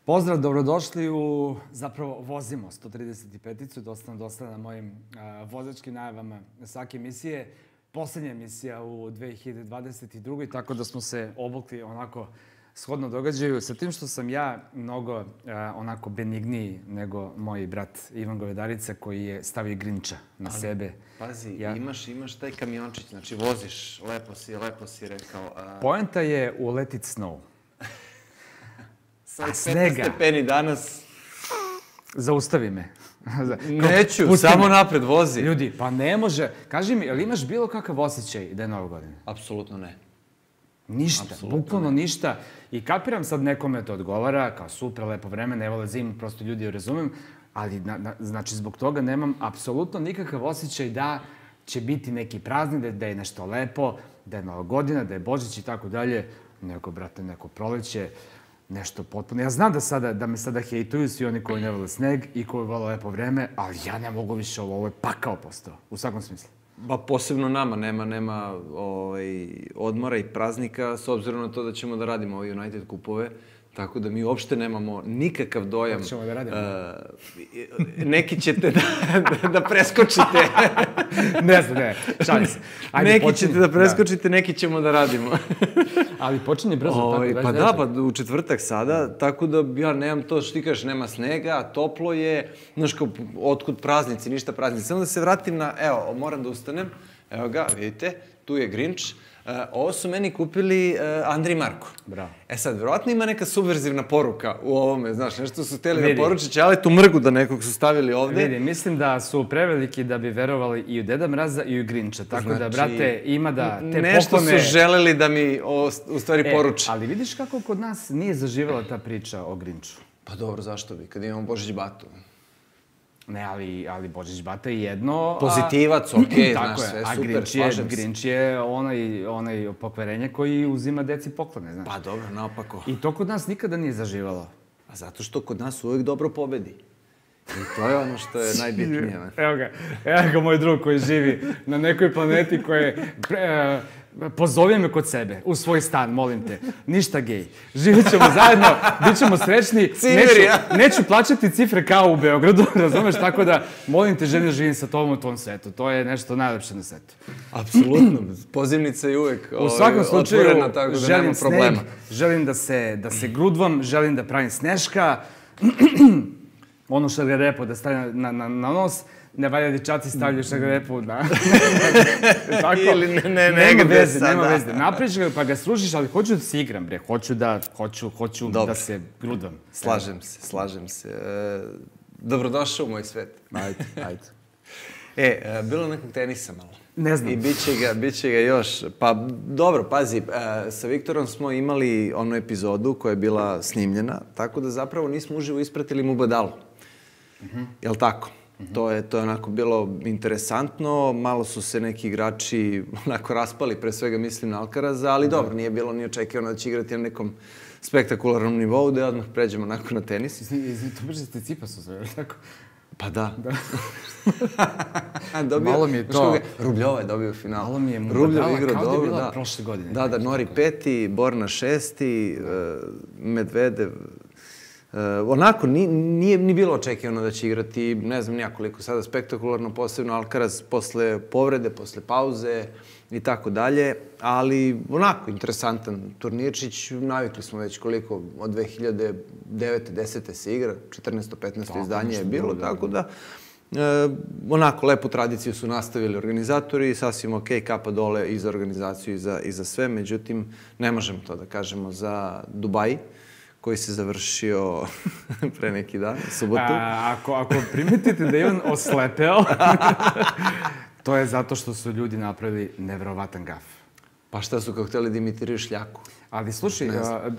Pozdrav, dobrodošli u, zapravo, vozimo 135-icu, dosta na mojim vozačkim najavama svake emisije. Poslednja emisija u 2022. Tako da smo se obukli onako shodno događaju, sa tim što sam ja mnogo onako benigniji nego moj brat Ivan Govedarica koji je stavio Grinča na sebe. Pazi, imaš taj kamiončić, znači voziš, lepo si rekao. Poenta je u Let It Snow. Sa 15 stepeni danas. Zaustavi me. Neću, samo napred vozi. Ljudi, pa ne može. Kaži mi, ali imaš bilo kakav osjećaj da je Nova godina? Apsolutno ne. Ništa, bukvalno ništa. I kapiram sad nekome to odgovara, kao super, lepo vreme, ne vole zimu, prosto ljudi razumem, ali znači zbog toga nemam apsolutno nikakav osjećaj da će biti neki praznik, da je nešto lepo, da je Nova godina, da je Božić i tako dalje. Neko, brate, neko proleće, nešto potpuno. Ja znam da me sada hejtuju svi oni koji ne vole sneg i koji vole lepo vreme, ali ja ne mogu više ovo je pakao postao, u svakom smislu. Ba, posebno nama, nema odmora i praznika, s obzirom na to da ćemo da radimo ove United kupove, tako da mi uopšte nemamo nikakav dojam. Kako ćemo da radimo? Neki ćete da preskočite. Ne znam, ne, šalim se. Neki ćete da preskočite, neki ćemo da radimo. Ali počinje brzo, tako da. Pa da, pa u četvrtak sada, tako da ja nemam to što ti kažeš, nema snega, toplo je, znaš kao, otkud praznici, ništa praznici. Samo da se vratim na, evo, moram da ustanem, evo ga, vidite, tu je Grinč. Ovo su meni kupili Andri i Marko. Bravo. E sad, verovatno ima neka subverzivna poruka u ovome, znaš, nešto su hteli da poručiće, ali tu mrgu da nekog su stavili ovde. Vidi, mislim da su preveliki da bi verovali i u Deda Mraza i u Grinča, tako da, brate, ima da te poklone... Nešto su želeli da mi u stvari poruče. Ali vidiš kako kod nas nije zaživala ta priča o Grinču? Pa dobro, zašto bi, kad imamo Božić Batu? Ne, ali Božić Bata je jedno... Pozitivac, okej, znaš, sve super, slažem se. Grinč je onaj pokvarenje koji uzima deci poklone, znaš. Pa dobro, naopako. I to kod nas nikada nije zaživalo. A zato što kod nas uvek dobro pobedi. I to je ono što je najbitnije. Evo ga moj drug koji živi na nekoj planeti koje... Pozovi me kod sebe, u svoj stan, molim te. Ništa gej. Živjet ćemo zajedno, bit ćemo srećni. Neću plaćati cifre kao u Beogradu, razumeš? Tako da, molim te, želim da živim sa tobom u tom svetu. To je nešto najlepše na svetu. Apsolutno. Pozivnica je uvek otvorena, tako da nema problema. Želim da se grudvam, želim da pravim sneška. Ono šargarepo da stavim na nos. Ne valja dečaci stavljaju šargarepu na... Ili nema veze. Nema veze. Napriš ga pa ga sružiš, ali hoću da se igram, bre. Hoću da se grudvam. Slažem se. Dobrodošao u moj svet. Ajde. Bilo nekog tenisa malo. Ne znam. I bit će ga još. Pa dobro, pazi, sa Viktorom smo imali onu epizodu koja je bila snimljena, tako da zapravo nismo uživo ispratili Mubadalu. Jel' tako? To je onako bilo interesantno, malo su se neki igrači onako raspali, pre svega mislim na Alcaraza, ali dobro, nije bilo ni očekivano da će igrati na nekom spektakularnom nivou, da odmah pređemo onako na tenis. To brže ste Cipasu sve, tako? Pa da. Malo mi je to... Rubljova je dobio final. Malo mi je Mubadala kao da je bila prošle godine. Da, Nori 5. Borna 6. Medvedev... Onako, nije ni bilo očekivano da će igrati, ne znam nijakoliko sada spektakularno, posebno Alcaraz posle povrede, posle pauze i tako dalje, ali onako, interesantan turnirčić, navikli smo već koliko, od 2009. 10. se igra, 14. 15. izdanje je bilo, tako da onako, lepu tradiciju su nastavili organizatori, sasvim okej, kapa dole i za organizaciju i za sve, međutim, ne možemo to da kažemo za Dubai, koji se završio pre neki dan, subotu. Ako primetite da je on oslepeo, to je zato što su ljudi napravili neverovatan gaf. Pa šta su kao hteli da imitiraju šljaku? Ali slušaj,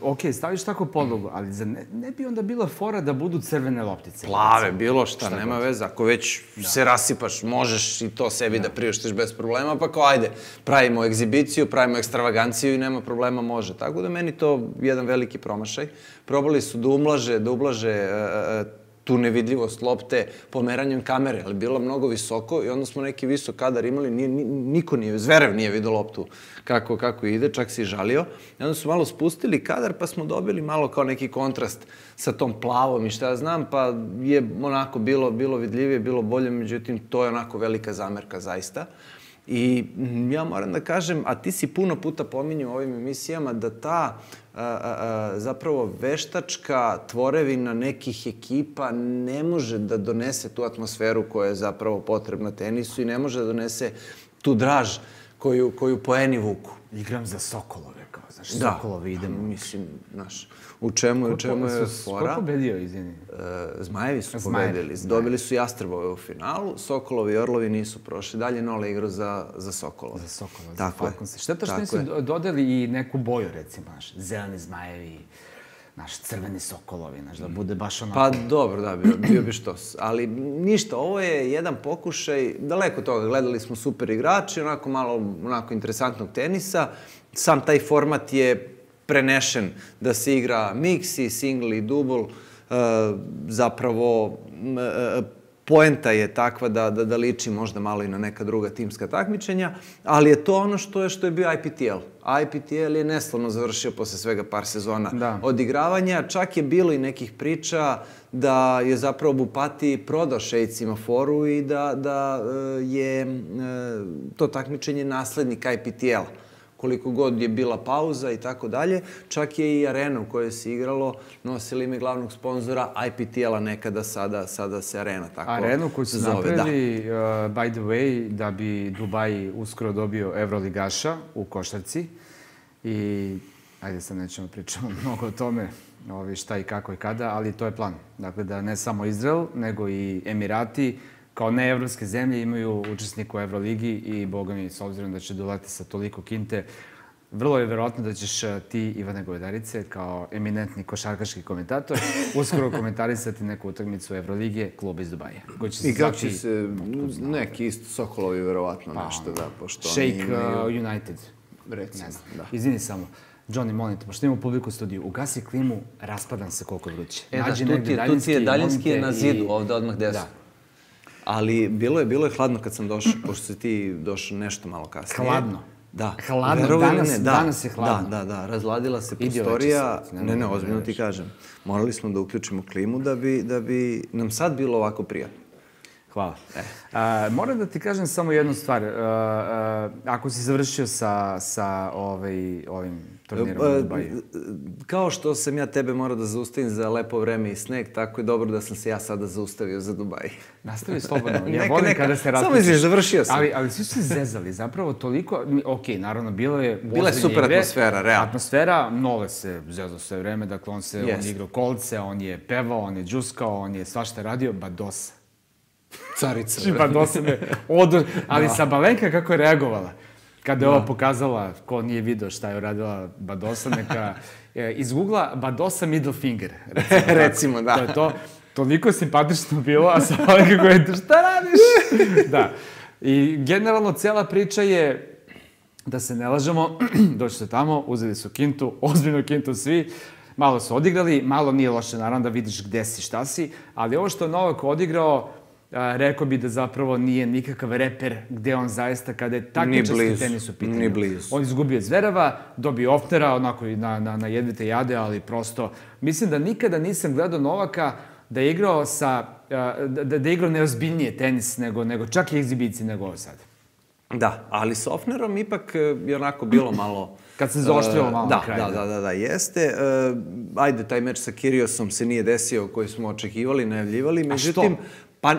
okej, staviš tako podlogu, ali ne bi onda bila fora da budu crvene loptice? Plave, bilo šta, nema veze. Ako već se rasipaš, možeš i to sebi da priuštiš bez problema, pa kao ajde, pravimo egzibiciju, pravimo ekstravaganciju i nema problema, može. Tako da meni to jedan veliki promašaj. Probali su da ublaže tu nevidljivost lopte pomeranjem kamere, ali bilo mnogo visoko i onda smo neki visok kadar imali, niko nije, Zverev nije vidio loptu kako ide, čak se i žalio. I onda su malo spustili kadar, pa smo dobili malo kao neki kontrast sa tom plavom i šta ja znam, pa je onako bilo vidljivije, bilo bolje, međutim, to je onako velika zamerka zaista. I ja moram da kažem, a ti si puno puta pominjao u ovim emisijama, da ta zapravo veštačka tvorevina nekih ekipa ne može da donese tu atmosferu koja je zapravo potrebna tenisu i ne može da donese tu draž koju poeni vuku. Igram za Sokolove, kao, znaš, Sokolovi idemo. Mislim, znaš, u čemu je fora? Ko pobedio, izvini? Zmajevi su pobedili. Dobili su Jastrebove u finalu, Sokolovi i Orlovi nisu prošli. Dalje Nole igrao za Sokolove. Za Sokolove, za Falconse. Šteta što nisu dodali i neku boju, recimo, znaš, zeleni Zmajevi, naš crveni Sokolovi, znaš, da bude baš onako... Pa dobro, da, bio bi štos. Ali ništa, ovo je jedan pokušaj, daleko toga, gledali smo super igrači, onako malo interesantnog tenisa. Sam taj format je prenešen da se igra mix i single i double. Zapravo, poenta je takva da liči možda malo i na neka druga timska takmičenja, ali je to ono što je bio IPTL. IPTL je neslavno završio posle svega par sezona odigravanja. Čak je bilo i nekih priča da je zapravo Bupati prodao šejcima foru i da je to takmičenje naslednik IPTL-a. Koliko god je bila pauza i tako dalje. Čak je i arena u kojoj se igralo nosila ime glavnog sponzora IPTL-a nekada, sada se arena tako zove. Arenu koju su napravili, by the way, da bi Dubai uskoro dobio Evroligaša u košarci. I, ajde sad nećemo pričamo mnogo o tome, šta i kako i kada, ali to je plan. Dakle, da ne samo Izrael, nego i Emirati, kao neevropske zemlje imaju učesnika u Evroligi i, boga mi, s obzirom da će doleti sa toliko kinte, vrlo je verovatno da ćeš ti, Ivane Govedarice, kao eminentni košarkaški komentator, uskoro komentarisati neku utakmicu Evrolige, kluba iz Dubaja. I kako će se neki isto Sokolovi verovatno nešto, da, pošto oni imaju... Shake United. Recimo, da. Izvini samo. Johnny, molim te, pošto imamo publiku u studiju, ugasi klimu, raspadam se koliko je vruće. Tu ti je daljinski na zidu, ovde odmah desno. Ali bilo je hladno kad sam došao, pošto si ti došao nešto malo kasnije. Hladno? Da. Hladno, danas je hladno. Da, razladila se prostorija. Ne, ozbiljno ti kažem. Morali smo da uključimo klimu da bi nam sad bilo ovako prijatno. Hvala. Moram da ti kažem samo jednu stvar. Ako si završio sa ovim turnirom u Dubaju. Kao što sam ja tebe morao da zaustavim za lepo vreme i sneg, tako je dobro da sam se ja sada zaustavio za Dubaj. Nastavi slobodno. Ja volim kada se raspušiš. Samo izviš, završio sam. Ali svi su se zezali. Zapravo toliko... Ok, naravno, bilo je... Bila je super atmosfera, realno. Atmosfera, Nole se zezao sve vreme. Dakle, on je igrao kolce, on je pevao, on je džuskao, on je svašta radio. Badosa. Carica. Badosa me odor... Ali Sabalenka kako je reagovala. Kada je ova pokazala, ko nije video šta je uradila Badosa, neka izgoogla Badosa middle finger. Recimo, da. To je to. Toliko simpatično bilo, a Sabalenka koja je, šta radiš? Da. I generalno cela priča je, da se ne lažemo, došli su tamo, uzeli su kintu, ozbiljnu kintu svi, malo su odigrali, malo nije loše, naravno da vidiš gde si, šta si, ali ovo što je Novak odigrao, rekao bi da zapravo nije nikakav reper gde on zaista, kada je takmičarski tenis u pitanju. Ni blizu. On izgubio Zvereva, dobio Ofnera, onako i na jedvite jade, ali prosto... Mislim da nikada nisam gledao Novaka da je igrao da je igrao neozbiljnije tenis nego čak i egzibiciji nego ovo sad. Da, ali s Ofnerom ipak je onako bilo malo... Kad se zaoštrilo malo na kraju. Da, jeste. Ajde, taj meč sa Kiriosom se nije desio koji smo očekivali, najavljivali. Međutim, pa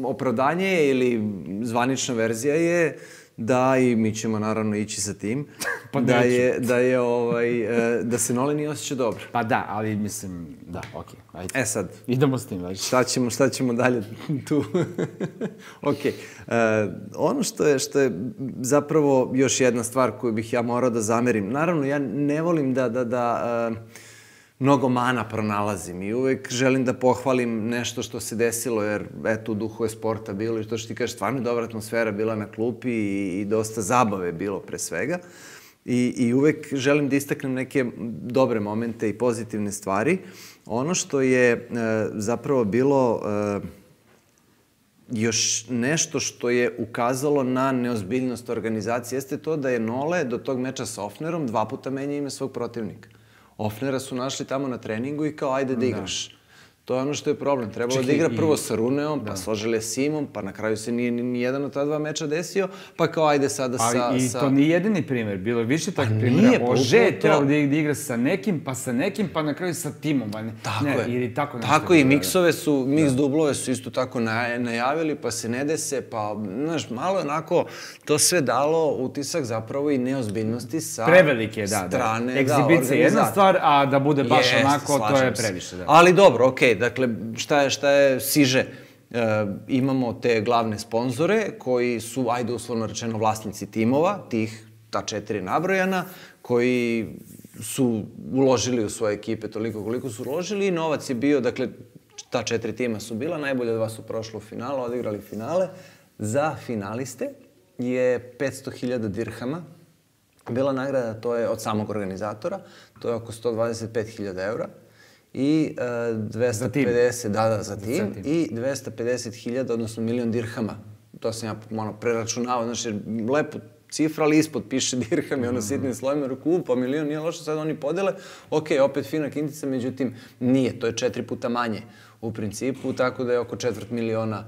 opravdanje ili zvanična verzija je da, i mi ćemo naravno ići sa tim, da se Nole nije osjećao dobro. Pa da, ali mislim, da, okej. E sad. Idemo s tim, već. Šta ćemo dalje tu? Okej. Ono što je zapravo još jedna stvar koju bih ja morao da zamerim. Naravno, ja ne volim da mnogo mana pronalazim i uvek želim da pohvalim nešto što se desilo, jer eto, u duhu je sporta bilo i to što ti kažeš, stvarno je dobra atmosfera bila na klupi i dosta zabave bilo pre svega. I uvek želim da istaknem neke dobre momente i pozitivne stvari. Ono što je zapravo bilo još nešto što je ukazalo na neozbiljnost organizacije jeste to da je Nole do tog meča sa Ofnerom 2 puta menja ime svog protivnika. Ofnera su našli tamo na treningu i kao ajde da igraš. To je ono što je problem. Trebalo da igra prvo sa Runeom, pa s Oželje Simom, pa na kraju se nije ni jedan od ta 2 meča desio, pa kao ajde sada sa... I to nije jedini primer, bilo je više takvih primjera. Ože je trebalo da igra sa nekim, pa na kraju sa timom. Tako je. Tako i miks dublove su isto tako najavili, pa se ne dese, pa, znaš, malo je onako to sve dalo utisak zapravo i neozbiljnosti sa strane organizacije. Egzibicija je jedna stvar, a da bude baš onako, to je previše. Ali dobro, okej. Dakle, šta je siže? Imamo te glavne sponzore koji su, ajde uslovno rečeno, vlasnici timova, ta 4 nabrojana, koji su uložili u svoje ekipe toliko koliko su uložili i novac je bio, dakle, ta 4 tima su bila, najbolje 2 su prošla u finalu, odigrali finale. Za finaliste je 500.000 dirhama bila nagrada, to je od samog organizatora, to je oko 125.000 eura. I 250, za tim, i 250.000, odnosno 1.000.000 dirhama. To sam ja preračunavao, znači, lepo cifra, ali ispod piše dirhami, ono sitnim slojima, ruku, pa 1.000.000 nije loše, sad oni podele, ok, opet fina kintica, međutim, nije, to je 4 puta manje u principu, tako da je oko 250.000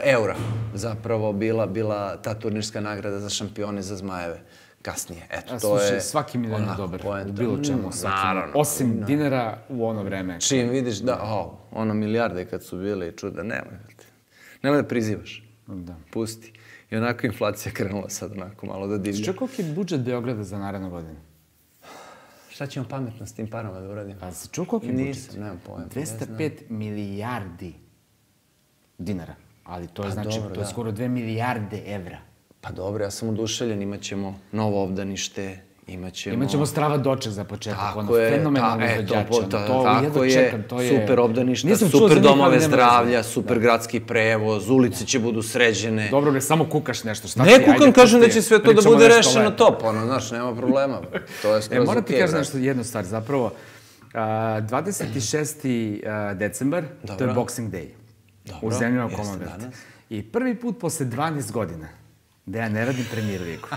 eura zapravo bila ta turnirska nagrada za šampione, za Zmajeve. Kasnije. Eto, to je... Slušaj, svaki milion je dobar u bilo čemu. Osim dinara u ono vreme. Čim vidiš ono milijarde kad su bile i čuda, nemoj da prizivaš. Pusti. I onako inflacija krenula sad onako malo da divlja. Što koliki je budžet Beograda za narednu godinu? Šta ćemo pametno s tim parama da uradimo? A si čuo koliki je budžet? Nisam, nemam pojma. 205 milijardi dinara. Ali to je znači, to je skoro 2 milijarde evra. Pa dobro, ja sam oduševljen, imat ćemo novo obdanište, imat ćemo strava doček za početak, ono fenomenalno izvođače. Tako je, super obdaništa, super domove zdravlja, super gradski prevoz, ulice će budu sređene. Dobro bre, samo kukaš nešto, šta ti? Ne kukam, kažem da će sve to da bude rešeno top, ono, znaš, nema problema. To je skroz ok. Moram ti kažem nešto, jednu stvar, zapravo, 26. decembar, to je Boxing Day u zemljama Commonwealth. I prvi put posle 12 godina da ja ne radim Premier ligu.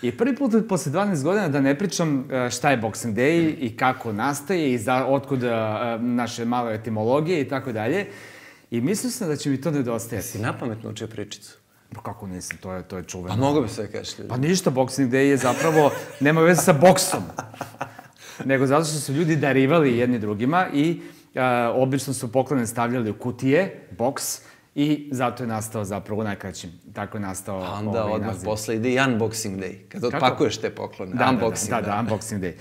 I prvi put posle 12 godina da ne pričam šta je Boxing Day i kako nastaje i otkud naše male etimologije i tako dalje. I mislio sam da će mi to nedostajati. Si napametno učio pričicu? Pa kako nisam, to je čuveno. Pa mogo bi sve kažeš ljudi. Pa ništa, Boxing Day je zapravo, nema veze sa boksom. Nego zato što su ljudi darivali jedni drugima i obično su poklone stavljali u kutije, boks, i zato je nastao zapravo u najkraćim. Tako je nastao ovaj naziv. Onda odmah posle ide i Unboxing Day, kad otpakuješ te poklone. Unboxing Day. Da, Unboxing Day.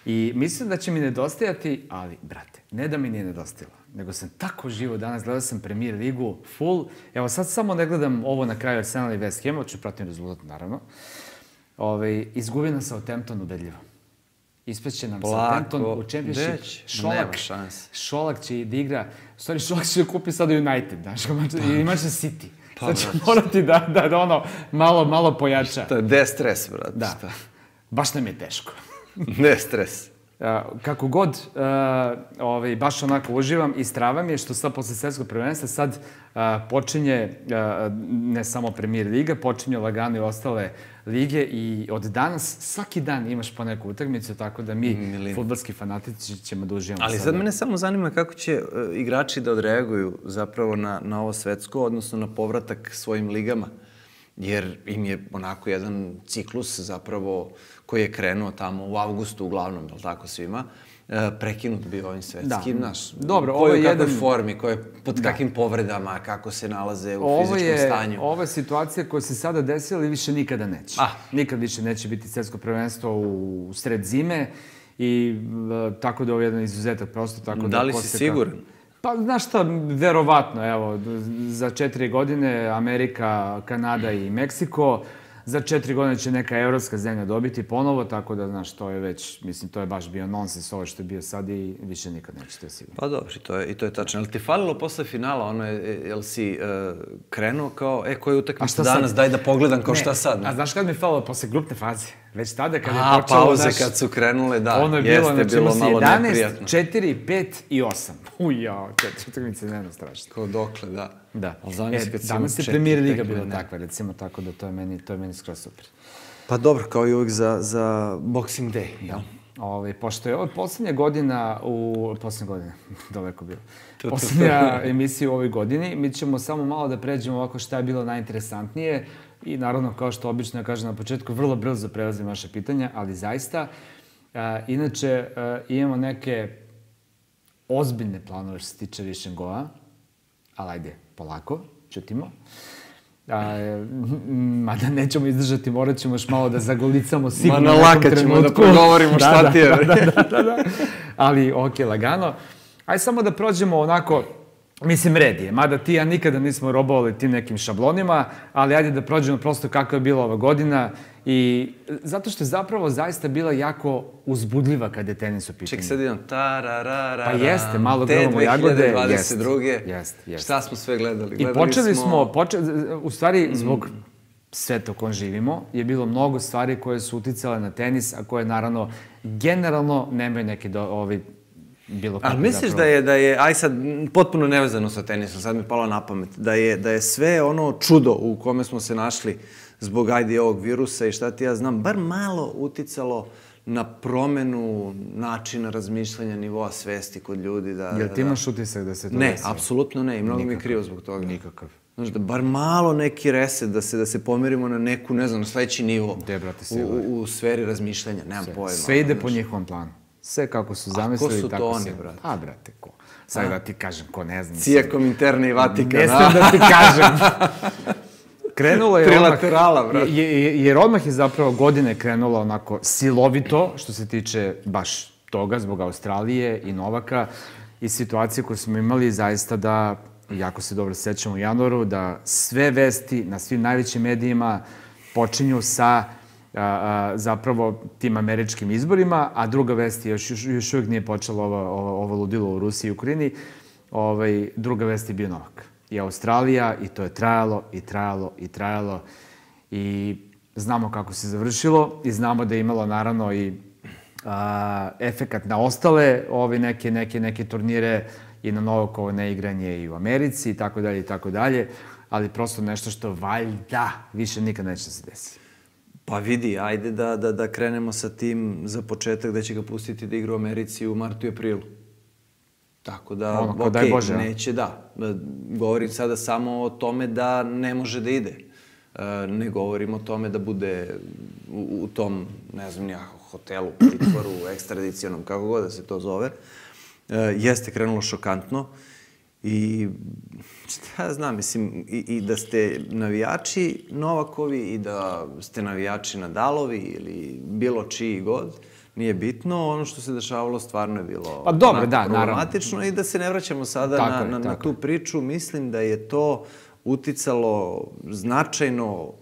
I mislim da će mi nedostajati, ali, brate, ne da mi nije nedostajalo, nego sam tako živo danas, gledao sam Premier ligu, full. Evo, sad samo ne gledam ovo na kraju Arsenal i West Ham, hoću pratim rezultat, naravno. Izgubio nam Southampton ubedljivo. Ispeće nam Southampton u Championship. Šolak će da igra, u stvari Šolak će da kupi sada United, znaš, i imaće City. Sad će morati da ono malo pojača. To je de-stres, brate. Da, baš nam je teško. De-stres. Kako god, baš onako uživam i strava mi je što sad posle svetskog prvenstva sad počinje ne samo Premier liga, počinje lagano i ostale lige i od danas svaki dan imaš po neku utakmicu, tako da mi, fudbalski fanatici, ćemo da uživamo. Ali sad mene samo zanima kako će igrači da odreaguju zapravo na ovo svetsko, odnosno na povratak svojim ligama. Jer im je onako jedan ciklus zapravo koji je krenuo tamo u avgustu uglavnom, je li tako svima, prekinut bio ovim svetskim, naš. Dobro, ovo je jedan... U kakvoj formi, pod kakvim povredama, kako se nalaze u fizičkom stanju. Ovo je situacija koja se sada desila i više nikada neće. Nikad više neće biti svetsko prvenstvo u sred zime i tako da ovo je jedan izuzetak prosto. Da li si siguran? Pa, znaš šta, verovatno, evo, za 4 godine Amerika, Kanada i Meksiko, za 4 godine će neka evropska zemlja dobiti ponovo, tako da, znaš, to je već, mislim, to je baš bio nonsens ovo što je bio sad i više nikad neće, to je sigurno. Pa dobro, i to je tačno. Ali ti falilo posle finala, ono, jel si krenuo kao, koja je utakmica danas, daj da pogledam kao šta sad? A znaš kad mi je falilo posle grupne faze? Već tada kad je počelo pauze kad su krenule, da, ono je bilo, jeste bilo malo 11, neprijatno. 4, 5 i 8. Ujao, 4 utakmice dnevno strašno. Kao dokle, da. Da. Ali zamisli kad si imao danas je 4 Premier Liga tekme, bila ne. takva, recimo, tako da to je meni skroz super. Pa dobro, kao i uvijek za Boxing Day, jel? Pošto je ovo poslednja godina daleko bilo. Poslednja emisija u ovoj godini, mi ćemo samo malo da pređemo ovako šta je bilo najinteresantnije i naravno, kao što obično ja kažem na početku, vrlo brzo prelazim vaše pitanja, ali zaista, inače, imamo neke ozbiljne planove što se tiče Vision Goa, ali ajde, polako, čutimo. Mada nećemo izdržati, morat ćemo još malo da zagolicamo sigurno na nekom trenutku. Ćemo da progovorimo šta ti je. Da. Ali, okej, lagano. Ajde samo da prođemo onako, mislim, red je. Mada ti ja nikada nismo robovali tim nekim šablonima, ali ajde da prođemo prosto kako je bila ova godina. I zato što je zapravo zaista bila jako uzbudljiva kad je tenis u pitanju. Ček, sad idem tararara. Pa jeste, malo grlamo jagode. Te 2022. Jeste. Šta smo sve gledali? I počeli smo, u stvari, zbog sveta u kojem živimo, je bilo mnogo stvari koje su uticale na tenis, a koje, naravno, generalno nemaju neke bilo kako. Ali misliš da je, aj sad, potpuno nevezano sa tenisom, sad mi je palo na pamet, da je sve ono čudo u kome smo se našli zbog, ajde, ovog virusa i šta ti ja znam, bar malo uticalo na promenu načina razmišljanja, nivoa svesti kod ljudi. Jel ti imaš utisak da se to desilo? Ne, apsolutno ne, i mnogo mi je krivo zbog toga. Nikakav. Znaš, da bar malo neki reset, da se pomerimo na neku, ne znam, na sledeći nivo u sferi razmišljanja, nemam pojma. Sve ide po njihovom planu. Sve kako su zamislili, tako se... A ko su to oni, brate? A, brate, ko? Sad da ti kažem, ko ne znam. Cijakom interne i Vatikana. Ne znam da ti kažem. Krenulo je trilaterala, brate. Jer odmah je zapravo godine krenula onako silovito, što se tiče baš toga, zbog Australije i Novaka i situacije koje smo imali zaista da, jako se dobro sećamo u januaru, da sve vesti na svim najvećim medijima počinju sa zapravo tim američkim izborima, a druga vest je, još uvijek nije počelo ovo ludilo u Rusiji i Ukrajini, druga vest je bio Novak. I Australija, i to je trajalo i znamo kako se završilo i znamo da je imalo naravno i efekat na ostale neke turnire i na Novakovo neigranje i u Americi i tako dalje, ali prosto nešto što valjda više nikad neće da se desi. Pa vidi, ajde da krenemo sa tim za početak da će ga pustiti da igra u Americi u martu i aprilu. Tako da, okej, neće, da. Govorim sada samo o tome da ne može da ide. Ne govorim o tome da bude u tom, ne znam, hotelu, pritvoru, ekstradicionom, kako god da se to zove. Jeste krenulo šokantno i šta ja znam, mislim, i da ste navijači Novakovi i da ste navijači Nadalovi ili bilo čiji god, nije bitno, ono što se dešavalo stvarno je bilo problematično i da se ne vraćamo sada na tu priču. Mislim da je to uticalo značajno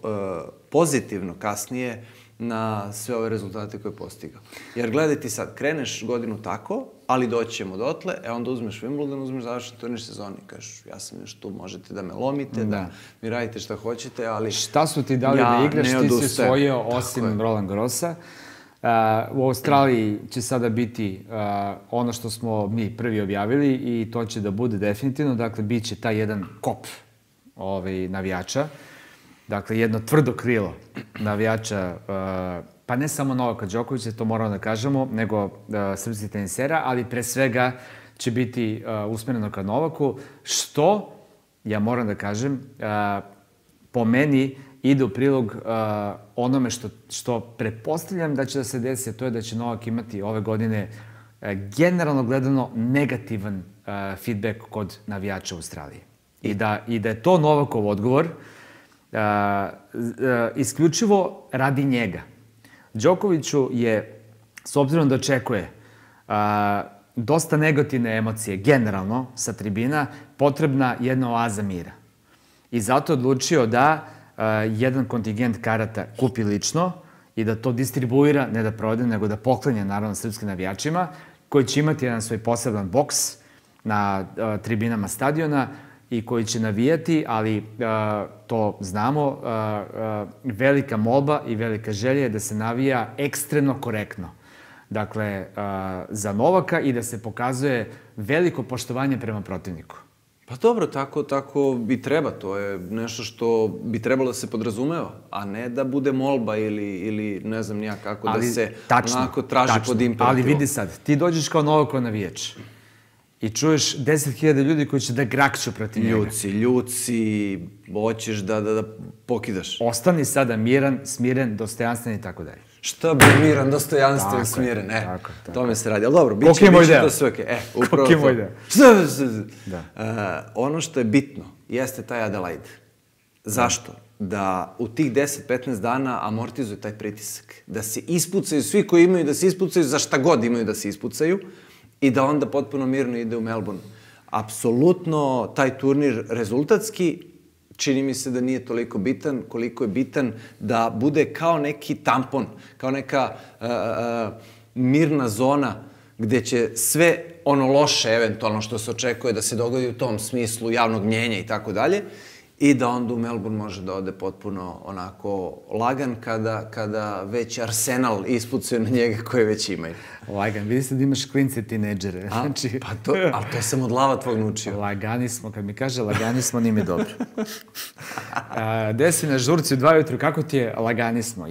pozitivno kasnije na sve ove rezultate koje je postigao. Jer gledaj ti sad, kreneš godinu tako, ali doći ćemo dotle, onda uzmeš Wimbledon, uzmeš završen turnir sezoni. Kažeš, ja sam još tu, možete da me lomite, da mi radite šta hoćete, ali šta su ti dali da igraš, ti si osvojio osim Roland Garrosa. U Australiji će sada biti ono što smo mi prvi objavili i to će da bude definitivno, dakle, bit će taj jedan kop navijača, dakle, jedno tvrdo krilo navijača, pa ne samo Novaka Đokovića, to moramo da kažemo, nego srpskih tenisera, ali pre svega će biti usmereno ka Novaku, što, ja moram da kažem, po meni ide u prilog onome što pretpostavljam da će da se desi, a to je da će Novak imati ove godine generalno gledano negativan feedback kod navijača u Australiji. I da je to Novakov odgovor isključivo radi njega. Đokoviću je, s obzirom da očekuje dosta negativne emocije, generalno, sa tribina, potrebna jedna oaza mira. I zato je odlučio da jedan kontingent karata kupi lično i da to distribuira, ne da prode, nego da poklanja, naravno, srpskim navijačima, koji će imati jedan svoj poseban boks na tribinama stadiona i koji će navijati, ali to znamo, velika molba i velika želja je da se navija ekstremno korektno. Dakle, za Novaka i da se pokazuje veliko poštovanje prema protivniku. Pa dobro, tako i treba. To je nešto što bi trebalo da se podrazumeva, a ne da bude molba ili ne znam nija kako da se onako traži pod imperativom. Ali vidi sad, ti dođeš kao Novakov navijač i čuješ 10.000 ljudi koji će da grakću protiv njega. Ljuci, hoćeš da pokidaš. Ostani sada miran, smiren, dostojanstven i tako dalje. Šta bi miran, dostojanstven, smiren? Tako. Tome se radi. Ali dobro, bit će to sve okej. Koliki je moj deo? Ono što je bitno jeste taj Adelaide. Zašto? Da u tih 10-15 dana amortizuju taj pritisak. Da se ispucaju svi koji imaju da se ispucaju za šta god imaju da se ispucaju i da onda potpuno mirno ide u Melbourne. Apsolutno taj turnir rezultatski čini mi se da nije toliko bitan koliko je bitan da bude kao neki tampon, kao neka mirna zona gde će sve ono loše eventualno što se očekuje da se dogodi u tom smislu javnog mnjenja i tako dalje i da onda u Melbourne može da ode potpuno onako lagan kada već Arsenal ispucuje na njega koje već imaju. Lagan, vidi se da imaš klince tinejdžere. Ali to sam od lava tvog naučio. Lagani smo, kad mi kaže lagani smo, nije mi dobro. Gde si na žurci u 2 ujutru, kako ti je lagani smo?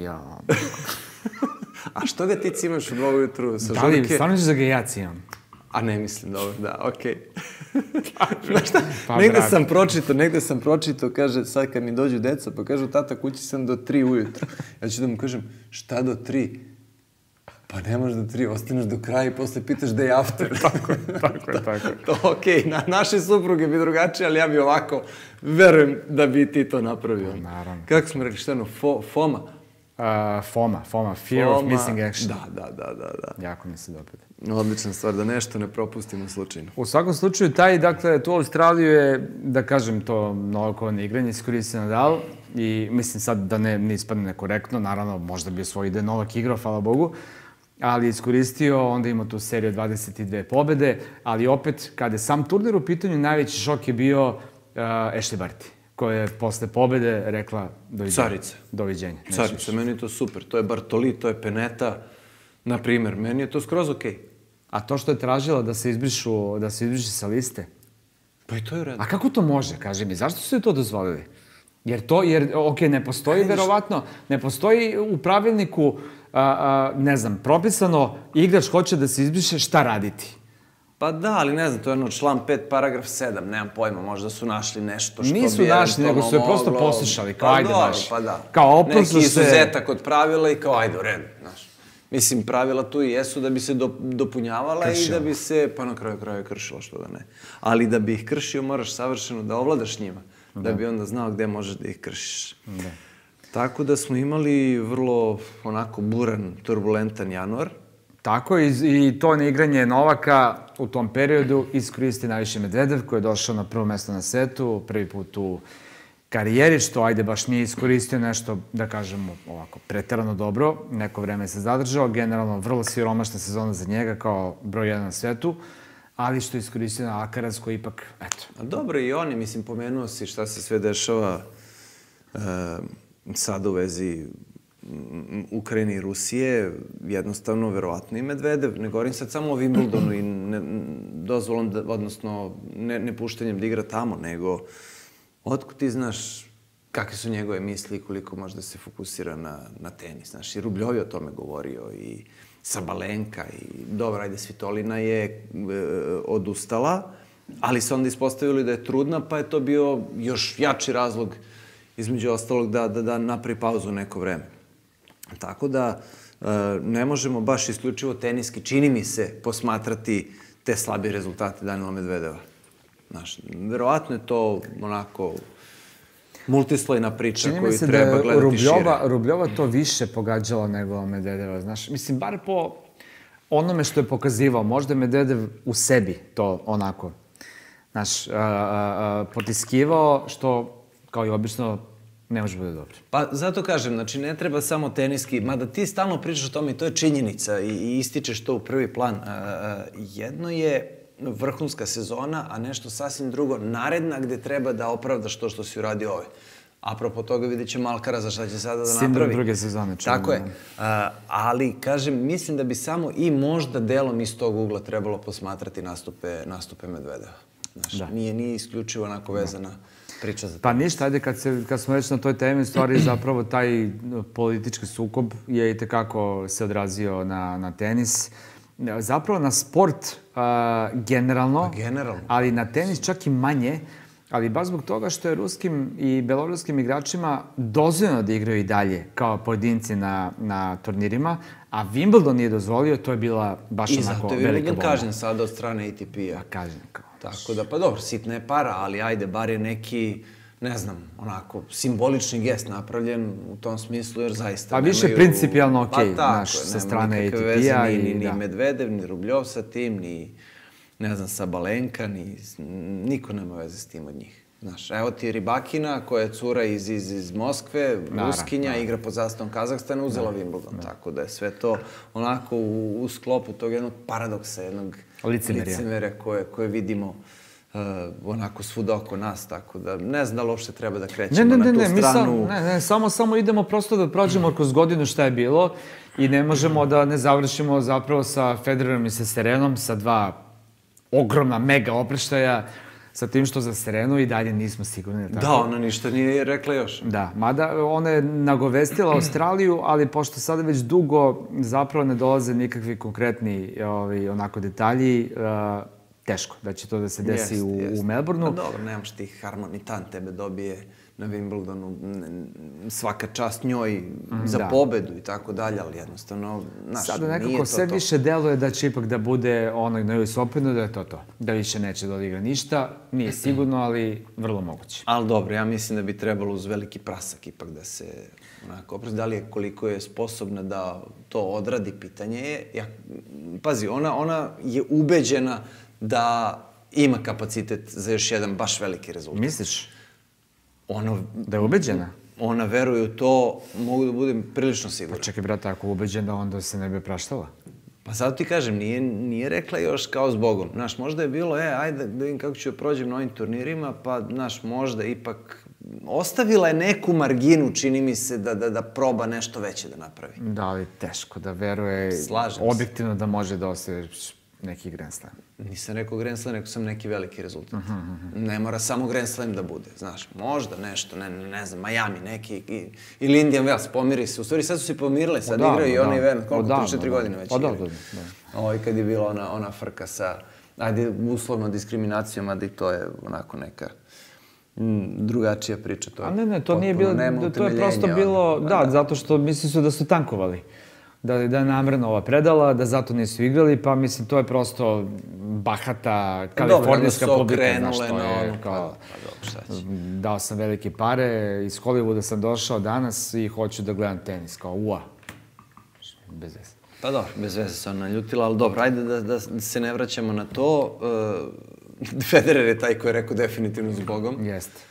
A što ga ti cimaš u 2 ujutru sa žurke? Da li, stvarno ćeš da ga ja cimam? A ne mislim, dobro, da, okej. Znaš šta, negde sam pročitao, kaže, sad kad mi dođu deca, pa kažu, tata, kući sam do 3 ujutru. Ja ću da mu kažem, šta do 3? Pa nemaš do 3, ostaneš do kraja i posle pitaš da je after. Tako. To okej, naše supruge bi drugačije, ali ja bi ovako, verujem da bi ti to napravio. Naravno. Kako smo rekli, šta ono, FOMA? FOMA, Fear of Missing Action. Da. Jako mi se dopada. Odlična stvar, da nešto ne propustimo slučajno. U svakom slučaju, dakle, tu Australiju je, da kažem, to novokovano igranje iskoristio Nadal i mislim sad da ne ispadne nekorektno, naravno, možda bi svoj ide Novak igrao, hvala Bogu, ali iskoristio, onda ima tu seriju 22 pobede, ali opet, kada je sam turnir u pitanju, najveći šok je bio Ashley Barty, koja je posle pobede rekla doviđenja. Carica, meni je to super. To je Bartoli, to je Peneta, na primer. Meni je to skroz okej. A to što je tražila da se izbrišu sa liste? Pa i to je u redu. A kako to može, kaži mi? Zašto su to dozvolili? Jer, ne postoji verovatno, ne postoji u pravilniku, ne znam, propisano, igrač hoće da se izbriše, šta raditi? Pa da, ali ne znam, to je član 5, paragraf 7, nemam pojma, možda su našli nešto što bi nisu našli, nego su je prosto poslušali, kao ajde baš. Pa da, kao oprosto neki izuzetak od pravila i kao ajde u redu, znaš. Mislim, pravila tu i jesu da bi se dopunjavala i da bi se, pa na kraju kraja kršila, što da ne. Ali da bi ih kršio, moraš savršeno da ovladaš njima, da bi onda znao gde možeš da ih kršiš. Tako da smo imali vrlo, onako, buran, turbulentan januar. Tako, i to neigranje Novaka u tom periodu iskoristi najviše Medvedev, koji je došao na prvo mesto na svetu, prvi put u karijeri, što ajde baš nije iskoristio nešto, da kažemo ovako, preterano dobro, neko vreme se zadržao, generalno vrlo siromašna sezona za njega kao broj 1 na svetu, ali što je iskoristio na Alcaraz koji ipak, eto. Dobro, i oni, mislim, pomenuo si šta se sve dešava sada u vezi Ukrajine i Rusije, jednostavno, verovatno i Medvedev. Ne govorim sad samo o Wimbledonu i dozvolom, odnosno nepuštenjem da igra tamo, nego otkud ti znaš kakve su njegove misli i koliko može da se fokusira na tenis. Znaš, i Rubljov je o tome govorio i Sabalenka i dobro, ajde, Svitolina je odustala, ali se onda ispostavili da je trudna, pa je to bio još jači razlog, između ostalog, da napravi pauzu neko vreme. Tako da ne možemo baš isključivo teniski, čini mi se, posmatrati te slabije rezultate Daniela Medvedeva. Znaš, verovatno je to onako multislojna priča koju treba gledati šire. Čini mi se da je Rubljova to više pogađala nego Medvedeva, znaš. Mislim, bar po onome što je pokazivao, možda je Medvedev u sebi to onako, znaš, potiskivao, što, kao i obično, ne može bude dobro. Pa zato kažem, znači ne treba samo teniski, mada ti stalno pričaš o tome i to je činjenica i ističeš to u prvi plan. Jedno je vrhunska sezona, a nešto sasvim drugo naredna gde treba da opravdaš to što si uradio ove. Apropo toga vidjet ćemo Alcaraza šta će sada da napravi. Sindrom druge sezone. Tako je. Ali, kažem, mislim da bi samo i možda delom iz tog ugla trebalo posmatrati nastupe Medvedeva. Znaš, nije isključivo onako vezana priča za to. Pa ništa, ajde, kad smo već na toj temi, stvari zapravo taj politički sukob je i tekako se odrazio na tenis. Zapravo na sport generalno, ali na tenis čak i manje, ali baš zbog toga što je ruskim i beloruskim igračima dozvoljeno da igraju i dalje kao pojedinci na turnirima, a Wimbledon nije dozvolio, to je bila baš onako velika bomba. I zato je Wimbledon kažen sada od strane ATP-a. Kažen kao. Tako da, pa dobro, sitna je para, ali ajde, bar je neki, ne znam, onako, simbolični gest napravljen u tom smislu, jer zaista nemaju... Pa više principijalno okej, znaš, sa strane ATP-a. Ni Medvedev, ni Rubljov sa tim, ni, ne znam, Sabalenka, niko nema veze s tim od njih. Znaš, evo ti Ribakina, koja je cura iz Moskve, Ruskinja, igra pod zastavom Kazahstana, uzela Wimbledon. Tako da je sve to onako u sklopu tog jednog paradoksa, jednog licemerja koje vidimo onako svuda oko nas, tako da ne znam da li uopšte treba da krećemo na tu stranu. Ne, samo idemo prosto da prođemo kroz godinu šta je bilo i ne možemo da ne završimo zapravo sa Federerom i sa Serenom, sa dva ogromna mega opreštaja, sa tim što za Serenu i dalje nismo sigurni. Da, ona ništa nije rekla još. Da, mada ona je nagovestila Australiju, ali pošto sada već dugo zapravo ne dolaze nikakvi konkretni onako detalji, teško da će to da se desi u Melbourneu. Pa dobro, nemaš ti harmonitan, tebe dobije na Wimbledonu, svaka čast njoj za pobedu i tako dalje, ali jednostavno, znaš, sada nekako sve više deluje da će ipak da bude onaj na US Openu, da je to. Da više neće da odigra ništa, nije sigurno, ali vrlo moguće. Ali dobro, ja mislim da bi trebalo uz veliki prasak ipak da se onako oprosti. Da li je koliko je sposobna da to odradi, pitanje je. Pazi, ona je ubeđena da ima kapacitet za još jedan baš veliki rezultat. Misliš? Da je ubeđena? Ona veruje u to, mogu da budem prilično siguran. Pa čekaj, brate, ako je ubeđena, onda se ne bi praštala. Pa zato ti kažem, nije rekla još kao s Bogom. Znaš, možda je bilo, ajde da vidim kako ću prođem na ovim turnirima, pa, znaš, možda ipak ostavila je neku marginu, čini mi se, da proba nešto veće da napravi. Da, ali teško da veruje objektivno da može da ostaje neki Grand Slam. Nisam rekao Grand Slam, rekao sam neki veliki rezultat. Ne mora samo Grand Slam da bude, znaš, možda nešto, ne znam, Miami neki, ili Indian Wells, pomiri se. U stvari sad su se pomirili, sad igraju i onaj event, koliko, 3-4 godine već igraju. Kad je bila ona frka sa, ajde, uslovno diskriminacijom, ali to je onako neka drugačija priča. A ne, to nije bilo, to je prosto bilo, da, zato što misli su da su tankovali. Da je namerno ova predala, da zato nisu igrali, pa mislim, to je prosto bahata kalifornijska publika, znaš, to je kao... Dao sam velike pare, iz Hollywooda sam došao danas i hoću da gledam tenis, kao ua. Bez veze. Pa dobro, bez veze se ona naljutila, ali dobro, ajde da se ne vraćamo na to. Federer je taj koji je rekao definitivno s Bogom. Jeste.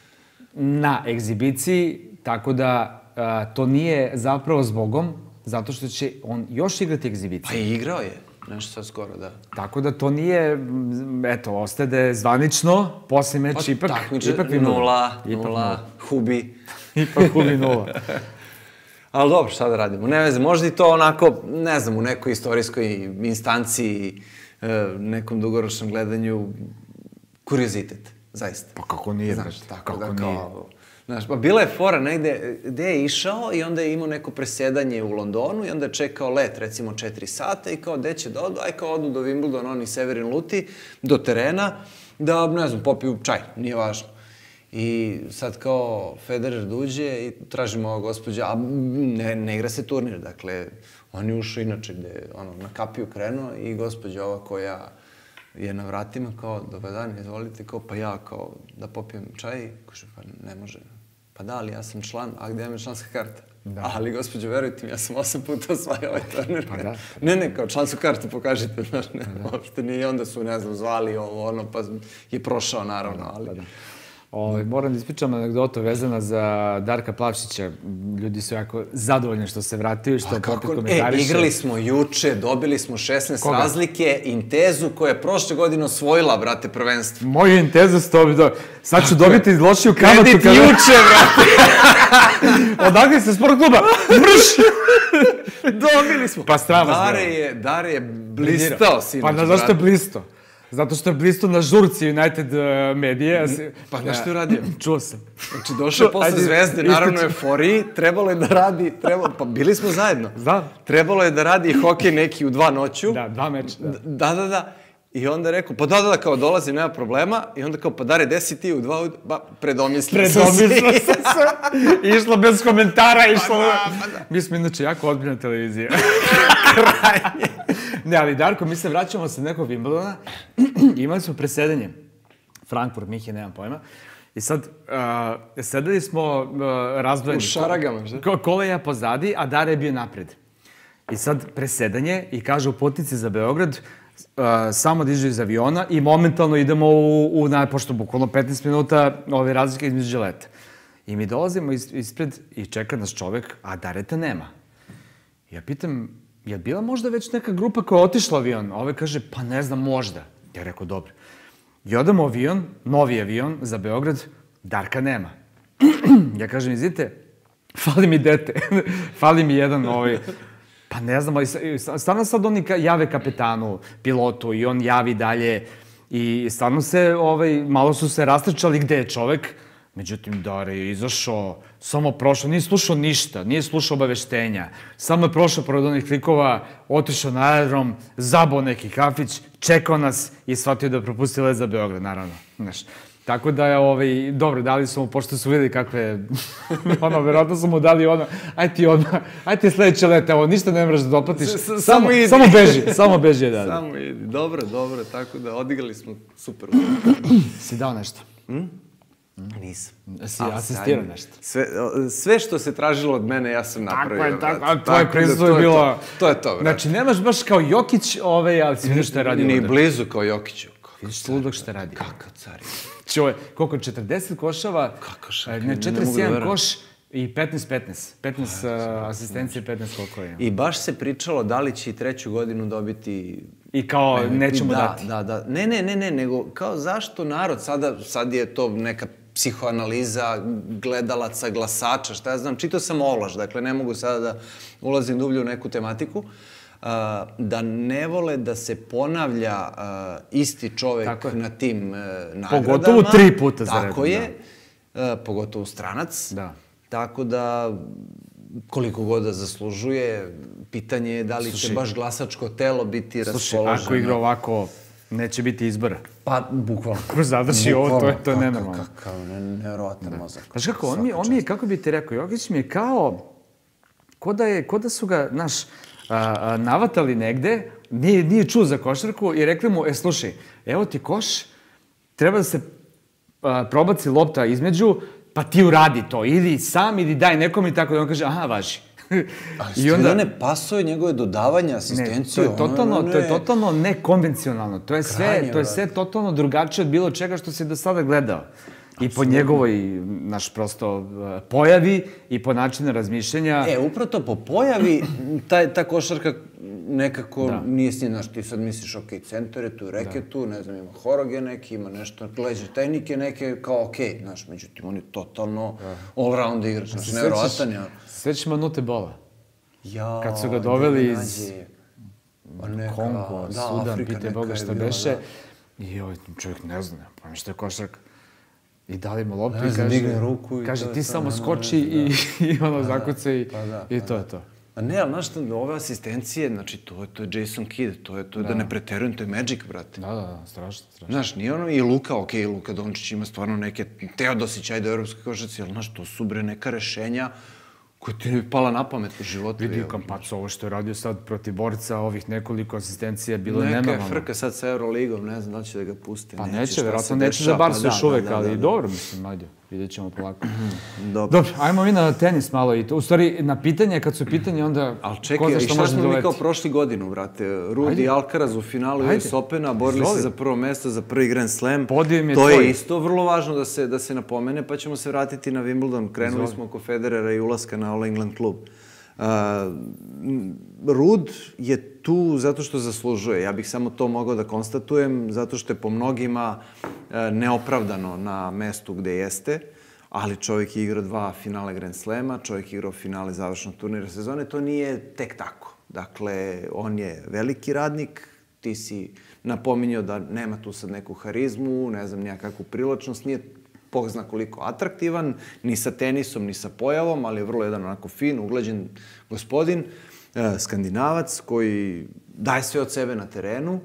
Na egzibiciji, tako da to nije zapravo s Bogom, zato što će on još igrati egzibiciju. Pa i igrao je, nešto sad skoro, da. Tako da to nije, eto, ostaje da je zvanično, posle meč ipak... Takmiče, nula, hubi. Ipak hubi nula. Ali dobro, šta da radimo? Ne veze, možda i to onako, ne znam, u nekoj istorijskoj instanciji, nekom dugoročnom gledanju, kuriozitet, zaista. Pa kako nije, znaš, tako da kao... Znaš, pa bila je fora negde gde je išao i onda je imao neko presedanje u Londonu i onda je čekao let, recimo 4 sata i kao, gde će da odu? Aj kao odu do Wimbledona, oni Severin Luti, do terena, da, ne znam, popiju čaj, nije važno. I sad kao Federer dođe i tražimo ova gospođa, a ne igra se turnir, dakle, on je ušao inače gde, na kapiju krenuo i gospođa ova koja je na vratima kao, dobar dan, izvolite, kao, pa ja, kao, da popijem čaj, kaže, pa ne može. Pa da, ali ja sam član, a gde je članska karta? Ali, gospođo, verujte mi, ja sam 8 puta osvajao ovaj turnir. Ne, kao člansku kartu pokažite, znaš, ne, uopšte nije. I onda su, ne znam, zvali ovo, pa je prošao, naravno, ali... Moram da ispričam anegdotu vezana za Darka Plavšića. Ljudi su jako zadovoljni što se vratio i što opet komentariše. Igrali smo juče, dobili smo 16 razlike, Intezu koja je prošle godine osvojila, brate, prvenstvo. Moju Intezu ste dobili. Sad ću dobiti lošiju kamatu. Kredit juče, brate. Odakle ste sport kluba? Mrš! Dobili smo. Pa strava Dare je blistao, sinoć, brate. Pa zašto je blistao? Zato što je blisto na žurci United medije. Pa nešto je uradio? Čuo sam. Znači, došao je posle Zvezde, naravno euforiji, trebalo je da radi, pa bili smo zajedno. Znam. Trebalo je da radi hokej neki u 2 noću. Da, 2 meča. Da. I onda je rekao, pa da, kao dolazim, nema problema. I onda kao, pa Dare, gde si ti u 2, predomislio sam se. Išlo bez komentara, išlo... Mi smo inače jako odbiljna televizija. Krajnje. Ne, ali Darko, mi se vraćamo sa nekog Wimbledona, imali smo presedanje, Frankfurt, Mihe, nemam pojma, i sad sedeli smo razdvojeni. U šaragama, što? Koleja pozadi, a Dare je bio napred. I sad presedanje i kaže u putnici za Beograd, samo dižu iz aviona i momentalno idemo pošto bukvalno 15 minuta ove razlike između leta. I mi dolazimo ispred i čeka nas čovek, a Dareta nema. Ja pitam, je bila možda već neka grupa koja je otišla avion? A ovaj kaže, pa ne znam, možda. Ja rekao, dobro. I odamo avion, novi avion za Beograd, Darka nema. Ja kažem, izvite, fali mi dete, fali mi jedan pa ne znam, ali stvarno sad oni jave kapetanu, pilotu i on javi dalje i stvarno se, malo su se rastrčali gde je čovek. Međutim, Dare je izašao, samo prošao, nije slušao ništa, nije slušao obaveštenja. Samo je prošao pored onih klikova, otišao na aerodrom, zabao neki kafić, čekao nas i shvatio da propusti let za Beograd, naravno. Tako da je, dobro, dali su mu, pošto su videli kakve, verovatno su mu dali aj ti sledeće let, evo, ništa ne moraš da doplatiš, samo beži, da. Samo idi, dobro, tako da odigrali smo super. Si dao nešto? Nisam. Si asistirao nešto? Sve što se tražilo od mene, ja sam napravio. Tako je, tvoje prisustvo je bilo... To je to, brate. Znači, nemaš baš kao Jokić, ali si vidio što je radio ovde. Ni blizu kao Jokiću. Vidiš ludog što je radio. Kakav car je. Čuvaj, koliko? 40 košava? Kakav šak. Ne, 41 koš i 15. 15 asistencije, 15 koliko je. I baš se pričalo da li će i 3. godinu dobiti... I kao nećemo dati. Da. Ne, nego kao zašto narod, sad je to neka psihoanaliza gledalaca, glasača, šta ja znam, čitao sam ovlaš, dakle ne mogu sada da ulazim dublje u neku tematiku, da ne vole da se ponavlja isti čovek na tim nagradama. Pogotovo 3 puta za redom. Tako je, pogotovo stranac. Da. Tako da, koliko god da zaslužuje, pitanje je da li će baš glasačko telo biti raspoloženo. Slušaj, ako igra ovako, neće biti izbora. Pa, bukvalno. Ko zadrži ovo, to je nenormalno. Kakav nevjerovatan mozak. Znaš kako, on mi je, kako bi ti rekao, Jokić mi je kao, ko da su ga, znaš, navatali negde, nije čuo za košarku i rekli mu, slušaj, evo ti koš, treba da se probaci lopta između, pa ti uradi to, ili sam, ili daj nekom i tako da on kaže, aha, važi. Ali stilene pasove, njegove dodavanja, asistenciju... To je totalno nekonvencionalno. To je sve totalno drugačije od bilo čega što si do sada gledao. I po njegovoj, naš prosto, pojavi i po načinu razmišljenja. Upravo po pojavi, ta košarka nekako nije s njim, znaš, ti sad misliš, ok, centar je tu, reketu, ne znam, ima horoge neki, ima nešto, leđe tehnike neke, kao ok, znaš, međutim, on je totalno all-round igrač, znaš, nevjerovatan je. Sveći Manute Bola. Kad su ga doveli iz Kongo, Sudan, pite Boga šta beše, i čovjek ne zna, pa mi što je košarka. I dali mu loptu i kaže ti samo skoči i ono zakuca i to je to. A ne, ali znaš, ove asistencije, znači, to je Jason Kidd, to je da ne preterujem, to je Magic, brate. Da, strašno. Znaš, nije ono i Luka, okej, Luka Dončić ima stvarno neke Teodosić, ajde u evropskoj košarci, ali znaš, to su bre neka rešenja koja ti ne pala na pamet u životu. Vidi Kampaco, ovo što je radio sad protiv borca, ovih nekoliko asistencija, bilo je nenormalno. Neka frka sad sa Euroligom, ne znam da li će da ga puste. Pa neće, verovatno neće za Barsu još uvek, ali dobro, mislim, ajde. Vidjet ćemo polako. Dobro. Dobro, ajmo mi na tenis malo i to. U stvari, na pitanje, kad su pitanje, onda... Ali čekaj, i šta smo mi kao prošli godinu, brate? Ruud i Alcaraz u finalu US Opena, borili se za prvo mesto, za prvi Grand Slam. Podium je to tvoj. Je isto vrlo važno da se napomene, pa ćemo se vratiti na Wimbledon. Krenuli smo oko Federera i ulaska na All England klub. Ruud je tu zato što zaslužuje. Ja bih samo to mogao da konstatujem, zato što je po mnogima neopravdano na mestu gde jeste, ali čovjek je igrao 2 finale Grand Slema, čovjek je igrao finale završnog turnira sezone, to nije tek tako. Dakle, on je veliki radnik, ti si napominjao da nema tu sad neku harizmu, ne znam, nijakakvu privlačnost, nije Bog zna koliko atraktivan, ni sa tenisom, ni sa pojavom, ali je vrlo jedan onako fin, uglađen gospodin, Skandinavac koji daje sve od sebe na terenu,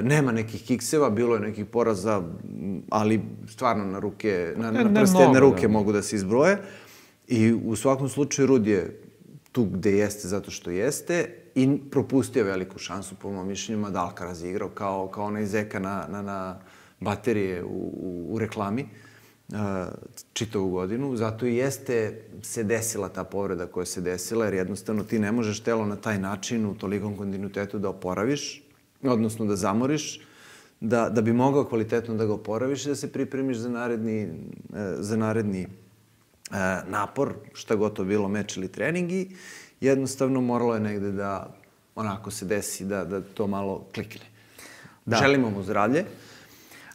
nema nekih kikseva, bilo je nekih poraza, ali stvarno na ruke, na prste jedne ruke mogu da se izbroje. I u svakom slučaju Ruud je tu gde jeste zato što jeste i propustio veliku šansu, po mojom mišljenju, da Alcaraz je igrao kao onaj zeka na baterije u reklami čitavu godinu. Zato i jeste se desila ta povreda koja se desila, jer jednostavno ti ne možeš telo na taj način u tolikom kontinuitetu da oporaviš, odnosno da zamoriš, da bi mogao kvalitetno da ga oporaviš i da se pripremiš za naredni napor, šta god to bilo, meč ili trening, i jednostavno moralo je negde da onako se desi, da to malo klikne. Želimo mu zdravlje,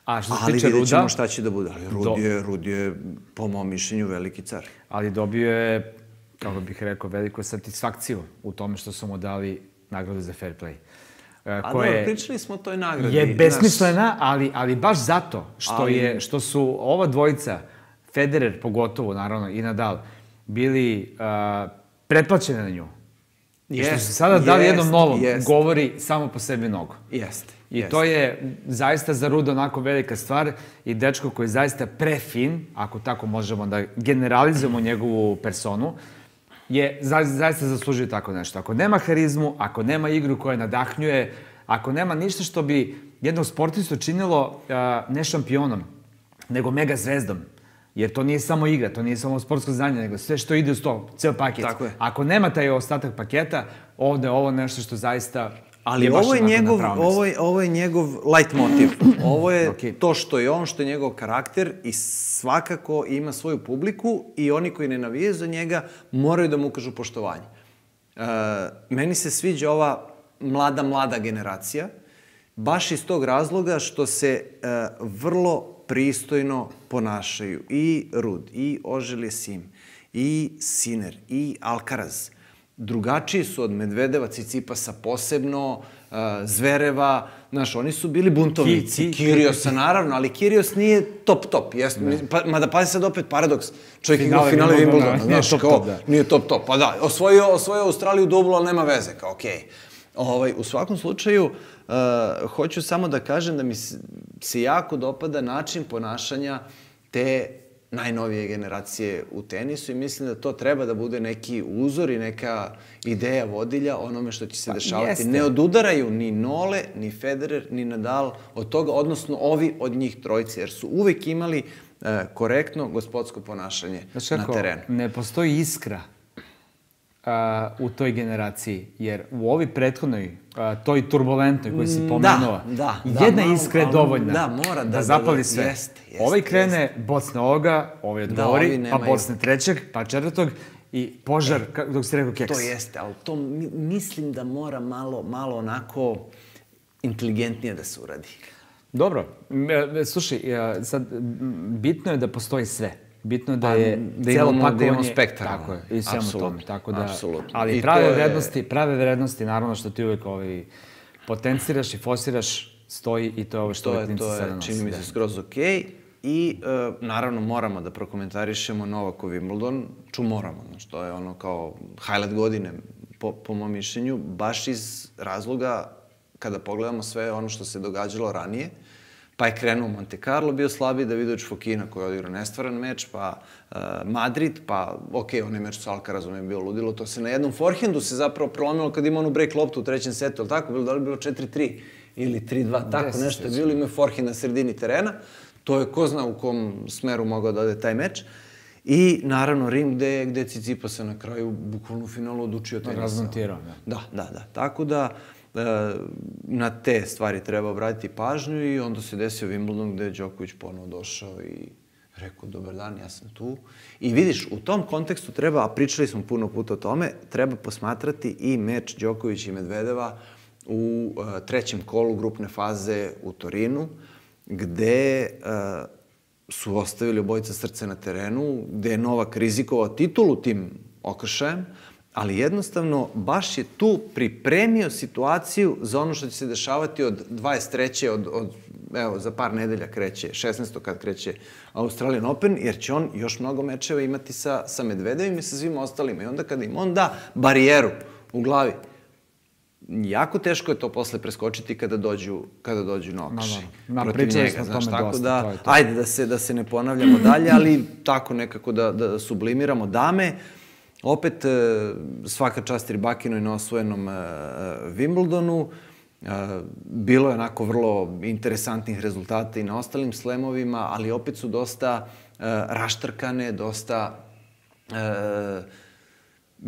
ali vidjet ćemo šta će da bude. Ali Ruud je, po mom mišljenju, veliki car. Ali dobio je, kako bih rekao, veliku satisfakciju u tome što su mu dali nagradu za fair play. Dobro, pričali smo o toj nagradi. Je besmislena, ali baš zato što su ova dvojica, Federer pogotovo, naravno, i Nadal, bili pretplaćeni na nju. I što su sada dali jednom novom, govori samo po sebi mnogo. Jeste. I to je zaista za Ruuda onako velika stvar i dečko koji je zaista prefin, ako tako možemo da generalizujemo njegovu personu, je zaista zaslužio tako nešto. Ako nema harizmu, ako nema igru koja nadahnjuje, ako nema ništa što bi jednog sportistu činilo ne šampionom, nego mega zvezdom, jer to nije samo igra, to nije samo sportsko znanje, nego sve što ide uz to, ceo paket. Ako nema taj ostatak paketa, ovde je ovo nešto što zaista... Ali ovo je njegov light motiv. Ovo je to što je on, što je njegov karakter i svakako ima svoju publiku i oni koji ne navijaju za njega moraju da mu ukažu poštovanje. Meni se sviđa ova mlada generacija, baš iz tog razloga što se vrlo pristojno ponašaju i Ruud, i Auger-Aliassime, i Sinner, i Alcaraz. Drugačiji su od Medvedeva, Cicipasa posebno, Zvereva, znaš, oni su bili buntovnici. Kyrgiosa, naravno, ali Kyrgios nije top. Mada pazi sad opet paradoks. Čovjek igra u finale Wimbledona, znaš, kao, nije top. Pa da, osvojio Australiju dublu, ali nema veze, kao okej. U svakom slučaju, hoću samo da kažem da mi se jako dopada način ponašanja te najnovije generacije u tenisu i mislim da to treba da bude neki uzor i neka ideja vodilja onome što će se dešavati. Ne odudaraju ni Nole, ni Federer, ni Nadal od toga, odnosno ovi od njih trojice, jer su uvek imali korektno gospodsko ponašanje na terenu. Ne postoji iskra u toj generaciji, jer u ovoj prethodnoj, toj turbulentnoj koju si pomenuo, jedna iskra je dovoljna da zapali sve. Ovaj krene, bocne ovoga, ovaj odgovori, pa bocne trećeg, pa četvrtog i požar, dok si rekao keks. To jeste, ali to mislim da mora malo onako inteligentnije da se uradi. Dobro, slušaj, sad bitno je da postoji sve. Bitno je da je celo pakovanje... Da imamo spektar. Tako je, i svemu tome. Ali prave vrednosti, naravno što ti uvek potenciraš i forsiraš, stoji i to je ovo što ove klinci sada nosi. Čini mi se skroz okej. I naravno moramo da prokomentarišemo Novakov Wimbledon. Moramo, znači to je ono kao highlight godine po mom mišljenju, baš iz razloga kada pogledamo sve ono što se događalo ranije. Pa je krenuo Monte Carlo, bio slabiji, Davidović Fokina koji je odigrao nestvaran meč, pa Madrid, pa onaj meč sa Alcarazom je bio ludilo. To se na jednom forehandu se zapravo prolomilo kad ima onu break loptu u trećem setu, ali tako? Da li bilo 4-3 ili 3-2, tako nešto je bilo, ima forehand na sredini terena. to je ko zna u kom smeru mogao da ode taj meč. I naravno Rim gde Tsitsipas se na kraju bukvalno u finalu odučio tenisa. Razmontirao, da. Da. Tako da na te stvari treba obratiti pažnju i onda se desio Wimbledon gde je Đoković ponovo došao i rekao dobar dan, ja sam tu. I vidiš, u tom kontekstu treba, a pričali smo puno puta o tome, treba posmatrati i meč Đoković i Medvedeva u trećem kolu grupne faze u Torinu, gde su ostavili obojica srce na terenu, gde je Novak rizikovao titulu tim okršajem, ali jednostavno baš je tu pripremio situaciju za ono što će se dešavati od 23. Evo, za par nedelja kreće, 16. kad kreće Australian Open, jer će on još mnogo mečeva imati sa Medvedevim i sa svim ostalima. I onda kada im on da barijeru u glavi, jako teško je to posle preskočiti kada dođu na okršaj protiv njega. Znaš, tako da, ajde da se ne ponavljamo dalje, ali tako nekako da sublimiramo dame. Opet, svaka čast Rybakinoj na osvojenom Wimbledonu. Bilo je onako vrlo interesantnih rezultata i na ostalim slemovima, ali opet su dosta raštrkane, dosta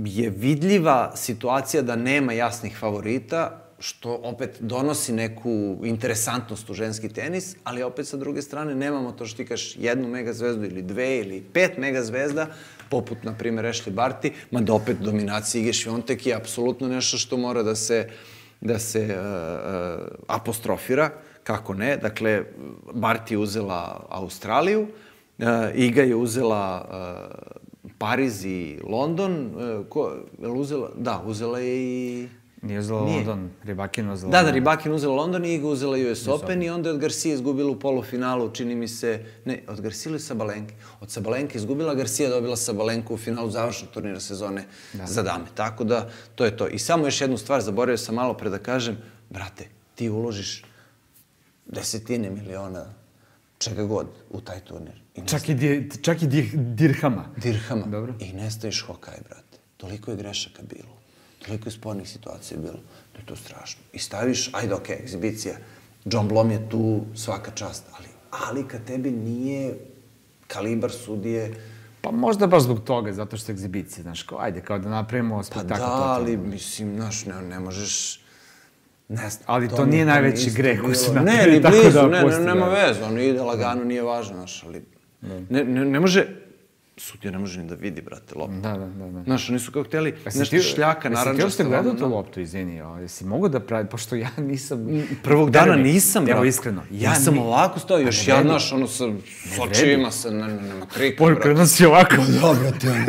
je vidljiva situacija da nema jasnih favorita, što opet donosi neku interesantnost u ženski tenis, ali opet sa druge strane nemamo to što ti kažeš jednu megazvezdu ili dve ili 5 megazvezda, poput, na primjer, Ashley Barty, mada opet dominacija Ige Świątek je apsolutno nešto što mora da se apostrofira, kako ne. Dakle, Barty je uzela Australiju, Iga je uzela Pariz i London. Je li uzela? Da, uzela je i... Nije uzela London, Rybakin uzela London. Da, Rybakin uzela London i Iga uzela US Open i onda je od Garcia izgubila u polufinalu, čini mi se... Ne, od Garcia ili Sabalenke? Od Sabalenke izgubila, Garcia dobila Sabalenku u finalu završnog turnira sezone za dame. Tako da, to je to. I samo još jednu stvar, zaboravio sam malo pre da kažem, brate, ti uložiš desetine miliona čega god u taj turnir. Čak i dirhama. Dirhama. Dobro. I nestaviš Hokaj, brate. Toliko je grešaka bilo. Toliko je spornih situacija bilo. Da je to strašno. I staviš, ajde, okej, egzibicija. John Blom je tu, svaka čast. Ali kad tebi nije kalibar sudije... Pa možda baš zbog toga, zato što je egzibicija, znaš, kao, ajde, kao da napravimo spektakl. Pa da, ali, mislim, znaš, ne možeš... Ali to nije najveći greh koji su napravili, tako da pusti. Nema veze, ono ide lagano, nije važno, znaš, ali... Ne može... Sudija ne može ni da vidi, brate, loptu. Da. Znaš, oni su kao hteli nešto šljaka, naranđasta. Jesi ti uopšte gledao tu loptu, izvini, jesi mogu da pravi, pošto ja nisam... Prvog dana nisam, brate. Evo, iskreno. Ja sam ovako stao, još ja, znaš, ono, sa sočivima, nema krika, brate. Krenuo si ovako. Da, brate, ono,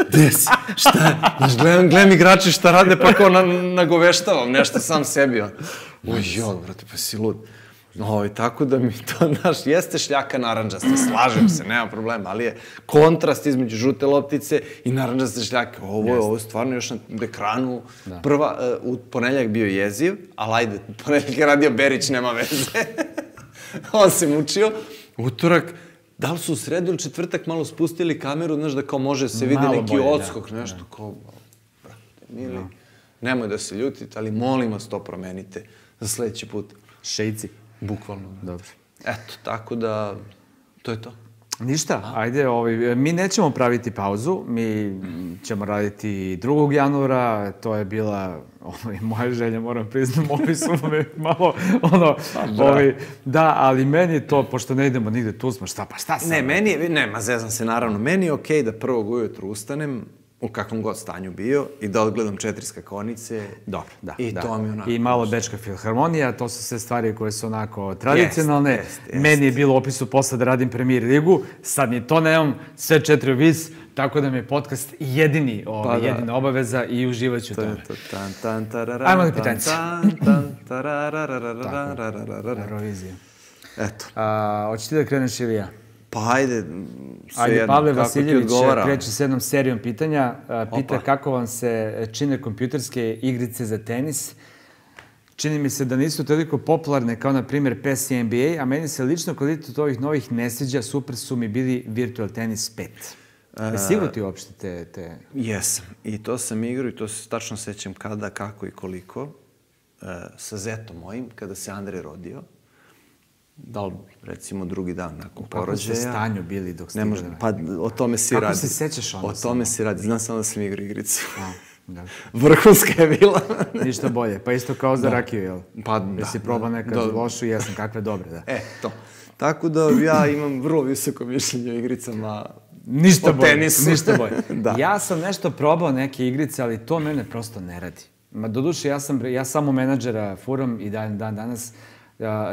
gde si, šta, znaš, gledam igrači šta rade, pa kao nagoveštavam nešto sam sebi, ono. Oj, brate, pa si lud. Tako da mi to, znaš, jeste šljaka naranđasta, slažem se, nema problema, ali je kontrast između žute loptice i naranđaste šljake. Ovo je stvarno još na ekranu. Prva, u ponedeljak bio jeziv, ali ajde, ponedeljak je radio Berić, nema veze. On se mučio. Utorak, da li su u sredu ili četvrtak malo spustili kameru, znaš, da kao može se vidi neki odskok, nešto kao, brate, mili, nemoj da se ljutite, ali molim vas to promenite za sledeći put. Šejci. Bukvalno. Dobro. Eto, tako da, to je to. Ništa, ajde, mi nećemo praviti pauzu, mi ćemo raditi 2. januara, to je bila moja želja, moram priznam, ovi su me malo, da, ali meni je to, pošto ne idemo nigde, tu smo, šta sad? Ne, zezam se, naravno, meni je okej da 1. ujutru ustanem, u kakvom god stanju bio, i da odgledam 4 skakonice. Dobro, da. I to mi onako... I malo Bečka filharmonija, to su sve stvari koje su onako tradicionalne. Meni je bilo u opisu posla da radim Premier ligu, sad ni to nemam, sve 4 vis, tako da mi je podcast jedina obaveza i uživat ću u tome. Ajmo na pitanjice. Eurovizija. Eto. Hoćeš ti da kreneš ili ja? Pa ajde, Ajde, Pavle Vasiljević kreće s jednom serijom pitanja. Pita kako vam se čine kompjuterske igrice za tenis. Čini mi se da nisu toliko popularne kao, na primjer, PES i NBA, a meni se lično kvalitet ovih novih ne sviđa, super su mi bili Virtual Tennis 5. Jesi igrao ti uopšte te... Jesam. I to sam igrao i to se tačno sećam kada, kako i koliko. Sa zetom mojim, kada se Andrej rodio. Da li, recimo, drugi dan nakon porođaja. Kako ste stanju bili dok ste igrali? Pa, o tome si radi. Kako se sećaš onda? O tome si radi. Znam samo da sam igrao igricu. Da. Vrhunska je bila. Ništa bolje. Pa isto kao za rakiju, jel? Pa da. Jesi probao nekad lošu, jesam, kakve dobre, da. To. Tako da ja imam vrlo visoko mišljenje o igricama. Ništa bolje. Tenisu. Ništa bolje. Ja sam nešto probao neke igrice, ali to mene prosto ne radi. Doduše, ja samo menadžera furam i dan danas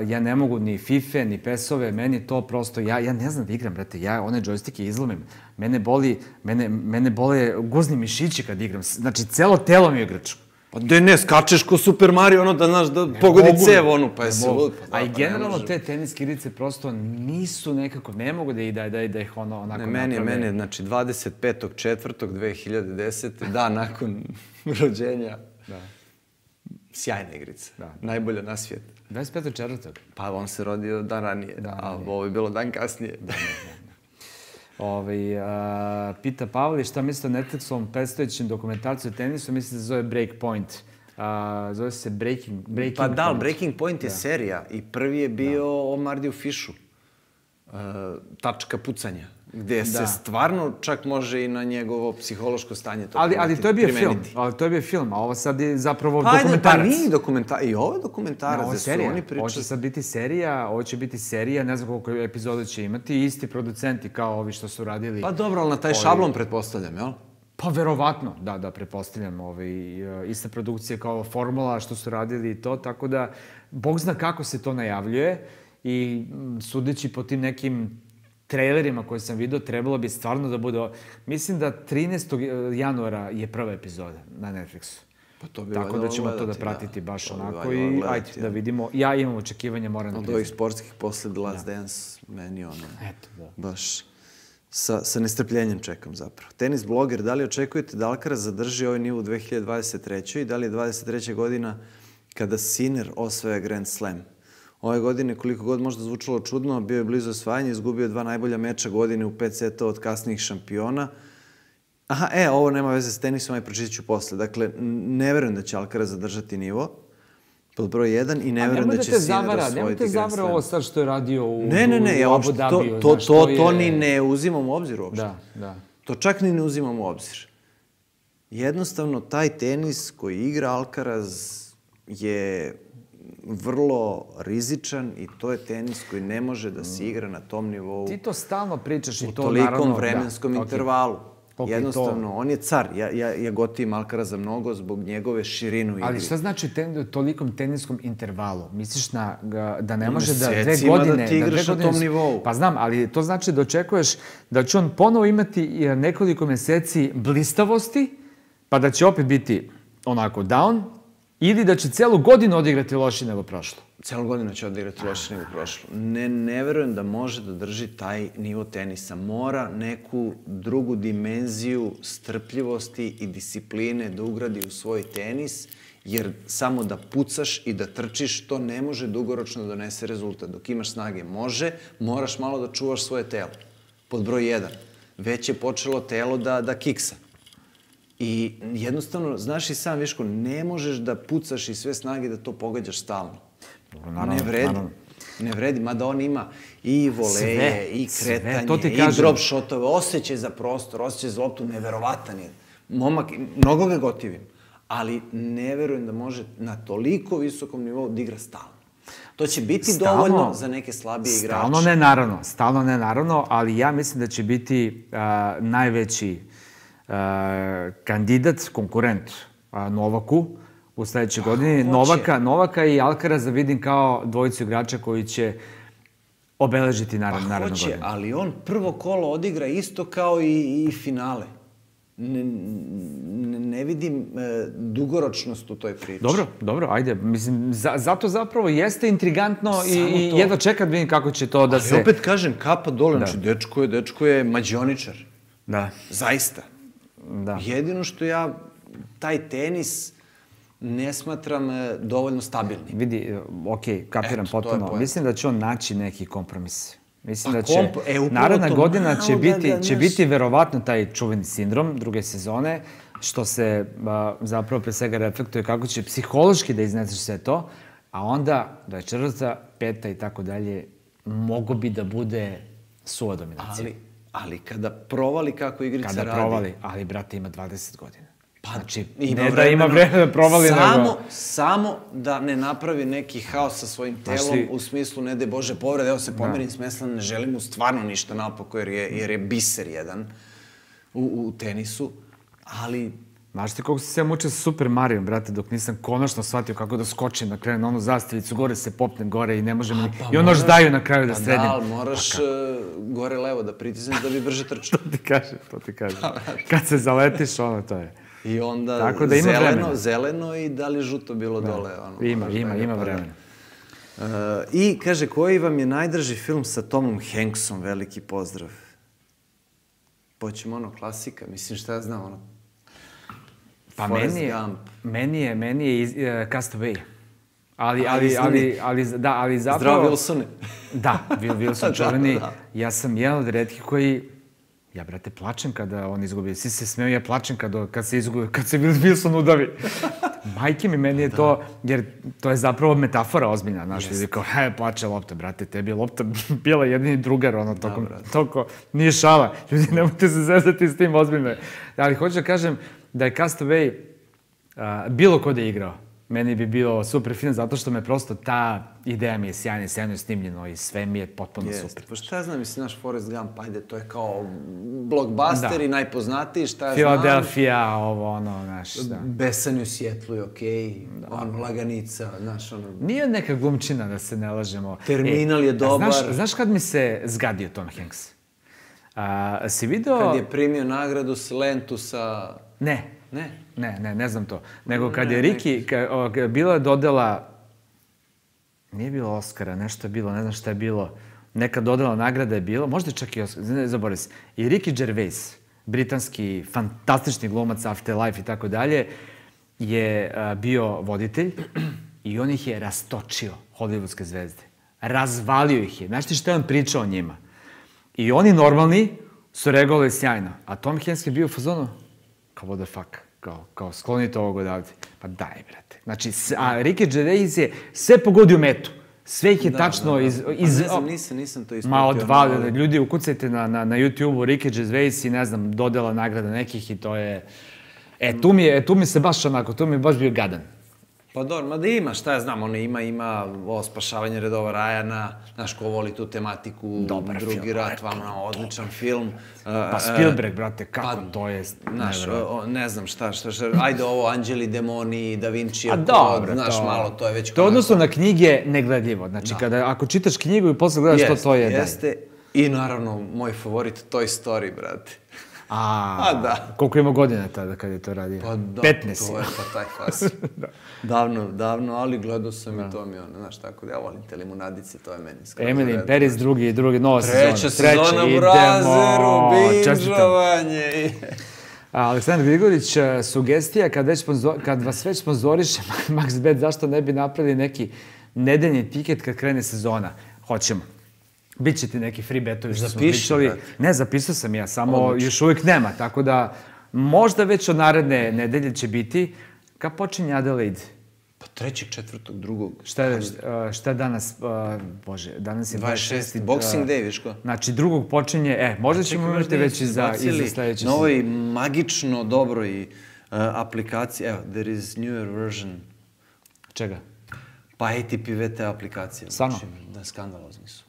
ja ne mogu ni FIFA, ni PES-ove, meni to prosto, ja ne znam da igram, brate, ja one džojstike izlomim. Mene bole guzni mišići kad igram, znači celo telo mi je igraču. Pa ne, skačeš ko Super Mario, ono da, znaš, da pogodi cev, ono, pa jesi lud. A i generalno te teniske igrice prosto nisu nekako, ne mogu da ih onako naprave. Meni je, znači, 25.4.2010. dan nakon rođenja. Sjajna igrica. Najbolja na svijetu. 25.4. Pa on se rodio dan ranije, a ovo je bilo dan kasnije. Pita Pavli šta misli o Netflixovom predstojećem dokumentarcu o tenisu, misli da se zove Breakpoint. Zove se Breaking Point. Pa da, Breaking Point je serija i prvi je bio o Mardiju Fišu. Tačka pucanja. Gde se stvarno čak može i na njegovo psihološko stanje to primetiti. Ali to je bio film, a ovo sad je zapravo dokumentarac. Pa nije dokumentarac, i ovo je dokumentarac. Ovo je serija, ovo će sad biti serija, ne znam koliko epizoda će imati, isti producenti kao ovi što su radili. Pa dobro, ali na taj šablon pretpostavljam, jel? Pa verovatno, da, pretpostavljam. Ista produkcija kao Formula što su radili i to, tako da Bog zna kako se to najavljuje i sudeći po tim nekim trailerima koje sam vidio, trebalo bi stvarno da bude... Mislim da 13. januara je prva epizoda na Netflixu. Tako da ćemo to da pratiti baš onako i ajde da vidimo. Ja imam očekivanja, moram da priznam. Od ovih sportskih posle The Last Dance, meni baš sa nestrpljenjem čekam zapravo. Tenis bloger, da li očekujete da Alcaraz zadrži ovaj nivo u 2023. i da li je 23. godina kada Sinner osvaja Grand Slam? Ove godine, koliko god možda zvučalo čudno, bio je blizu osvajanja, izgubio 2 najbolja meča godine u 5 setova od kasnijih šampiona. Ovo nema veze s tenisom, aj pročitat ću posle. Dakle, ne verujem da će Alcaraz zadržati nivo, pod broj 1, i ne verujem da će Sinner osvojiti Grand Slam. Nemojte zavara ovo sad što je radio u Abu Dhabiju. To ni ne uzimam u obzir uopšte. Da. To čak ni ne uzimam u obzir. Jednostavno, taj tenis koji igra Alcaraz je vrlo rizičan i to je tenis koji ne može da se igra na tom nivou. Ti to stalno pričaš i to naravno... U tolikom vremenskom intervalu. Jednostavno, on je car. Ja gotivim Alcaraza mnogo zbog njegove širine u igri. Ali šta znači tolikom teniskom intervalu? Misliš da ne može da 2 godine... Mesecima da ti igraš na tom nivou. Pa znam, ali to znači da očekuješ da će on ponovo imati nekoliko meseci blistavosti, pa da će opet biti onako down, ili da će celu godinu odigrati lošije nego prošlo. Celu godinu će odigrati lošije nego prošlo. Ne verujem da može da drži taj nivo tenisa. Mora neku drugu dimenziju strpljivosti i discipline da ugradi u svoj tenis, jer samo da pucaš i da trčiš, to ne može dugoročno donese rezultat. Dok imaš snage može, moraš malo da čuvaš svoje telo. Pod broj 1. Već je počelo telo da kiksa. I jednostavno, znaš i sam, Viško, ne možeš da pucaš i sve snage da to pogađaš stalno. Ne vredi, mada on ima i voleje, i kretanje, i drop shotove, osjećaj za prostor, osjećaj za loptu, neverovatan je. Momak, mnogo ga gotivim, ali ne verujem da može na toliko visokom nivou da igra stalno. To će biti dovoljno za neke slabije igrače. Stalno ne naravno, ali ja mislim da će biti najveći kandidat, konkurent Novaku u sledećoj godini. Novaka i Alcaraza vidim kao dvojicu igrača koji će obeležiti narednu godinu. Hoće, ali on prvo kolo odigra isto kao i finale. Ne vidim dugoročnost u toj priči. Dobro, ajde. Mislim, zato zapravo jeste intrigantno i jedva čekam da vidim kako će to da se... Ali opet kažem, kapa dole, znači dečko je mađioničar. Da. Zaista. Jedino što ja taj tenis ne smatram dovoljno stabilnim. Vidi, kapiram potpuno. Mislim da će on naći neki kompromis. Mislim da će naredna godina će biti verovatno taj čuveni sindrom druge sezone, što se zapravo pre svega reflektuje kako će psihološki da izneseš sve to A onda, do četvrta, peta i tako dalje, mogo bi da bude suva dominacija. Ali kada provali kako igrica radi... Kada provali, ali brate ima 20 godina. Pa, znači, ima ne da ima vremena da provali, nego... Samo da ne napravi neki haos sa svojim telom, u smislu, ne de Bože, povrede, evo se pomerim smesla, ne želim mu stvarno ništa napako, jer je biser jedan u tenisu, ali... Znaš ti koliko sam se ja mučio sa Super Marijom, brate, dok nisam konačno shvatio kako da skočim na kraju na onu zastavicu, gore se popnem gore i ne može mi... I ono još daju na kraju da sredim. Pa da, ali moraš gore levo da pritisneš da bi brže trčao. To ti kažem. Kad se zaletiš, ono to je. I onda zeleno i da li žuto bilo dole. Ima vremena. I kaže, koji vam je najdraži film sa Tomom Hanksom? Veliki pozdrav. Poćemo ono klasika, mislim šta ja znam, ono... Pa meni je Castaway. Ali zapravo... Zdravo, Wilsone. Da, Wilson čuveni. Ja sam jedan od retkih koji... Ja, brate, plačem kada on izgubi. Svi se smeju, ja plačem kad se Wilson udavi. Majke mi, meni je to... Jer to je zapravo metafora ozbiljna. Znaš, ljudi kao, plače lopta, brate, tebi je lopta bila jedini drugar, ono, toko, nije šala. Ljudi, nemojte se zezati s tim ozbiljno. Ali hoću da kažem da je Castaway bilo ko da je igrao. Meni bi bilo super film, zato što me prosto ta ideja mi je sjajno snimljeno i sve mi je potpuno super. Pa šta ja znam, mislim, naš Forrest Gump, ajde, to je kao blockbuster i najpoznatiji, šta ja znam. Philadelphia, ovo, ono, znaš, da. Besanju Sjetlu je okej, ono, Laganica, znaš, ono... Nije neka glumčina, da se ne lažemo. Terminal je dobar. Znaš kad mi se zgadio Tom Hanks? Si video... Kad je primio nagradu s Lentu sa... Ne znam to. Nego kad je Ricky, bila je dodela, nije bilo Oscara, nešto je bilo, ne znam šta je bilo, neka dodela nagrada je bilo, možda čak i Oscar, ne zaboravim se. I Ricky Gervais, britanski, fantastični glumac, Afterlife i tako dalje, je bio voditelj i on ih je rastočio, hollywoodske zvezde. Razvalio ih je. Znaš ti šta je on pričao o njima? I oni normalni su reagovali sjajno. A Tom Hanks je bio u fazonu, kao what the fuck, kao sklonite ovog odavde. Pa daj, brate. Znači, a Ricky Gervais je sve pogodio metu. Sve ih je tačno iz... Nisam to ispratio. Ma odvalili. Ljudi, ukucajte na YouTube-u Ricky Gervais i ne znam, dodela nagrada nekih i to je... tu mi se baš onako, tu mi je baš bio gadan. Pa dobro, ma da ima, šta ja znam, ono ima ovo Spašavanje redova Ryana, znaš ko voli tu tematiku, Drugi rat, vama odličan film. Pa Spielberg, brate, kako to je... Znaš, ne znam šta, ajde ovo, Anđeli, demoni, Da Vinci, znaš, malo, to je već... To odnosno na knjige negledljivo, znači ako čitaš knjigu i posle gledaš što to je... Jeste, i naravno, moj favorit, Toy Story, brate. Da. Koliko ima godina tada kad je to radio? Pa da, 15. to je pa taj fas. Davno, ali gledao sam i to mi ono, znaš, tako da ja volim te limunadice, to je meni skoro. Emily in Paris, drugi, nova sezona. Treća sezona u Brazeru, binžovanje. Aleksandar Grigorić, sugestija, kad vas već sponzoriše MaxBet, zašto ne bi napravili neki nedeljni tiket kad krene sezona? Hoćemo. Biće ti neki free betovi što smo pričali. Ne, zapisao sam ja, samo još uvijek nema, tako da možda već od naredne nedelje će biti. Kad počinje Adelaide? Pa 3., 4., 2. Šta je danas? Bože, danas je 26. Boxing Day, viš ko? Znači, 2. počinje, možda ćemo imati već i za sledeće. Na ovoj magično dobroj aplikaciji, evo, there is newer version. Čega? Pa ATP VT aplikacija. Stvarno? Da, skandalozni su.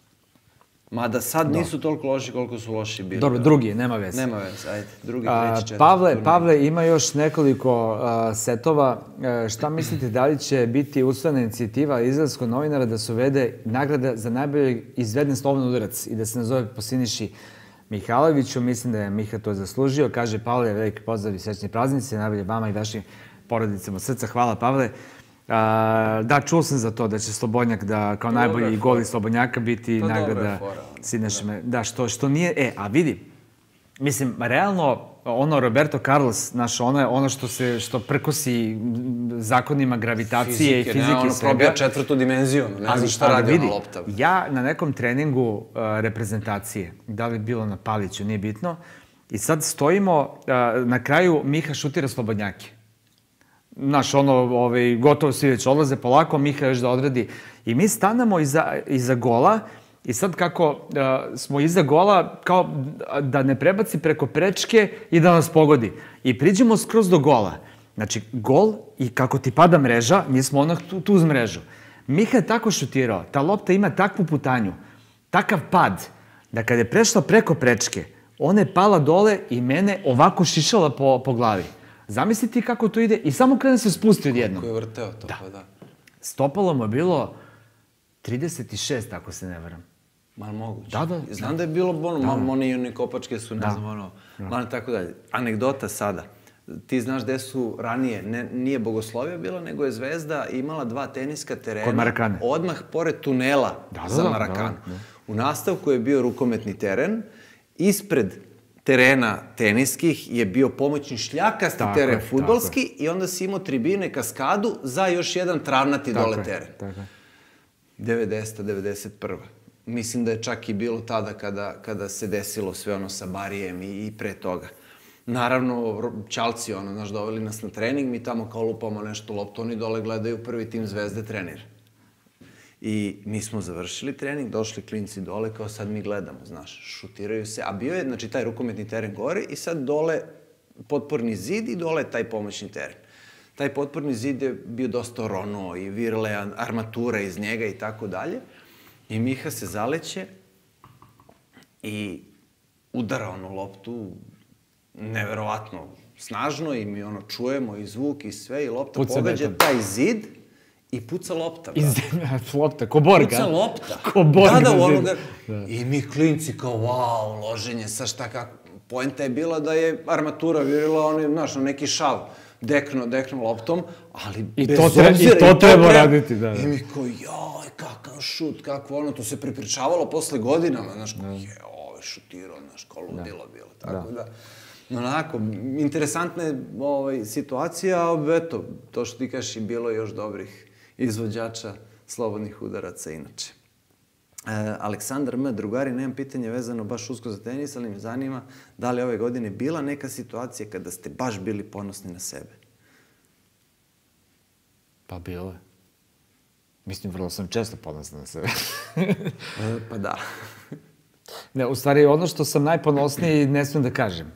Mada sad nisu toliko loši koliko su loši bili. Dobro, drugi, nema veze. Nema veze, ajde. Drugi, 3., 4. Pavle, ima još nekoliko setova. Šta mislite, da li će biti usvojena inicijativa izraelskog novinara da se uvede nagrada za najbolje izveden slovni udarac i da se nazove po Siniši Mihajloviću? Mislim da je Miha to zaslužio. Kaže Pavle, veliki pozdrav i srećni praznici, najbolje vama i vašim porodicama od srca. Hvala, Pavle. Da, čuo sam za to da će Slobodnjak da kao najbolji gol iz Slobodnjaka biti nagrada Siniša. Da, što nije... A vidi, mislim, realno, ono Roberto Carlos, ono što prkosi zakonima gravitacije i fizike svega... Ono probija 4. dimenziju, ne znam šta radi ona lopta. Ja na nekom treningu reprezentacije, da li bilo na Paliću, nije bitno, i sad stojimo, na kraju Miha šutira Slobodnjake. znaš, ono, gotovo svi već odlaze polako, Miha još da odradi. I mi stanemo iza gola i sad kako smo iza gola, kao da ne prebaci preko prečke i da nas pogodi. I priđemo skroz do gola. Znači, gol i kako ti pada mreža, mi smo onak tu uz mrežu. Miha je tako šutirao, ta lopta ima takvu putanju, takav pad, da kada je prešla preko prečke, ona je pala dole i mene ovako šišala po glavi. Zamisli ti kako to ide i samo kada se spusti odjednom. Kako je vrteo to, pa da. Stopalo mu je bilo 36, ako se ne varam. Malo moguće. Da. Znam da je bilo, one i one kopačke su, ne znam, ono, tako dalje. Anegdota sada. Ti znaš gde su ranije, nije Bogoslovija bila, nego je Zvezda imala 2 teniska terena. Kod Marakane. Odmah pored tunela za Marakanu. U nastavku je bio rukometni teren, ispred terena teniskih je bio pomoćni šljakasti teren fudbalski i onda si imao tribine, kaskadu za još jedan travnati dole teren. 90. 91. Mislim da je čak i bilo tada kada se desilo sve ono sa Barijem i pre toga. Naravno, Ćalci, znaš, doveli nas na trening, mi tamo kao lupamo nešto loptu, oni dole gledaju prvi tim Zvezde trenira. I mi smo završili trening, došli klinci dole, kao sad mi gledamo, znaš, šutiraju se, a bio je, znači, taj rukometni teren gore i sad dole potporni zid i dole taj pomoćni teren. Taj potporni zid je bio dosta oronuo i virle armatura iz njega i tako dalje. I Miha se zaleće i udara onu loptu neverovatno snažno i mi čujemo i zvuk i sve i lopta pogađa taj zid i puca lopta. Lopta, ko Borga. Puca lopta. Ko Borga. Da. I mi klinci kao, wow, loženje, sa šta kako. Poenta je bila da je armatura virila, znaš, na neki šav. Dekno loptom, ali bez obzira... I to treba raditi, da. I mi kao, joj, kakav šut, kakvo to se prepričavalo posle godinama, znaš, kao, ovo je šutirao, znaš, kao ludilo bilo, tako da... Onako, interesantna je situacija, a eto, to što ti kažeš, i bilo još dobrih izvođača slobodnih udaraca inače. Aleksandar M. Drugari, nemam pitanje vezano baš usko za tenis, ali me zanima da li ove godine bila neka situacija kada ste baš bili ponosni na sebe? Pa bilo je. Mislim, vrlo sam često ponosna na sebe. Pa da. Ne, u stvari, ono što sam najponosniji ne smijem da kažem.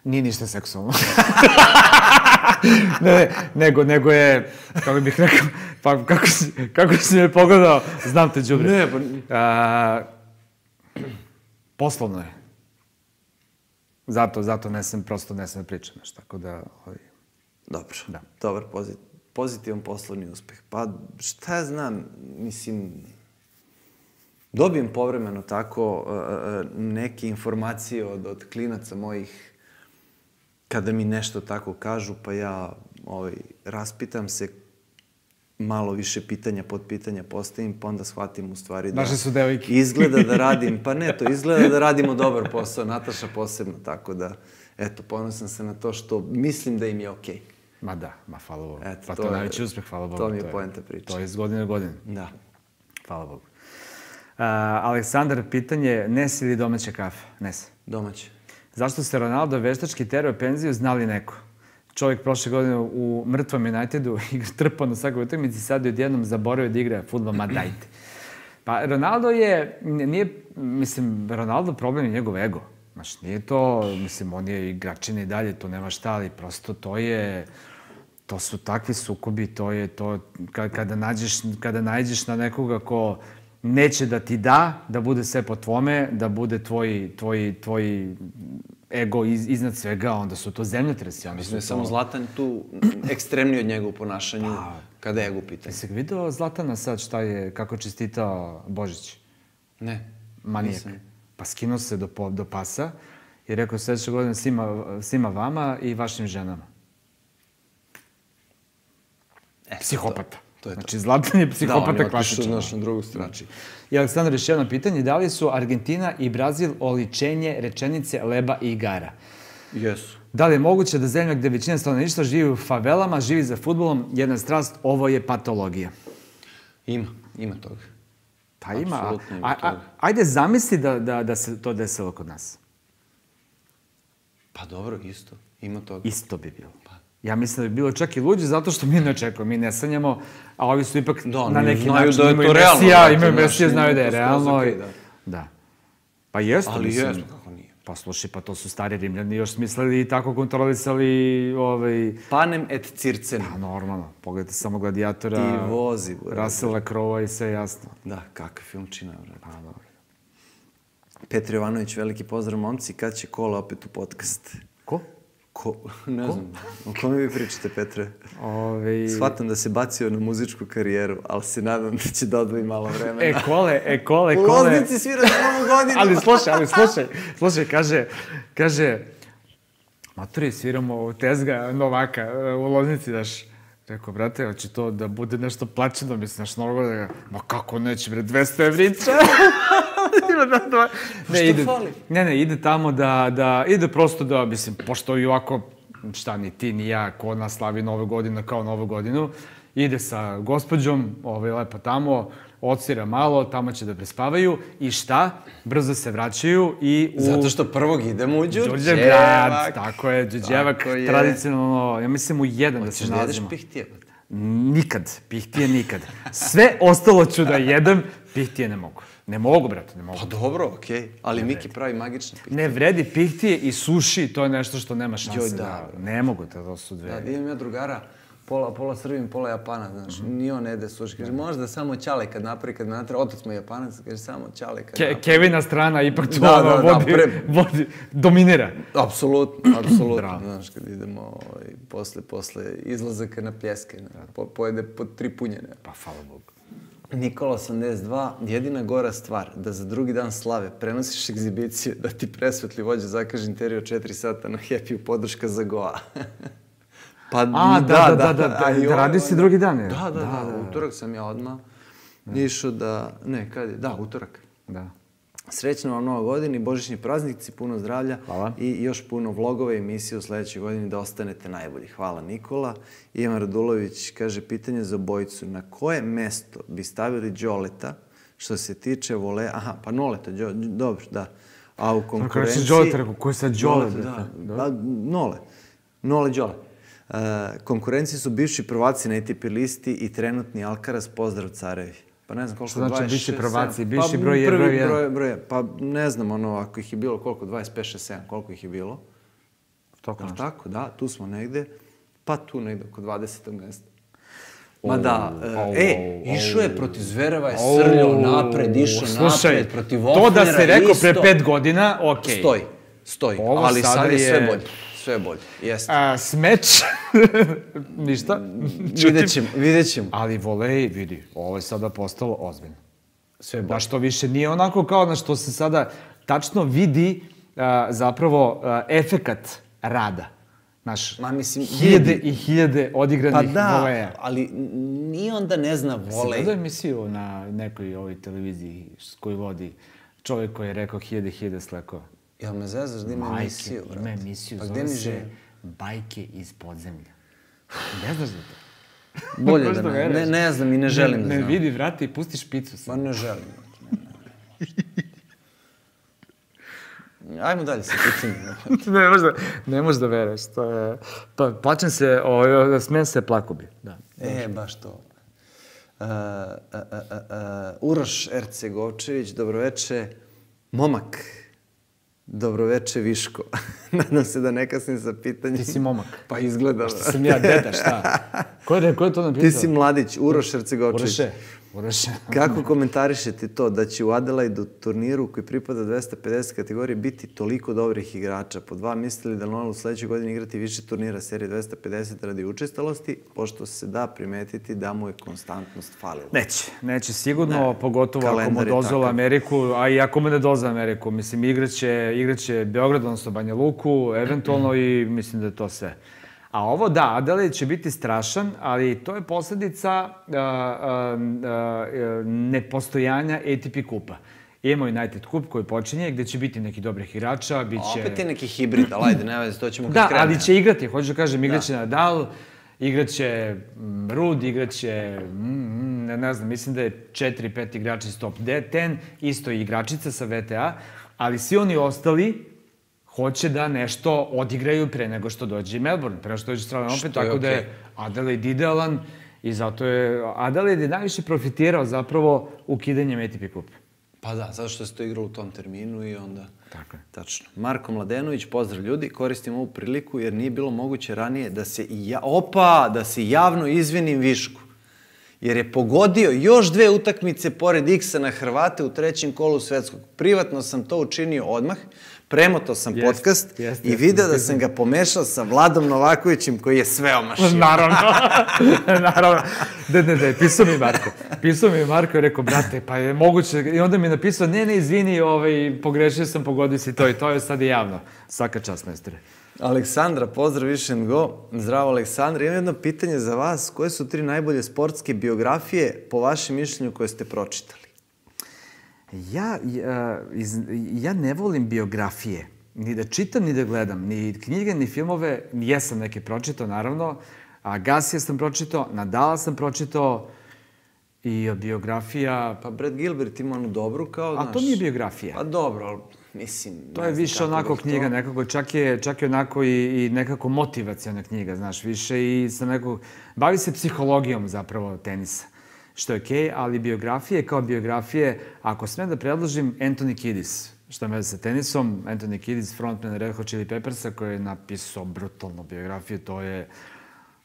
Nije ništa seksualno. Nego je, kako bih rekao, pa kako si me pogledao, znam te, đubre. Ne, pa... Poslovno je. Zato ne sam da pričam, tako da... Dobro, dobar, pozitivan poslovni uspeh. Pa, šta ja znam, mislim... Dobijem povremeno tako neke informacije od klinaca mojih kada mi nešto tako kažu, pa ja raspitam se, malo više pitanja, podpitanja postavim, pa onda shvatim u stvari da... Naše su devojke. Izgleda da radim, pa ne, to izgleda da radimo dobar posao, Nataša posebno, tako da, eto, ponosan sam na to što mislim da im je okej. Ma da, hvala Bogu. Pa to je najveći uspeh, hvala Bogu. To mi je poenta priče. To je iz godine u godinu. Da. Hvala Bogu. Aleksandar, pitanje, Nes ili domaća kafa? Nes. Domaće. Zašto se Ronaldo veštački terao penziju, znali neko? Čovjek prošle godine u mrtvom Unitedu igra trpao na svakoj utakmici, sad je odjednom zaboravio da igra fudbal, ma dajte. Pa Ronaldo Ronaldo problem je njegov ego. Znaš, nije to, on je igračin i dalje, to nema šta, ali prosto to su takvi sukobi, to je to, kada nađeš na nekoga ko neće da ti da bude sve po tvome, da bude tvoj ego iznad svega, onda su to zemljotresi. Mislim da je samo Zlatan tu ekstremniji od njega u ponašanju kada je ego pitanje. Jesi vidio Zlatana sad kako je čestitao Božić? Ne. Manijak. Pa skinuo se do pasa i rekao sljedeće godine svima vama i vašim ženama. Psihopata. Znači, Zlatan je psihopata klasičan. Da, on je otišao na drugu stranu. I Aleksandar, još jedno pitanje, da li su Argentina i Brazil oličenje rečenice leba i igara? Jesu. Da li je moguće da zemlja gde većina stanovništva živi u favelama, živi za fudbalom, jedna strast, ovo je patologija? Ima toga. Pa ima. Ajde zamisli da se to desilo kod nas. Pa dobro, isto. Ima toga. Isto bi bilo. Ja mislim da bi bilo čak i luđe zato što mi ne očekujemo, mi ne sanjamo, a ovi su ipak na neki znaju način da je imaju to realno, Mesija, brate, imaju znaš, Mesija, znaju da je skroz realno. okej, Da. Pa jeste, Ali mislim. jeste, kako nije. Pa slušaj, pa to su stari Rimljani još smislili i tako kontrolisali Panem et circem. Pa normalno, pogledajte samo Gladijatora, I vozi, Russella Crowe i sve jasno. Da, kakav filmčina, brate. Pa dobro. Petar Jovanović, veliki pozdrav, momci, kad će Kola opet u podcast? Ko? Ne znam, o kome vi pričate, Petre? Shvatam da se bacio na muzičku karijeru, ali se nadam da će da odvoji malo vremena. Kole. U Loznici svira za novu godinu. Ali slušaj, kaže, maturi, sviramo Tezga Novaka u Loznici, daš. Rekao, brate, hoće to da bude nešto plaćeno, mislim, naš Novo godina. Ma kako neće, bre, 200 evrića. Što fali? Ne, ide tamo ide prosto da, mislim, pošto i ovako, šta, ni ti, ni ja, ko nas slavi Novu godinu kao Novu godinu, ide sa gospođom, lepo tamo, odsvira malo, tamo će da prespavaju i šta? Brzo se vraćaju i Zato što prvog idemo u Đurđevgrad. Tako je, Đurđevak, tradicionalno, ja mislim u 1 da se nalazimo. Hoćeš da jedeš pihtije? Nikad, pihtije nikad. Sve ostalo ću da jedem, pihtije ne mogu. Ne mogu, brate, ne mogu. Pa dobro, okej. Ali Miki pravi magične pihtije. Ne vredi pihtije i suši, to je nešto što nema šanse da... Ne mogu, to su dve. Da, imam ja drugara, pola Srbin, pola Japanac, znaš, ni on ne jede suši. Kaže, možda samo ćale kad napravi, kad natra, otac mu je Japanac, kaže, samo ćale kad napravi. Kevina strana ipak tu vodi, dominira. Apsolutno, znaš, kad idemo posle izlazaka na pljeske, pojede po 3 punjene. Pa, hvala Bogu. Nikola 82, jedina gora stvar, da za drugi dan slave prenosiš egzibiciju, da ti presvetli vođa zakaže intervju 4 sata na Happy-u, podrška za Goa. Pa da radi si drugi dan, je? Da, utorak sam ja odmah išao da... Ne, kad je? Da, utorak. Da. Srećna vam Nova godina i božićni praznici, puno zdravlja. Hvala. I još puno vlogova i emisije u sledećoj godini da ostanete najbolji. Hvala, Nikola. Ivan Radulović kaže, pitanje za obojicu. Na koje mesto bi stavili Đoleta što se tiče vole... Aha, pa Noleta, dobro, da. A u konkurenciji... Kako reći Đoleta, ko je sad Đole? Da, Nole Đole. Konkurenciji su bivši prvaci na ATP listi i trenutni Alcaraz, pozdrav carevi. Pa ne znam koliko, 26... Što znači bivši prvaci, bivši broj 1? Pa ne znam, ako ih je bilo koliko, 25, 6, 7, koliko ih je bilo. Tako, da, tu smo negde, pa tu negde oko 20. mesta. Ma da, išao je protiv Zvereva, je srljao napred, išao napred, protiv Ofnera, to da si rekao pre 5 godina, okej. Stoji, ali sad je sve bolje. Sve bolje, jeste. Smeč, ništa. Vidjet ćemo. Ali volej, vidi, ovo je sada postalo ozbiljno. Sve bolje. Da što više nije onako kao na što se sada tačno vidi zapravo efekat rada. Znaš, hiljade i hiljade odigranih voleja. Pa da, ali nije onda ne zna volej. Si gledao emisiju na nekoj ovoj televiziji koju vodi čovjek koji je rekao hiljade slekova? Jel me zezaš da ima emisiju, brate? Ima emisiju, zove se Bajke iz podzemlja. Ne znaš za to? Bolje da ne znam i ne želim da znam. Ne vidi, vrati i pustiš picu sad. Ma ne želim. Ajmo dalje sa pitanjem. Ne možeš da veruješ. Plačem se, smijem se, plako bi. Baš to. Uroš Ercegovčević, dobroveče. Momak. Dobroveče, Viško. Nadam se da ne kasnim sa pitanjem. Ti si momak. Pa izgleda. Što sam ja deda, šta? Ko je to napisao? Ti si mladić, Uroš Ercegovčević. Uroše. Kako komentarišete to da će u Adelaidu turniru koji pripada 250 kategorije biti toliko dobrih igrača? Po 2, mislili da Nole u sledećoj godini igrati više turnira serije 250 radi učestalosti, pošto se da primetiti da mu je konstantnost falila? Neće sigurno, pogotovo ako mu dozvola Ameriku, a i ako mu ne dozvola Ameriku. Mislim, igraće Beograd, odnosno Banja Luku, eventualno i mislim da je to sve. A ovo da, Adelaide će biti strašan, ali to je posledica nepostojanja ATP kupa. Imamo United Cup koji počinje, gde će biti neki dobrih igrača, bit će... Opet je neki hibrid, ali ajde, ne veze, to ćemo kad krene. Da, ali će igrati, hoću da kažem, igraće Nadal, igraće Rud, igraće, ne znam, mislim da je 4-5 igrača iz top 10, isto i igračica sa VTA, ali svi oni ostali hoće da nešto odigraju pre nego što dođe Melbourne, pre nego što dođe Australian Open, tako da je Adelaide idealan i zato je Adelaide najviše profitirao zapravo ukidanjem ATP kupa. Pa da, zato što se to igralo u tom terminu i onda... Tako je. Tačno. Marko Mladenović, pozdrav ljudi, koristim ovu priliku jer nije bilo moguće ranije da se javno izvinim Višku. Jer je pogodio još 2 utakmice pored X-a na Hrvate u 3. kolu svetskog. Privatno sam to učinio odmah, premotao sam podcast i video da sam ga pomešao sa Vladom Novakovićem koji je sve omašio. Naravno. Ne, pisao mi Marko i rekao, brate, pa je moguće, i onda mi je napisao, ne, izvini, pogrešio sam, pogodio si to i to je sad i javno. Svaka čast, majstore. Aleksandra, pozdrav Wish and Go. Zdravo, Aleksandra. Imam jedno pitanje za vas. Koje su 3 najbolje sportske biografije, po vašem mišljenju, koje ste pročitali? Ja ne volim biografije. Ni da čitam, ni da gledam. Ni knjige, ni filmove. Jesam neke pročitao, naravno. Agassija sam pročitao, Nadala sam pročitao. I biografija... Pa Brad Gilbert ima onu dobru kao, znaš... A to nije biografija. Pa dobro, ali mislim... To je više onako knjiga nekako, čak je onako i nekako motivacijona knjiga, znaš, više i sa nekog... Bavi se psihologijom zapravo tenisa, što je okej, ali biografije kao biografije, ako smem da predložim Anthony Kiddis, što je sa tenisom, Anthony Kiddis, frontman Red Hot Chili Peppersa, koji je napisao brutalnu biografiju, to je...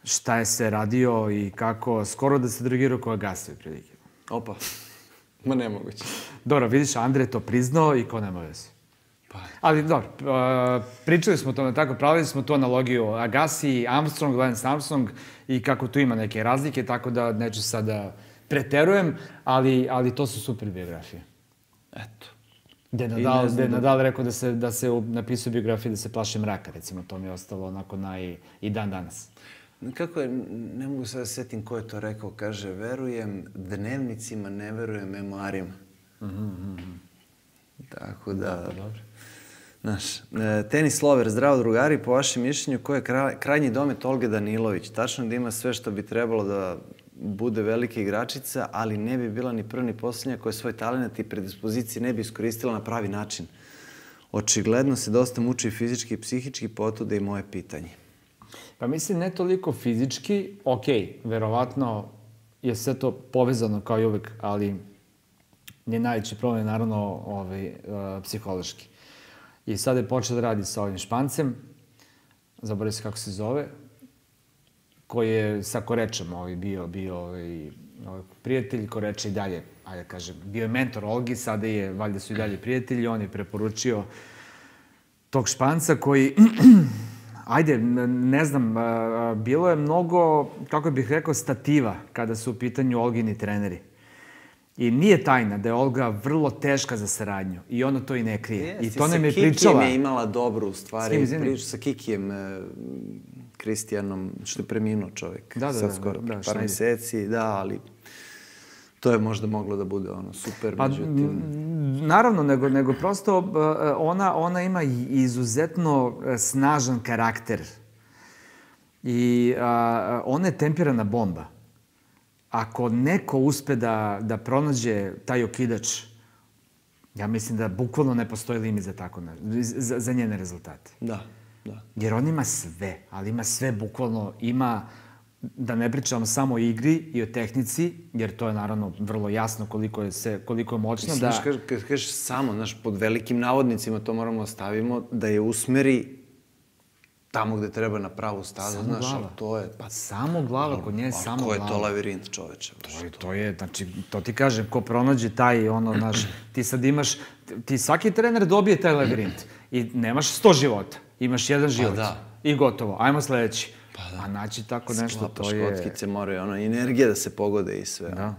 šta je se radio i kako, skoro da se drogirao ko Agassi, prilike. Opa, ma nemoguće. Dobro, vidiš, Andrej to priznao i ko nema veze. Ali dobro, pričali smo to tako, pravili smo tu analogiju Agassi, Armstrong, Lance Armstrong i kako tu ima neke razlike, tako da neću sada preterujem, ali to su super biografije. Eto. Gde je Nadal rekao da se napisao biografiju da se plaše mraka, recimo, to mi je ostalo onako i dan danas. Kako je, ne mogu sada setim ko je to rekao, kaže, verujem dnevnicima, ne verujem memoarima. Tako da... Znaš, tenis lover, zdravo drugari, po vašem mišljenju, ko je krajnji domet Olge Danilović? Tačno da ima sve što bi trebalo da bude velika igračica, ali ne bi bila ni prva ni posljednja koja svoj talent i predispozicije ne bi iskoristila na pravi način. Očigledno se dosta muči fizički i psihički, potuda i moje pitanje. Pa mislim, ne toliko fizički, okej, verovatno je sve to povezano kao i uvek, ali njen najveći problem je naravno psihološki. I sad je počeo da radi sa ovim Špancem, zaboravim se kako se zove, koji je sa Korečem bio prijatelj, Koreče i dalje, ajde kažem, bio je mentor Olgi, sada je, valjda su i dalje prijatelji, on je preporučio tog Španca koji... Ajde, ne znam, bilo je mnogo, kako bih rekao, stativa kada su u pitanju Olgini treneri. I nije tajna da je Olga vrlo teška za saradnju. I ona to i ne krije. I to nam je pričala. Sa Kikijem je imala dobru stvari. Priču sa Kikijem, Kristijanom, što je preminuo čovjek. Sad skoro, par meseci, da, ali... To je možda moglo da bude super, međutim... Naravno, nego prosto ona ima izuzetno snažan karakter. I ona je tempirana bomba. Ako neko uspe da pronađe taj okidač, ja mislim da bukvalno ne postoji limit za njene rezultate. Da. Jer on ima sve, ali ima sve bukvalno, da ne pričamo samo o igri i o tehnici, jer to je naravno vrlo jasno koliko je moćno da... Kad kažeš samo, znaš, pod velikim navodnicima to moramo stavimo, da je usmeri tamo gde treba na pravu stazu, znaš, ali to je... Samo glava, kod nje je samo glava. Ko je to lavirint, čoveče? To je, znači, to ti kažem, ko pronađe taj, znaš, ti sad imaš, svaki trener dobije taj lavirint i nemaš 100 života, imaš 1 život i gotovo, ajmo sledeći. A naći tako nešto, to je... Sklapaš kockice, moraju energija da se pogode i sve. Da.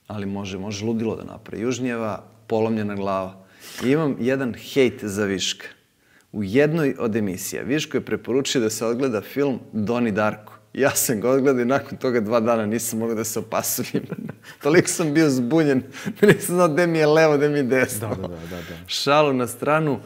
Ali može ludilo da napravi. Južnjeva, polomljena glava. I imam jedan hejt za Viška. U jednoj od emisija Viško je preporučio da se odgleda film Doni Darko. Ja sam ga odgledao i nakon toga 2 dana nisam mogao da se opasujem. Toliko sam bio zbunjen, nisam znao gde mi je levo, gde mi je desno. Da. Šalu na stranu.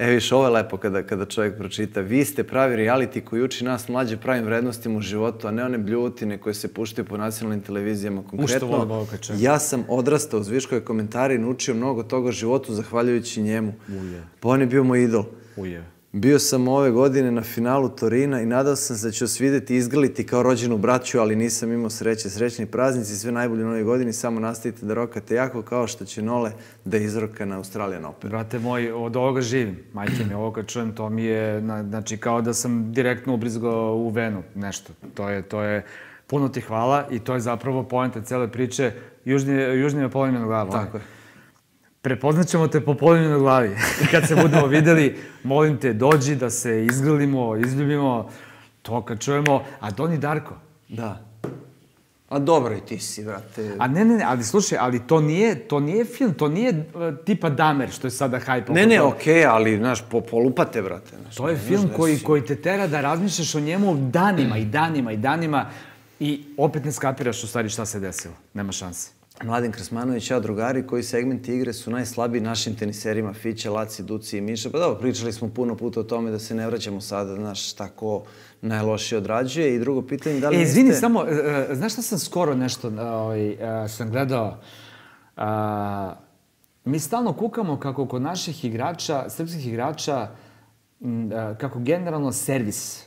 Viš, ovo je lepo kada čovjek pročita. Vi ste pravi reality koji uči nas mlađe pravim vrednostima u životu, a ne one bljutine koje se puštaju po nacionalnim televizijama. Konkretno, ja sam odrastao uz Viškove komentare i naučio mnogo toga o životu zahvaljujući njemu. Pa on je bio moj idol. Bio sam ove godine na finalu Torina i nadao sam se da ću vas vidjeti i izgrliti kao rođenu braću, ali nisam imao sreće. Srećni praznici, sve najbolje u novoj godini, samo nastavite da rokate jako kao što će Nole da izroka na Australian Open. Brate moj, od ovoga živim. Majke mi, ovo kad čujem, to mi je, znači, kao da sam direktno ubrizgao u venu nešto. To je, puno ti hvala i to je zapravo poenta cele priče. Južni me polimljeno glava. Tako je. Prepoznat ćemo te po polimljenoj glavi. Kad se budemo videli, molim te, dođi da se izgrlimo, izljubimo, to kad čujemo. A Doni Darko? Da. A dobro i ti si, brate. A ne, ali slušaj, ali to nije film, to nije tipa Damer, što je sada hajp. Ne, okej, ali, znaš, polupate, brate. To je film koji te tera da razmišljaš o njemu danima i danima i danima i opet ne skapiraš u stvari šta se desilo. Nema šanse. Mladen Krasmanović, ja drugari, koji segmenti igre su najslabiji našim teniserima, Fića, Laci, Duci i Miša. Pa dobro, pričali smo puno puta o tome da se ne vraćamo sada, znaš, šta ko najlošije odrađuje. I drugo pitanje, da li niste... Izvini, samo, znaš šta sam skoro nešto sam gledao? Mi stalno kukamo kako kod naših igrača, srpskih igrača, kako generalno servis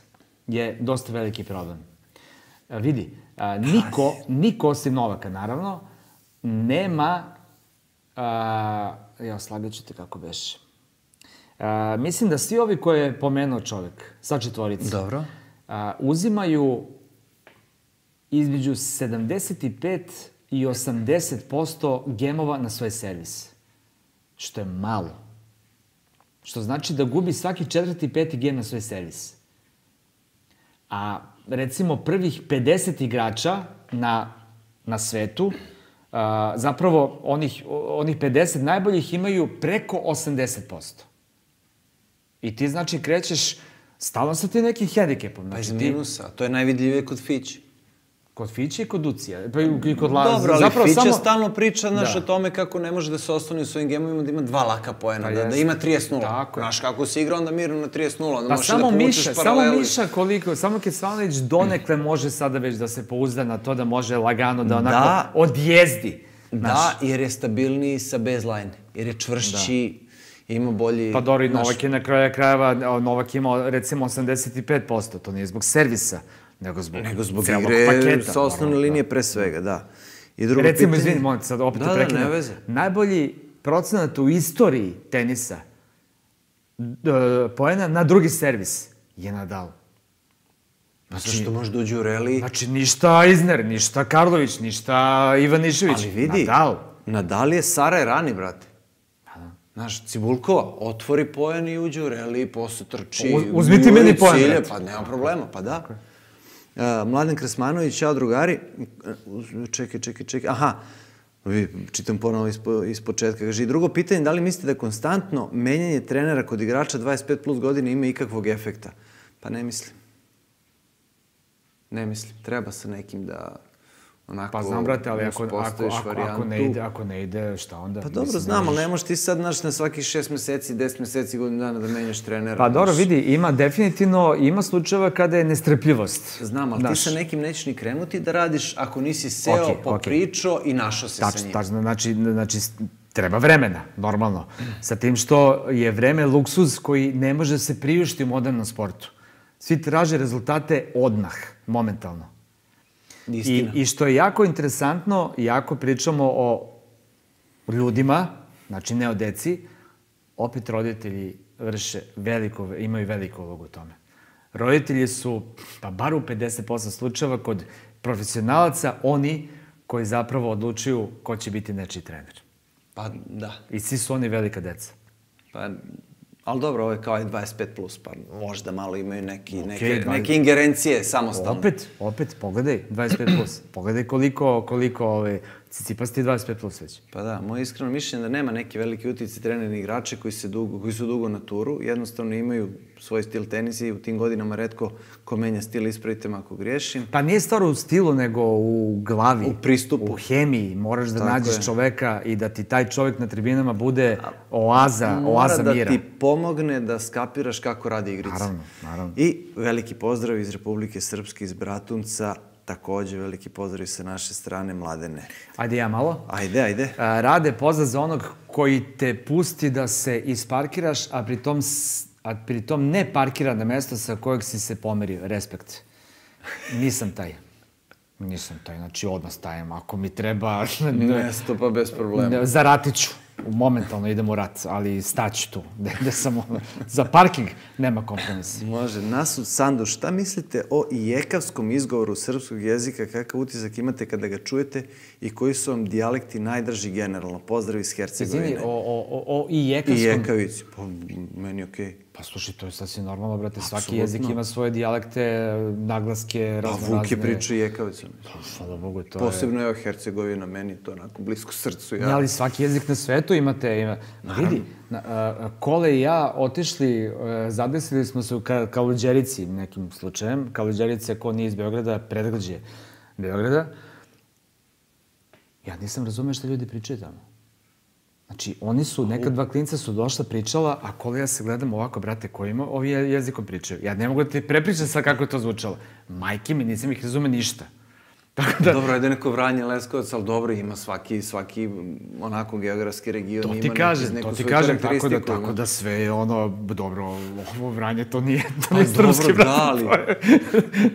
je dosta veliki problem. Vidi, niko osim Novaka, naravno, nema, slagit ću te kako beše. Mislim da svi ovi koje je pomenuo čovjek, sa četvorice, dobro, uzimaju između 75 i 80% gemova na svoj servis. Što je malo. Što znači da gubi svaki četvrti, peti gem na svoj servis. A recimo prvih 50 igrača na svetu, zapravo onih 50 najboljih imaju preko 80%. I ti znači krećeš stalno sa ti nekim hendikepom. Pa iz minusa, to je najvidljivije kod Fići. Kod Fiće i kod Ducija. Pa i kod Laza. Dobro, ali Fića stalno priča, znaš, o tome kako ne može da se ostane u svojim gemovima, da ima 2 laka poena, da ima 30-0. Znaš, kako si igrao onda mirno na 30-0, da možeš da povučeš paralelu. Samo Miša koliko, samo Kecmanović donekle može sada već da se pouzda na to da može lagano da onako odjezdi. Da, jer je stabilniji sa baseline, jer je čvršći, ima bolji... Pa dobro, i Novak je na kraju krajeva, Novak imao recimo 85%, to nije zbog servisa, nego zbog igre sa osnovne linije pre svega, da. Recimo, izvini, molim te sad, opet te prekinem. Najbolji procenat u istoriji tenisa poena na drugi servis je Nadal. Zašto može da uđe u reli? Znači, ništa Isner, ništa Karlović, ništa Ivanišević. Ali vidi, Nadal je Sara Rani, brate. Znaš, Cibulkova otvori poen i uđe u reli, posle trči... Uzmi ti meni poen, brate. Pa nema problema, pa da. Mladen Krasmanović, čao drugari. Čekaj. Aha, čitam ponovo iz početka. Kaže, i drugo pitanje, da li mislite da konstantno menjanje trenera kod igrača 25 plus godine ima ikakvog efekta? Pa ne mislim. Ne mislim. Treba sa nekim da onako... Pa znam, brate, ali ako ne ide, šta onda? Pa dobro, znam, ali ne možeš ti sad, znaš, na svakih 6 meseci, 10 meseci, godinu dana da menjaš trenera. Pa dobro, vidi, ima definitivno, ima slučajeva kada je nestrpljivost. Znam, ali ti sa nekim nećeš ni krenuti da radiš ako nisi seo, popričao i našao se sa njim. Tačno, znači, treba vremena, normalno. Sa tim što je vreme luksuz koji ne može se priuštiti u modernom sportu. Svi traže rezultate odmah, momentalno. I što je jako interesantno, jako pričamo o ljudima, znači ne o deci, opet roditelji imaju veliku ulogu u tome. Roditelji su, pa bar u 50% slučajeva, kod profesionalaca oni koji zapravo odlučuju ko će biti nečiji trener. Pa da. I svi su oni velika deca. Pa... Ali dobro, ovo je kao i 25+, pa možda malo imaju neke ingerencije samostalno. Opet, pogledaj, 25+. Pogledaj koliko Tsitsipas ti 25 plus već. Pa da, moje iskreno mišljenje da nema neki veliki utjecaj treneri igrače koji su dugo na turu, jednostavno imaju svoj stil tenisa i u tim godinama retko ko menja stil, ispravite me ako griješim. Pa nije stvar u stilu, nego u glavi. U pristupu. U hemiji. Moraš da Tako nađeš je. čoveka i da ti taj čovek na tribinama bude oaza mira. Mora da ti pomogne da skapiraš kako radi igrica. Naravno. I veliki pozdrav iz Republike Srpske, iz Bratunca, takođe veliki pozdrav sa naše strane, Mladene. Ajde ja malo. Ajde. Rade, pozdrav za onog koji te pusti da se isparkiraš, a pritom ne parkira na mesto sa kojeg si se pomerio. Respekt. Nisam taj. Znači odmah stajem. Ako mi treba... Mesto pa bez problema. Za ratiću. Momentalno idem u rat, ali staću tu. Za parking nema kompromisa. Može. Nasud Sandu, šta mislite o ijekavskom izgovoru srpskog jezika? Kakav utisak imate kada ga čujete i koji su vam dijalekti najdraži generalno? Pozdrav iz Hercegovine. Izvini, o ijekavskom... Ijekavici. Pa, meni okej. Pa slušaj, to je sasvim normalno, brate. Svaki jezik ima svoje dijalekte, naglaske, raznorazne... Pa Vuk je pričao ijekavicom. Hvala Bogu, to je... Posebno je Hercegovina, meni to onako blisko srcu. Ne, ali svaki jezik na svetu imate... Vidi, Kole i ja otišli, zadesili smo se u Kaluđerici nekim slučajem. Kaluđerica, ko nije iz Beograda, predgrađe Beograda. Ja nisam razumeo šta ljudi pričaju tamo. Znači, oni su, neka dva klinca su došla, pričala, a Kole ja se gledam ovako, brate, kojima ovi jezikom pričaju. Ja ne mogu da ti prepričam sad kako je to zvučalo. Majke mi, nisam ih razume ništa. Dobro, ajde neko Vranje, Leskovac, ali dobro, ima svaki onako geografski region. To ti kažem, tako da sve je ono, dobro, ovo Vranje, to nije srpski, brate.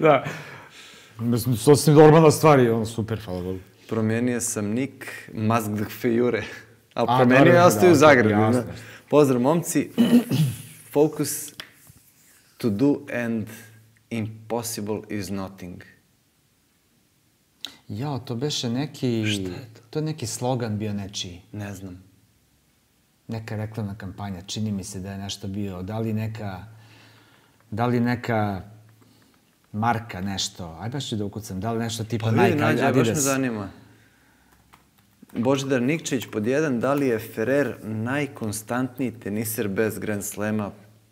Da. Mislim, sasvim normalna stvar je, ono, super, hvala Bogu. Promijenio sam nik Mazgdhfejure. Ali promenio je ostaju u Zagrebu. Pozdrav, momci. Focus to do and impossible is nothing. Jao, to beše neki... Šta je to? To je neki slogan bio nečiji. Ne znam. Neka reklamna kampanja. Čini mi se da je nešto bio. Da li neka marka nešto. Aj baš ću da ukucam. Da li nešto tipa Nike, Adidas. Pa vidi, baš me zanima. Božidar Nikčević pod 1, da li je Ferrer najkonstantniji teniser bez Grand Slema?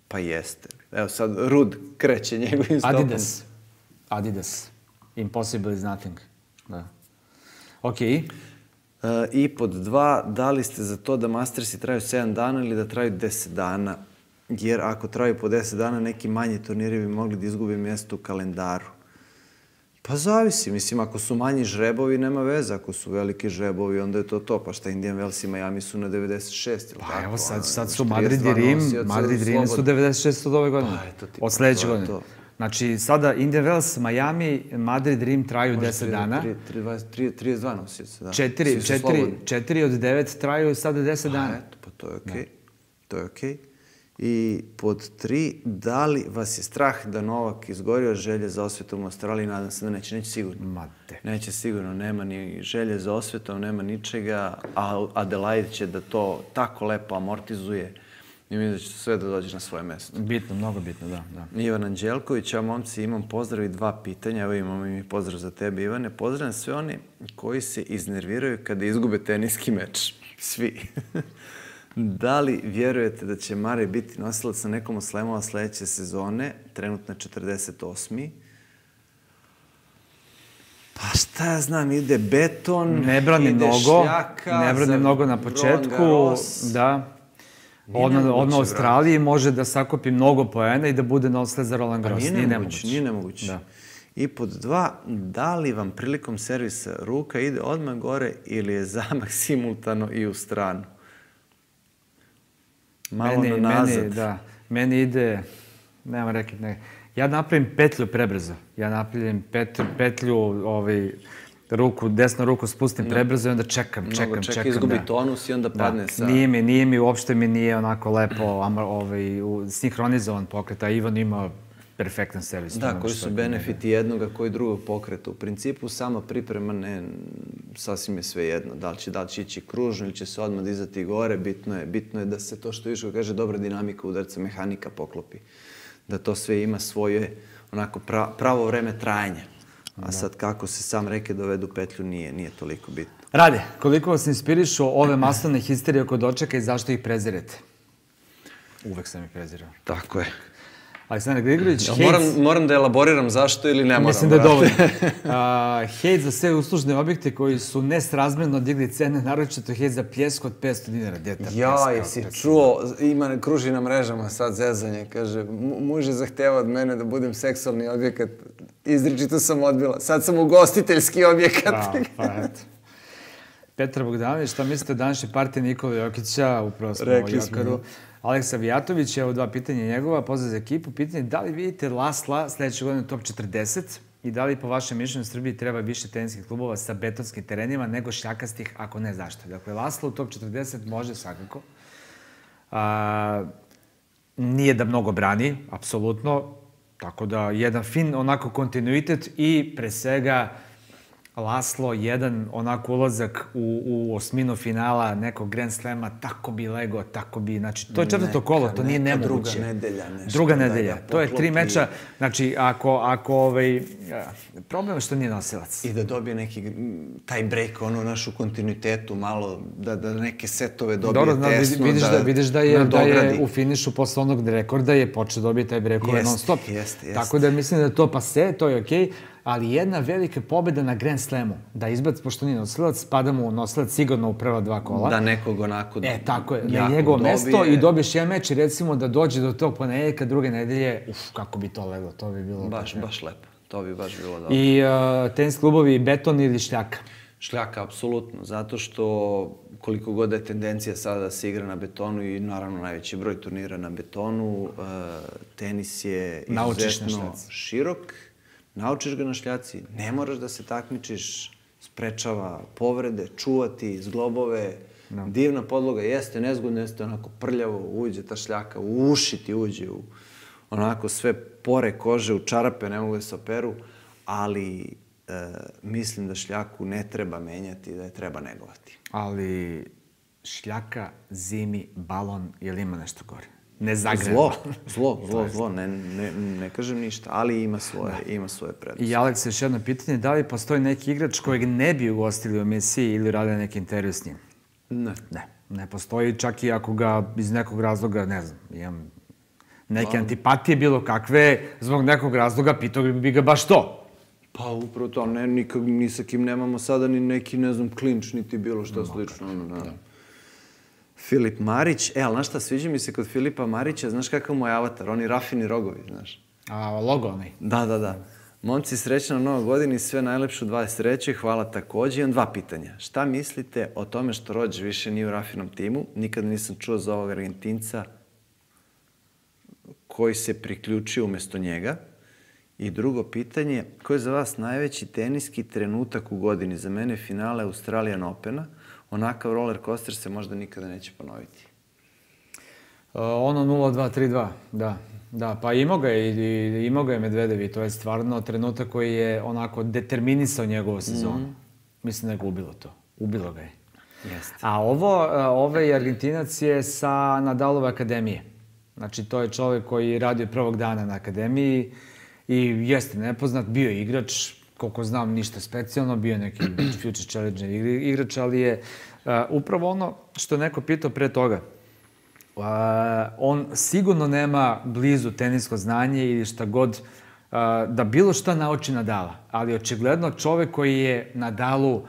Pa jeste. Evo sad, Rud kreće njegovim stopom. Adidas. Impossible is nothing. Da. Ok. I pod 2, da li ste za to da Mastersi traju 7 dana ili da traju 10 dana? Jer ako traju po 10 dana, neki manji turniri bi mogli da izgube mjesto u kalendaru. Pa zavisi. Mislim, ako su manji žrebovi, nema veze. Ako su veliki žrebovi, onda je to. Pa šta Indian Wells i Miami su na 96, ili tako? Pa evo, sad su Madrid i Rim su 96 od ove godine. Od sledeće godine. Znači, sada Indian Wells, Miami, Madrid, Rim traju 10 dana. 32 nosioca, da. 4 od 9 traju sada 10 dana. Eto, pa to je okej. To je okej. I pod 3, da li vas je strah da Novak izgori od želje za osvetom u Australiji? Nadam se da neće sigurno. Neće sigurno, nema ni želje za osvetom, nema ničega, a Adelaide će da to tako lepo amortizuje i mislim da će sve da dođe na svoje mesto. Bitno, mnogo bitno, da. Ivan Anđelković, a momci, imam pozdrav i 2 pitanja. Evo imamo i pozdrav za tebe, Ivane. Pozdravljam sve oni koji se iznerviraju kada izgube teniski meč. Svi. Da li vjerujete da će Mare biti nosilac na nekom od slemova sledeće sezone, trenutno 48. Pa šta ja znam, ide beton, ne brani ide mnogo, šljaka, ne brani mnogo na početku, da. Odmah u Australiji može da sakupi mnogo poena i da bude nosilac za Roland Garros. Nije nemoguće. I pod 2, da li vam prilikom servisa ruka ide odmah gore ili je zamah simultano i u stranu? Malo nazad. Meni ide, nema rekli, ne. Ja napravim petlju prebrzo. Ja napravim petlju, desnu ruku spustim prebrzo i onda čekam. Izgubi tonus i onda padne sa... Uopšte mi nije onako lepo sinhronizovan pokret, a Ivan ima perfektan servis. Da, koji su benefiti jednoga, koji drugog pokreta. U principu, sama priprema sasvim je sve jedno. Da li će ići kružno ili će se odmah dizati gore, bitno je da se to što Iško kaže, dobra dinamika udarca, mehanika poklopi. Da to sve ima svoje onako pravo vreme trajanja. A sad kako se sam reke dovedu petlju nije toliko bitno. Rade, koliko vas inspirišu ove masovne histerije oko dočeka i zašto ih prezirete? Uvek sam ih prezirao. Tako je. Aleksandar Grigović, Moram da elaboriram zašto ili ne moram? Mislim da je dovoljno. Hejt za sve uslužne objekte koji su nesrazmjerno digli cene, naročito hejt za pljesku od 500 dinara. Ja, jesi čuo, kruži na mrežama sad zezanje, kaže, muž je zahtevao od mene da budem seksualni objekat, izričito sam odbila, sad sam ugostiteljski objekat. Pa eto. Petar Bogdanović, šta mislite o današnje partije Nikole Jokića, upravo smo o Jokaru. Aleksa Vijatović, evo 2 pitanja njegova, pozdrav za ekipu. Pitanje, da li vidite Lasla sledeće godine top 40 i da li po vašem mišljenju u Srbiji treba više teniskih klubova sa betonskim terenima nego šljakastih, ako ne zašto? Dakle, Lasla u top 40 može svakako. Nije da mnogo brani, apsolutno. Tako da, jedan fin onako kontinuitet i pre svega Laslo, jedan onako ulazak u osminu finala nekog Grand Slema, tako bi lego, tako bi, znači, to je 4. kolo, to nije nemoguće. Druga nedelja nešto. Druga nedelja, to je 3 meča, znači, ako problem je što nije nosilac. I da dobije neki, taj break, ono, našu kontinuitetu, malo, da neke setove dobije tesno, vidiš da je u finišu posle onog rekorda je počeo dobije taj breakove non stop. Tako da mislim da je to pase, to je okej. Ali jedna velika pobjeda na Grand Slamu, da izbaci, pošto nije nosilac, spada mu nosilac sigurno u prva 2 kola. Da nekog onako tako je, na njegovo mesto i dobiješ jedan meč i recimo da dođe do tog ponedeljka, druge nedelje, kako bi to leglo, to bi bilo... Baš lepo, to bi baš bilo dobro. I tenis klubovi beton ili šljaka? Šljaka, apsolutno, zato što koliko god je tendencija sada da se igra na betonu i naravno najveći broj turnira na betonu, tenis je izuzetno širok. Naučiš ga na šljaci, ne moraš da se takmičiš, sprečava povrede, čuvati, zglobove, divna podloga, jeste nezgodno, jeste onako prljavo, uđe ta šljaka, u uši ti uđe, onako sve pore kože, u čarape, ne mogu da se operu, ali mislim da šljaku ne treba menjati, da je treba negovati. Ali šljaka, zimi, balon, je li ima nešto gore? Ne zagreva. Zlo, ne kažem ništa, ali ima svoje prednosti. I Aleks, još jedno pitanje, da li postoji neki igrač kojeg ne bi ugostili u emisiji ili radili neki intervju s njim? Ne postoji, čak i ako ga iz nekog razloga, ne znam, imam neke antipatije bilo kakve, zbog nekog razloga pitao bi ga baš to. Pa upravo to, ni sa kim nemamo sada ni neki, ne znam, klinč, niti bilo što slično. Filip Marić, ali znaš šta, sviđa mi se kod Filipa Marića, znaš kakav mu je avatar, oni rafini rogovi, znaš. A logo onaj? Da. Momci, srećna Nova godina i sve najlepše u 23. Hvala takođe. Imam 2 pitanja. Šta mislite o tome što Rođ više nije u rafinom timu? Nikada nisam čuo za ovog Argentinca koji se priključio umesto njega. I drugo pitanje, koji je za vas najveći teniski trenutak u godini? Za mene finale Australian Opena. Onakav roller coaster se možda nikada neće ponoviti. Ono 0-2-3-2, da. Pa imao ga je Medvedev i to je stvarno trenutak koji je onako determinisao njegovu sezonu. Mislim da je ga ubilo to. Ubilo ga je. A ovaj Argentinac je sa Nadalove akademije. Znači, to je čovjek koji radi od prvog dana na akademiji i jeste nepoznat, bio je igrač, koliko znam, ništa specijalno, bio je neki Future Challenger igrač, ali je upravo ono što je neko pitao pre toga. On sigurno nema blizu tenisko znanje ili šta god, da bilo šta nauči Nadala, ali očigledno čovek koji je Nadalu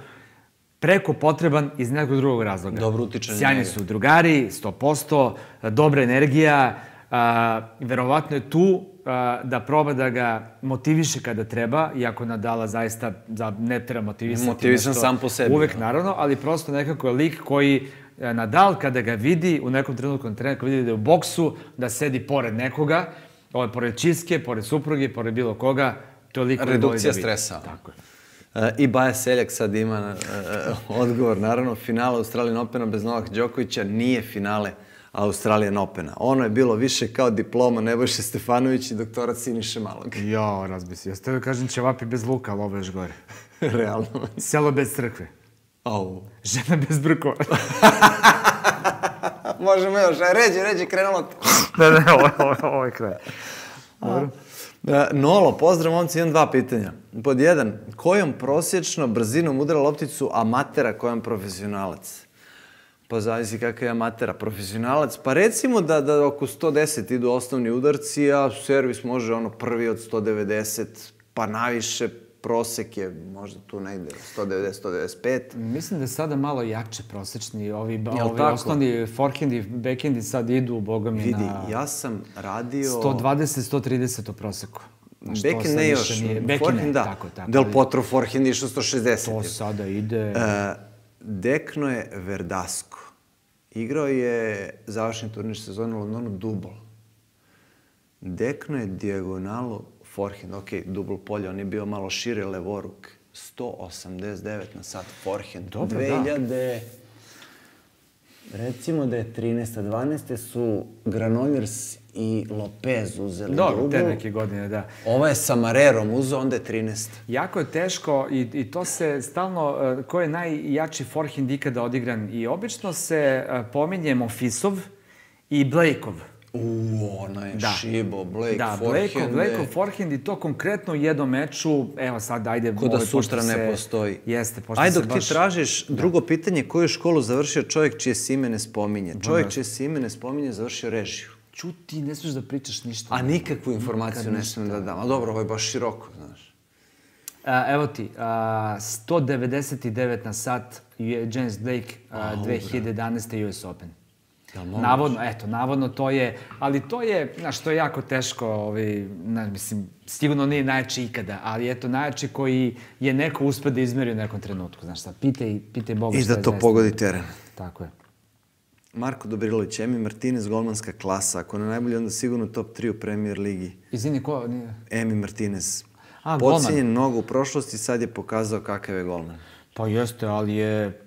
preko potreban iz nekog drugog razloga. Dobro utiče na njega. Sjajni su drugari, 100%, dobra energija, verovatno je tu da proba da ga motiviše kada treba, iako Nadala zaista ne treba motivisati. Motivisan sam po sebi. Uvek, naravno, ali prosto nekako je lik koji Nadal kada ga vidi u nekom trenutku vidi da je u boksu, da sedi pored nekoga, pored čiske, pored supruge, pored bilo koga, to je lik koji voli da vidi. Redukcija stresa. Tako je. I Baja Seljak sad ima odgovor, naravno, finale Australian Opena bez Novaka Đokovića nije finale Australian Opena. Ono je bilo više kao diploma Nebojše Stefanović i doktorat Siniše Malog. Jo, razbisi. Jeste da kažem ćevapi bez luka, ali ovo je još gore. Realno. Selo bez crkve. Žena bez brkova. Možemo još, ređe, krenulo. Ne, ovo je kraj. Dobro. Nolo, pozdrav momci, imam 2 pitanja. Pod 1, kojom prosječno brzinom udara lopticu amatera, kojom profesionalac? Pa zavisi kakav je amatera, profesionalac. Pa recimo da oko 110 idu osnovni udarci, a servis može prvi od 190, pa naviše prosek je možda tu negde 190-195. Mislim da je sada malo jače prosečni, ovi osnovni forehendi, backhendi sad idu, boga mi, vidi, ja sam radio... 120-130 u proseku. Backhand ne još, forehand da. Del Potro forehand išao 160. To sada ide... Dekno je Verdasco. Igrao je završni turnir sezone u Londonu dubl. Dekno je dijagonalu forehand. Ok, dubl polje, on je bio malo šire levoruk. 189 na sat forehand. Dobro, 2000... Recimo da je 13-12 su Granollers i Lopez uzeli dubl. Dobro, te neke godine, da. Ovo je sa Marerom uzeo, onda je 13. Jako je teško i to se stalno, ko je najjači forehand ikada odigran. I obično se pominje Monfilsov i Blakeov. Ono je šibo, Blake forehand. Da, Blakeov forehand i to konkretno u jednom meču, evo sad, ajde... Ko da sutra ne postoji. Jeste, pošto se baš... Ajde, dok ti tražiš drugo pitanje, koju školu završio čovjek čije se ime ne spominje? Čovjek čije se ime ne spominje završio režiju. Čuti, ne smiješ da pričaš ništa. A nikakvu informaciju ne smijem da dam. A dobro, ovo je baš široko, znaš. Evo ti, 199 na sat James Blake 2011. US Open. Navodno to je, ali to je, znaš, to je jako teško, mislim, sigurno nije najjači ikada, ali eto, najjači koji je neko uspio da izmeri u nekom trenutku, znaš šta, pitaj Boga što je I da to pogodi teren. Tako je. Marko Dobrilović, Emi Martinez, golmanska klasa, ako ne najbolji, onda sigurno top 3 u Premier ligi. Izvini, ko? Emi Martinez. Golman. Podcijenjen mnogo u prošlosti, sad je pokazao kakav je golman. Pa jeste, ali je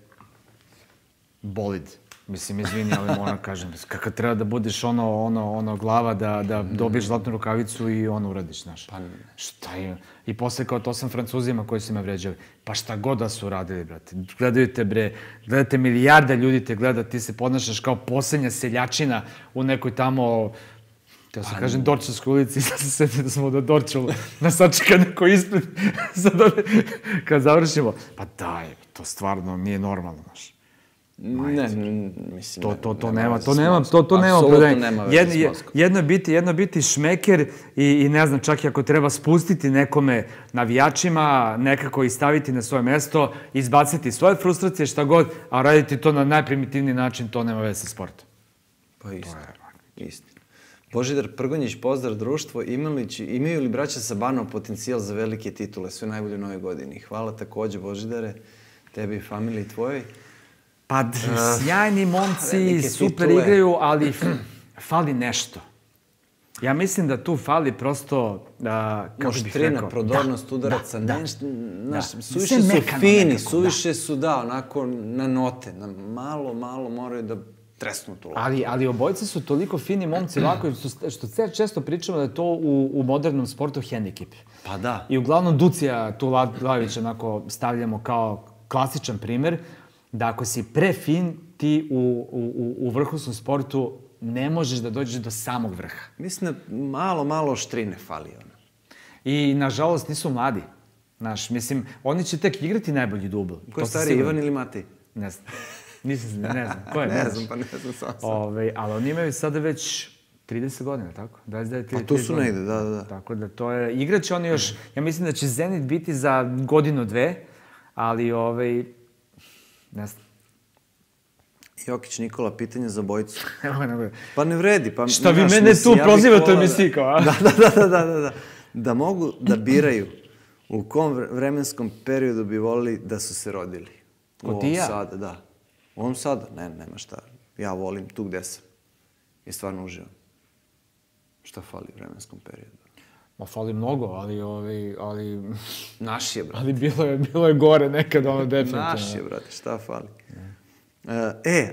bolid. Mislim, izvini, ali moram kažem, kakav treba da budeš ono glava da dobiješ zlatnu rukavicu i uradiš, znaš. Pa šta je? I posle kao to sam Francuzima koji su me vređali. Pa šta god da su uradili, brate. Gledaju te, bre, gledate milijarda ljudi te gleda, ti se podnašaš kao posljednja seljačina u nekoj tamo... Teo sam kažem Dorčevskoj ulici, sad se sjetio da smo do Dorčevu nas sačeka neko ispred. Kad završimo, pa daj, to stvarno nije normalno, znaš. Ne, mislim... To nema apsolutno jedno biti šmeker i ne znam, čak i ako treba spustiti nekome navijačima, nekako ih staviti na svoje mesto, izbaciti svoje frustracije, šta god, a raditi to na najprimitivniji način, to nema veze sa sportom. Pa istina. Božidar Prgonjić, pozdrav društvo, imaju li braća Sabanov potencijal za velike titule, sve najbolje u nove godini? Hvala takođe, Božidare, tebi i familiji tvojoj. Pa, sjajni momci, super igraju, ali fali nešto. Ja mislim da tu fali prosto, kako bih rekao... Moštrina, prodornost udaraca, suviše su fini, suviše su, onako na note, malo moraju da tresnu tu lopu. Ali obojci su toliko fini momci, lako, što često pričamo da je to u modernom sportu hendikep. Pa da. I uglavnom Ducija Tulajević onako stavljamo kao klasičan primer, da ako si prefin, ti u vrhunskom sportu ne možeš da dođeš do samog vrha. Mislim da malo štrine fali. I, nažalost, nisu mladi. Znaš, mislim, oni će tek igrati najbolji dubl. Ko je stari, Ivan ili Matej? Ne znam. Ne znam. Ko je? Ne znam sam. Ali oni imaju sada već 30 godina, tako? 29-30 godina. A tu su negde, da. Tako da to je... Igraće oni još... Ja mislim da će Zenit biti za godinu, dve, ali ne znam. Jokić Nikola, pitanje za bojicu. Evo. Pa ne vredi. Šta vi mene tu prozivate u emisiji kao, a? Da. Da mogu da biraju u kom vremenskom periodu bi volili da su se rodili. Ko ti ja? Sada, da. U ovom sada, nema šta. Ja volim tu gde sam. I stvarno uživam. Šta fali u vremenskom periodu? Ma fali mnogo, ali... Naš je, brate. Ali bilo je gore nekad, definitivno. Naš je, brate, šta fali?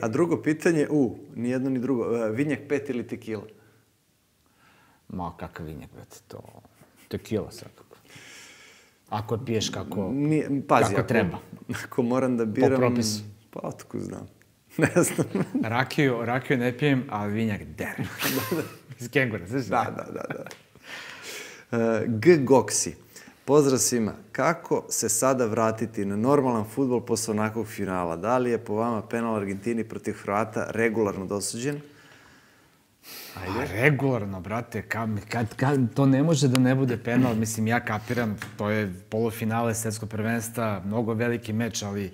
A drugo pitanje, ni jedno ni drugo, vinjak 5 ili tekila? Ma, kakav vinjak, brate, to... Tekila svakako. Ako piješ kako treba. Ako moram da biram... Po propisu. Pa, otko znam. Ne znam. Rakiju ne pijem, a vinjak derem. Iz kengura, znaš? Da. G. Goksi. Pozdrav svima. Kako se sada vratiti na normalan fudbal posle onakvog finala? Da li je po vama penal Argentini protiv Hrvata regularno dosuđen? Regularno, brate, to ne može da ne bude penal. Mislim, ja kapiram, to je polufinale svetskog prvenstva, mnogo veliki meč, ali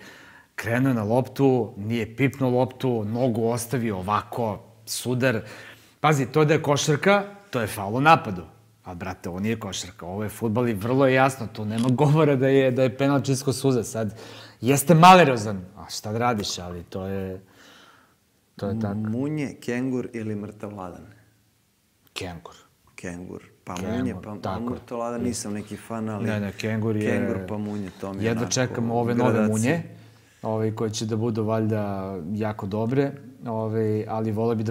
krenuo je na loptu, nije pipnuo loptu, nogu ostavio ovako, sudar. Pazi, to da je košarka, to je faul u napadu. A, brate, ovo nije košarka, ovo je fudbal i vrlo je jasno, tu nema govora da je penal čisto suza. Sad, jeste malerozan, a šta da radiš, ali to je tako. Munje, kengur ili mrtav ladan? Kengur. Kengur. Pa munje, pa mrtav ladan, nisam neki fan, ali... Ne, kengur je... Kengur pa munje, to mi je jedva čekamo ove nove munje, koje će da budu valjda jako dobre, ali voleo bi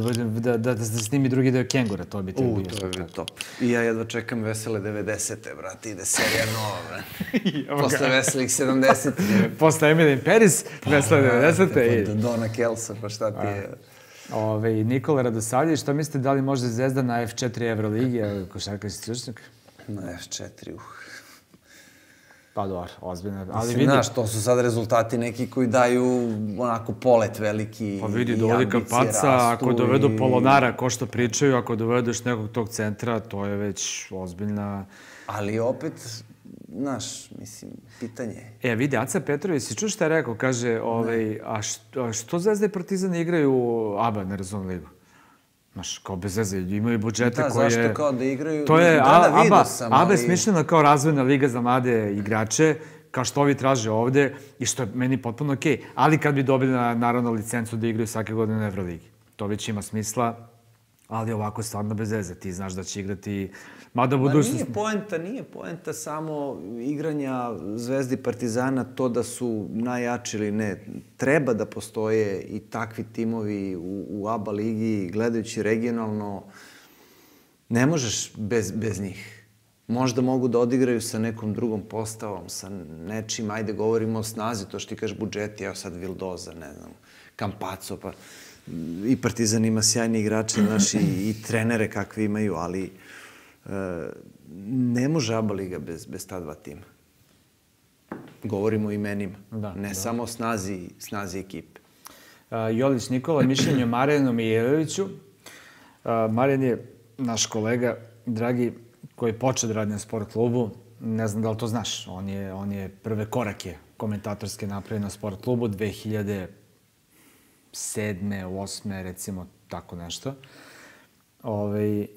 da se snimi drugi deo kengura, to bi te bio. To bi top. I ja jedva čekam Vesele 90-te, brate, ide serija nova, brate. Posle Veselih 70-te. Posle Emily in Paris, Vesele 90-te. Dona Kelsa, pa šta ti je... Nikola Radosavljević, šta mislite, da li može Zvezda na F4 Euroligi, košarkaški stručnjak? Na F4, Pa dobro, ozbiljno. Mislim, znaš, to su sad rezultati neki koji daju onako polet veliki. Pa vidi, dovodi Kampaca, ako dovedu Polonara, ko što pričaju, ako dovedeš nekog tog centra, to je već ozbiljna... Ali opet, znaš, mislim, pitanje. Vidi, Aca Petrović, si čuo šta je rekao? Kaže, a što Zvezda i Partizan igraju ABA, ne razumem ligu? Znaš, kao bez veze, imaju budžete koje... Da, zašto kao da igraju... To je ABA je smišljena kao razvojna liga za mlade igrače, kao što ovi traže ovde, i što je meni potpuno okej. Ali kad bi dobili, naravno, licencu da igraju svake godine na Euroligi. To već ima smisla, ali ovako je stvarno bez veze. Ti znaš da će igrati... Mada budućnost... Nije poenta samo igranja Zvezdi i Partizana to da su najjači ili ne. Treba da postoje i takvi timovi u ABA ligi, gledajući regionalno. Ne možeš bez njih. Možda mogu da odigraju sa nekom drugom postavom, sa nečim, ajde govorimo o snazi, to što ti kažeš budžeti, evo sad Vildoza, ne znam, Campazzo, pa i Partizan ima sjajni igrače, znaš, i trenere kakve imaju, ali ne može ABA liga bez ta dva tima. Govorimo o imenima, ne samo o snazi ekipe. Jolić Nikola, mišljenje o Marijanu Mijailoviću. Marijan je naš kolega, dragi, koji je počeo da radi na sport klubu. Ne znam da li to znaš. On je prve korake komentatorske napravio na sport klubu 2007. 2008. recimo, tako nešto.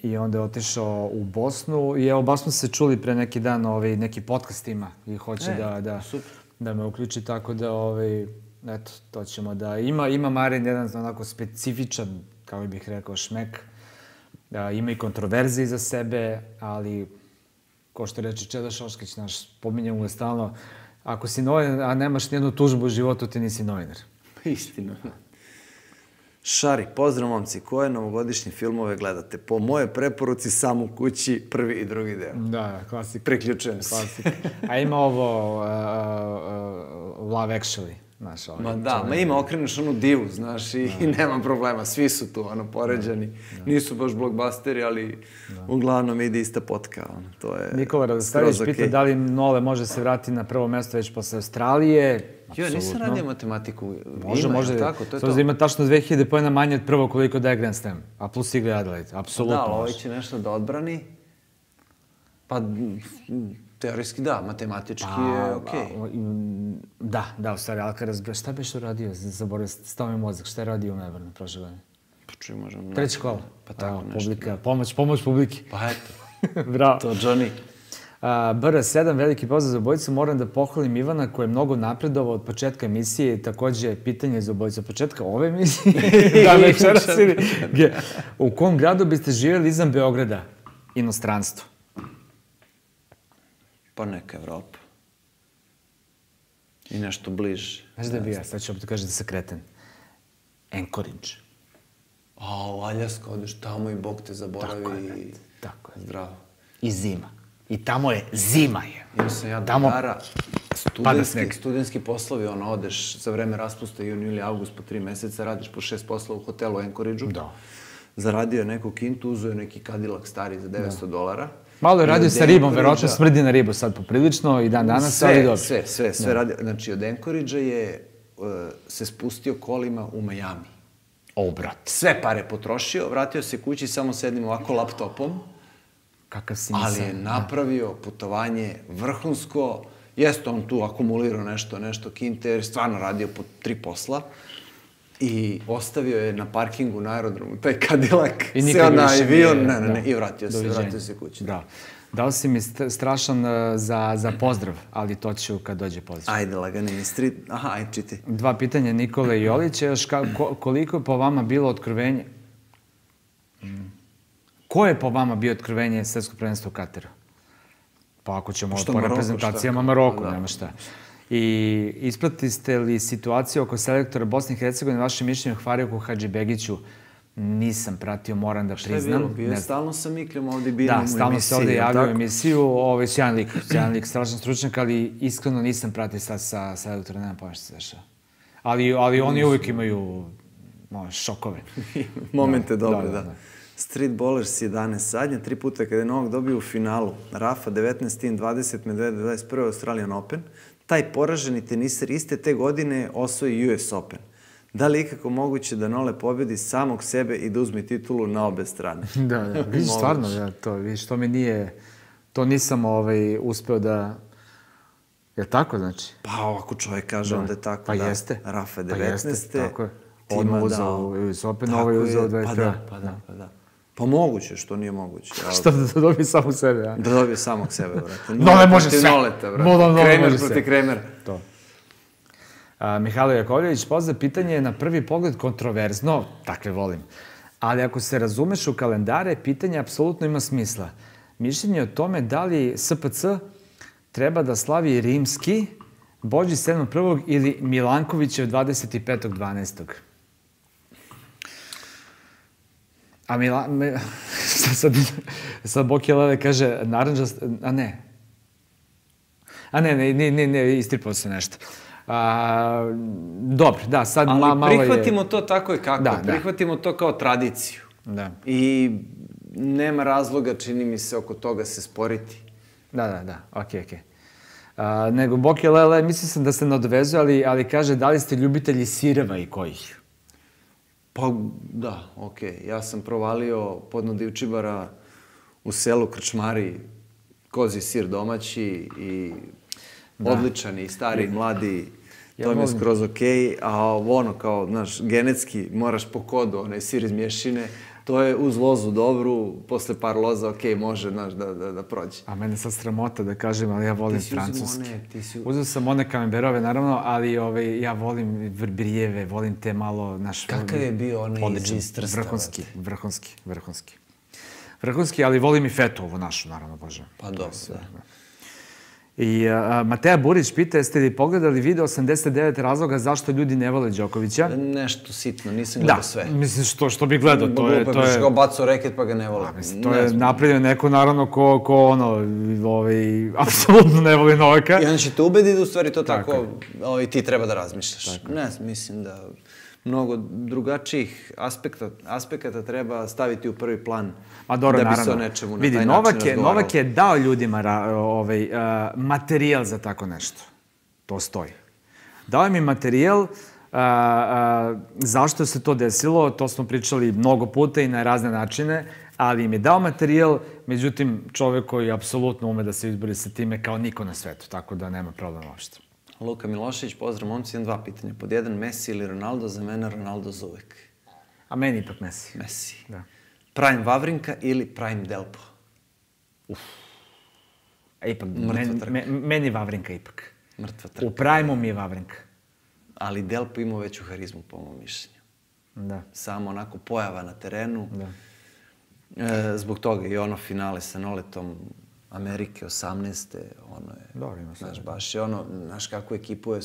I onda je otišao u Bosnu i evo, baš smo se čuli pre neki dan, neki podcast ima i hoće da me uključi, tako da, eto, to ćemo da... Ima Marin jedan onako specifičan, kako bih rekao, šmek. Ima i kontroverze iza sebe, ali, ko što reče Čeda Šoškić, naš, pominjamo ga stalno, ako si novinar, a nemaš nijednu tužbu u životu, ti nisi novinar. Istina. Šari, pozdrav momci, koje novogodišnje filmove gledate? Po moje preporuci Sam u kući, prvi i drugi deo. Da, klasik. Priključujem se. Klasik. A ima ovo Love Actually, znaš. Ma ima, okreneš onu divu, znaš, i nema problema, svi su tu, poređani. Nisu baš blockbusteri, ali uglavnom ide ista potka, to je... Nikola Radostavić pita da li Nole može se vratiti na prvo mesto već posle Australije. Jo, nisam radio matematiku. Može. Sada da ima tačno 2000 pojena manje od prvo koliko daje Grand Slam. A plus igra Adelaide. Apsolutno može. Da, ovaj će nešto da odbrani. Pa, teorijski da, matematički je okej. Da, u stvari, Alcaraz, šta beš uradio? Zaboravio, stao mi mozak. Šta je radio u Melbourne prošle godine? Pa čuj, možemo... Treća kola. Pa tako nešto. Pomoć publiki. Pa eto. Bravo. To, Johnny. BR7, veliki pozdrav za obojicu. Moram da pohvalim Ivana koji je mnogo napredovao od početka emisije. Takođe, pitanje za obojicu od početka ove emisije. Da, večeras ili... U kom gradu biste živjeli izvan Beograda? Inostranstvo. Pa neka Evropa. I nešto bliže. Znaš da bi ja, sad ću opet kažem da se kreten. Anchorage. U Aljaska, odeš tamo i Bog te zaboravi. Tako je. Zdravo. I zima. I tamo je zima je. Imao sam ja drugara, studentski poslovi, odeš za vreme raspusta, jun, juli, august, po 3 meseca, radiš po 6 poslova u hotelu u Anchorage-u. Da. Zaradio je neku kintu, uzeo je neki Cadillac stari za $900. Malo je radio sa ribom, verovatno smrdi na ribu sad poprilično i dan danas, ali dobro. Sve radio. Znači, od Anchorage-a je se spustio kolima u Miami. Brat. Sve pare potrošio, vratio se kući samo s jednim ovako laptopom. Kakav si ali je napravio putovanje vrhunsko. Jeste on tu akumulirao nešto kinte, jer stvarno radio po 3 posla. I ostavio je na parkingu na aerodromu taj Cadillac, seo na avion, i vratio se kući. Da. Dao si mi strašan za pozdrav, ali to ću kad dođe pozdrav. Ajde, lagani street. Aha, ajde, čiti. 2 pitanja Nikole Jolića. Još koliko je po vama bilo otkrovenje? Ko je po vama bio otkrovenje svetskog prvenstva u Kataru? Pa ako ćemo po reprezentacijama Maroku, nema šta. I ispratiste li situaciju oko selektora Bosne i Hercegovine, vaše mišljenje o Hvarijuku Hadžibegiću? Nisam pratio, moram da priznam. Šta je bilo? Bio je stalno sa Mikljem ovdje biram u emisiji. Da, stalno se ovdje javio u emisiju. Sjajan lik, strašan stručnjak, ali iskreno nisam pratio sad sa selektora, nemam pojma što se dešava. Ali oni uvijek imaju šokove. Momente dobre, da. Street Ballers 11 sadnja, 3 puta kada je Novak dobio u finalu. Rafa 19, Tin 20, Medvedev 21, Australian Open. Taj poraženi teniser iste te godine osvoji US Open. Da li je ikako moguće da Nole pobedi samog sebe i da uzme titulu na obe strane? Da, vidiš stvarno, vidiš, to mi nije, to nisam uspeo da, je tako znači? Pa ako čovjek kaže, onda je tako, da. Pa jeste. Rafa 19. Tako je. On uzao US Open, ovo je uzao 21. Pa da. Pa moguće, što nije moguće. Šta da dobije samog sebe, ja? Da dobije samog sebe, brate. Nole može sve. Kramer protiv Kramera. To. Mihajlo Jakovljević, pozdrav, pitanje je na prvi pogled kontroverzno, takve volim. Ali ako se razumeš u kalendare, pitanje apsolutno ima smisla. Mišljenje o tome da li SPC treba da slavi rimski, Božić 7.1. ili Milankovićev 25.12. A sad Boki Lele kaže naranđast, a ne. Ne, istripao se nešto. Dobro, da, sad malo je... Ali prihvatimo to tako i kako, prihvatimo to kao tradiciju. Da. I nema razloga, čini mi se, oko toga se sporiti. Da, okej. Nego Boki Lele, mislim sam da se nadovezuje, ali kaže da li ste ljubitelji sireva i kojih? Pa da, okej. Ja sam provalio podno Divčibara u selu Krčmari, kozji sir domaći i odličan i stari, mladi, to mi je skroz okej. A ono kao, znaš, genetski moraš po kodu, onaj sir iz mješine, to je uz lozu dobru, posle par loza, okej, može, znaš, da prođe. A mene sad sramota da kažem, ali ja volim francuski. Uzeo sam one kamemberove, naravno, ali ja volim vrbrijeve, volim te malo, znaš... Kakav je bio onaj iz Trsta? Vrhunski, ali volim i fetu ovu našu, naravno, Bože. Pa dobro, da. I Mateja Burić pita, jeste li pogledali video 89 razloga zašto ljudi ne vole Đokovića? Nešto sitno, nisam gledao sve. Da, misliš što bi gledao, to je... Pa biš kao bacao reket pa ga ne vole. To je napravljeno neko, naravno, ko apsolutno ne voli Novaka. I on će te ubediti da u stvari to tako ti treba da razmišljaš. Ne, mislim da mnogo drugačijih aspekata treba staviti u prvi plan da bi se o nečemu na taj način razgovaralo. Vidi, Novak je dao ljudima materijal za tako nešto. To stoji. Dao je mi materijal, zašto se to desilo, to smo pričali mnogo puta i na razne načine, ali im je dao materijal, međutim, čovek koji apsolutno ume da se izbori sa time kao niko na svetu, tako da nema problema uopšte. Luka Milošević, pozdrav momci, imam 2 pitanja. Pod 1, Messi ili Ronaldo, za mene Ronaldo za uvek. A meni ipak Messi. Messi. Prime Vavrinka ili Prime Delpo? Ipak, meni Vavrinka ipak. Mrtva trka. U Prime-u mi je Vavrinka. Ali Delpo imao veću harizmu, po mojom mišljenju. Da. Samo onako pojava na terenu. Zbog toga i ono finale sa Noletom Amerike 18. ono je... Dobro, ima sve. Znaš, baš je ono, znaš kakvu ekipu je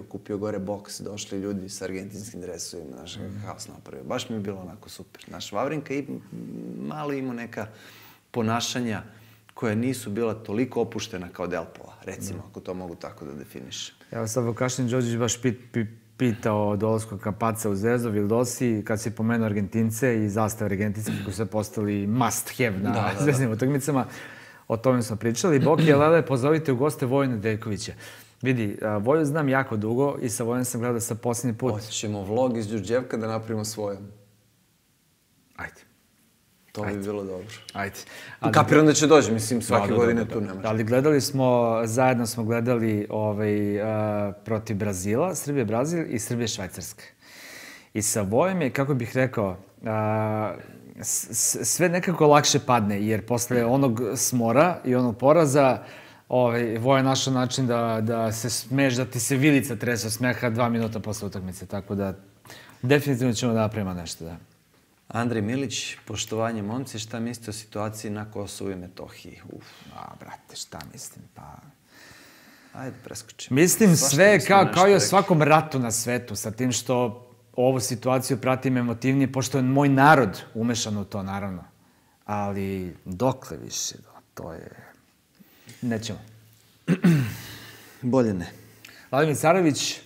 kupio gore boks, došli ljudi sa argentinskim dresovima, znaš, haos napravio. Baš mi je bilo onako super. Znaš, Vavrinka malo imao neka ponašanja koja nisu bila toliko opuštena kao Delpova, recimo, ako to mogu tako da definišem. Evo sad Vukašin Đorđević baš pitao o dolasku Kapaca u Zvezdu, Vildosi, kad si pomenuo Argentince i zastave argentinske koji su postali must have na zvezdnim utakmicama. O tome smo pričali. Boki i Lele, pozovite u goste Vojina Deljkovića. Vidi, Voju znam jako dugo i sa Vojom sam gledao sa posljednji put. Hoćemo vlog iz Đurđevka da napravimo svojom. Ajde. To bi bilo dobro. Ajde. Kapiram da će dođe, mislim, svake godine tu nemaš. Ali gledali smo, zajedno smo gledali protiv Brazila, Srbije-Brazil i Srbije-Švajcarske. I sa Vojom je, kako bih rekao, sve nekako lakše padne, jer posle onog smora i onog poraza, Voja je našao način da se smeješ, da ti se vilica trese od smeha 2 minuta posle utakmice, tako da definitivno ćemo da napravimo nešto, da. Andrej Milić, poštovanje momci, šta mislite o situaciji na Kosovu i Metohiji? Brate, šta mislim, pa... Ajde, preskočimo. Mislim sve kao i o svakom ratu na svetu, sa tim što ovu situaciju pratim emotivnije, pošto je moj narod umešan u to, naravno. Ali dokle više, to je... Nećemo. Bolje ne. Vladimir Carović...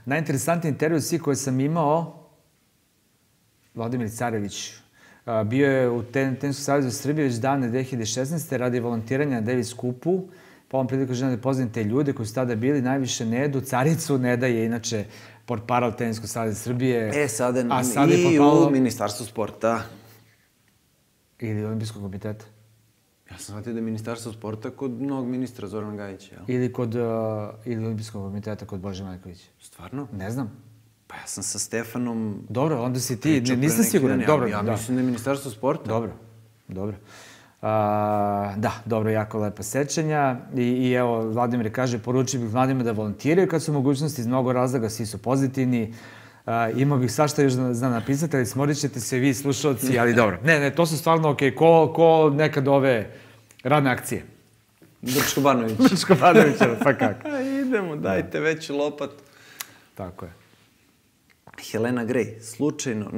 Najinteresantniji intervju svih koje sam imao, Vladimir Carović, bio je u Teniskom savezu Srbije već davne 2016. radi volontiranja na Davis Cupu. Pa ovom priliku želim da pozdravim te ljude koji su tada bili, najviše Nedu, Caricu. Neda je inače portparal Teniskog saveza Srbije. Sada i u Ministarstvu sporta. Ili Olimpijskog komiteta. Ja sam shvatio da je Ministarstvo sporta kod novog ministra Zorana Gajića, jel? Ili Olimpijskog komiteta kod Bože Majkovića. Stvarno? Ne znam. Pa ja sam sa Stefanom... Dobro, onda si ti, nisam siguran. Ja mislim da je Ministarstvo sporta. Dobro. Da, dobro, jako lepa sećanja. I evo, Vladimir kaže, poručio bih mladima da volontiraju kad su mogućnosti iz mnogo razloga, svi su pozitivni. Imao bih svašta još da napisati, ali smorit ćete se vi, slušalci, ali dobro. Ne, to su stvarno okej, ko nekad ove radne akcije. Brčko Banović. Brčko Banović, pa kako. Idemo, dajte veću lopatu. Tako je. Helena Grej, slučajno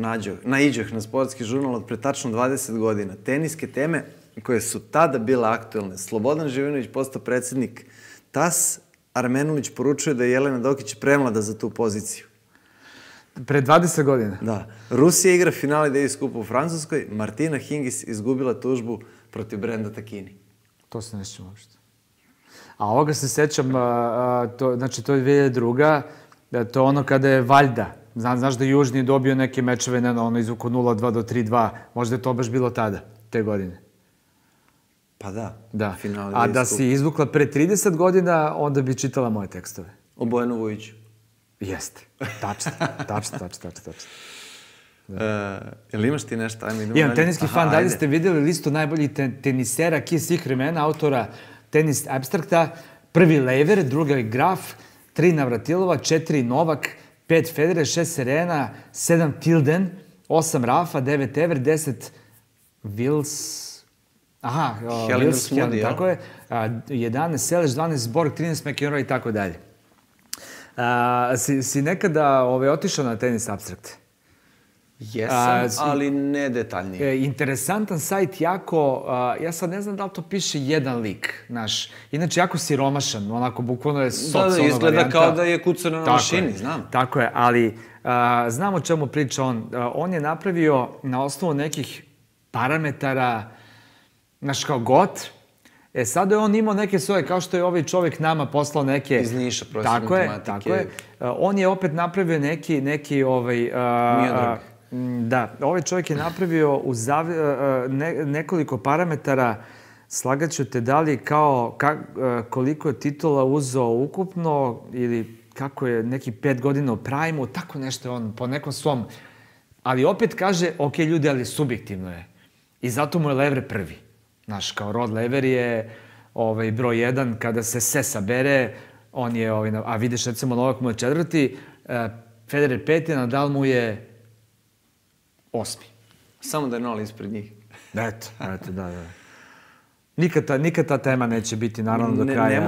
naiđoh na sportski žurnal od pre tačno 20 godina. Teniske teme koje su tada bile aktuelne. Slobodan Živinović postao predsjednik TAS, Armenulić poručuje da je Jelena Dokić premlada za tu poziciju. Pre 20 godina? Da. Rusija igra finale Davis Cupa u Francuskoj, Martina Hingis izgubila tužbu protiv Brenda Takini. To se ne sjećam uopšte. A ovoga se sećam, znači to je 2002. To je ono kada je Valjda. Znaš da je Južni dobio neke mečeve, ono izvuko 0-2 do 3-2. Možda je to baš bilo tada, te godine. Pa da. Da. A da si izvukla pre 30 godina, onda bi čitala moje tekstove. O Bojanu Vujiću. Jeste. Tačno. Jel imaš ti nešto? Imam teniski fan. Da li ste vidjeli listu najboljih tenisera svih vremena, autora Tenis Abstrakta? 1. Lever, 2. Graf, 3. Navratilova, 4. Novak, 5. Federer, 6. Serena, 7. Tilden, 8. Rafa, 9. Ever, 10. Wills... Wills Moody, tako je. 11. Seleš, 12. Borg, 13. McEnroe i tako dalje. Si nekada otišao na Tenis Abstrakt? Jesam, ali ne detaljnije. Interesantan sajt, jako... Ja sad ne znam da li to piše jedan lik, znaš. Inače, jako siromašan, onako, bukvalno je socijalna varijanta. Da, izgleda kao da je kucano na mašini, znam. Tako je, ali znam o čemu priča on. On je napravio na osnovu nekih parametara, znaš, kao got. Sada je on imao neke svoje, kao što je ovaj čovjek nama poslao neke... Iz Niša, profesor matematike. Tako je. On je opet napravio neki... Miodrag. Da, ovaj čovjek je napravio nekoliko parametara, slagaću te da li kao koliko je titula uzeo ukupno ili kako je neki 5 godina u prime-u, tako nešto je on po nekom svom... Ali opet kaže, ok, ljudi, ali subjektivno je. I zato mu je Lever prvi. Znaš, kao Rod Lever je broj 1, kada se sve sabere, on je, a vidiš, recimo, Novak mu je 4. Federer 5. Nadal mu je 8. Samo da je 0 ispred njih. Eto, da. Nikad ta tema neće biti, naravno, do kraja.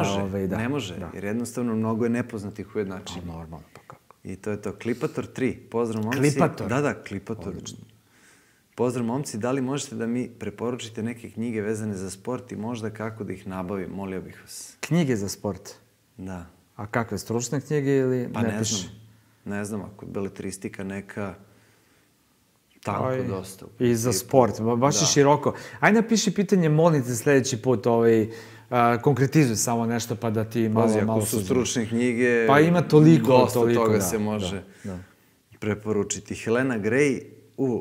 Ne može, jer jednostavno mnogo je nepoznatih ujednačenja. Normalno, pa kako. I to je to. Klipator 3. Pozdrav, momci. Klipator? Da, Klipator. Pozdrav, momci. Da li možete da mi preporučite neke knjige vezane za sport i možda kako da ih nabavim? Molio bih vas. Knjige za sport? Da. A kakve, stručne knjige ili pa ne piše? Ne znam, ako je beletristika neka... Tanko dosta. I za sport, baš je široko. Ajde napiši pitanje, molim te sljedeći put, konkretizuj samo nešto pa da ti malo suđe. Ako su stručne knjige, pa ima toliko, dosta toga se može preporučiti. Helena Gray,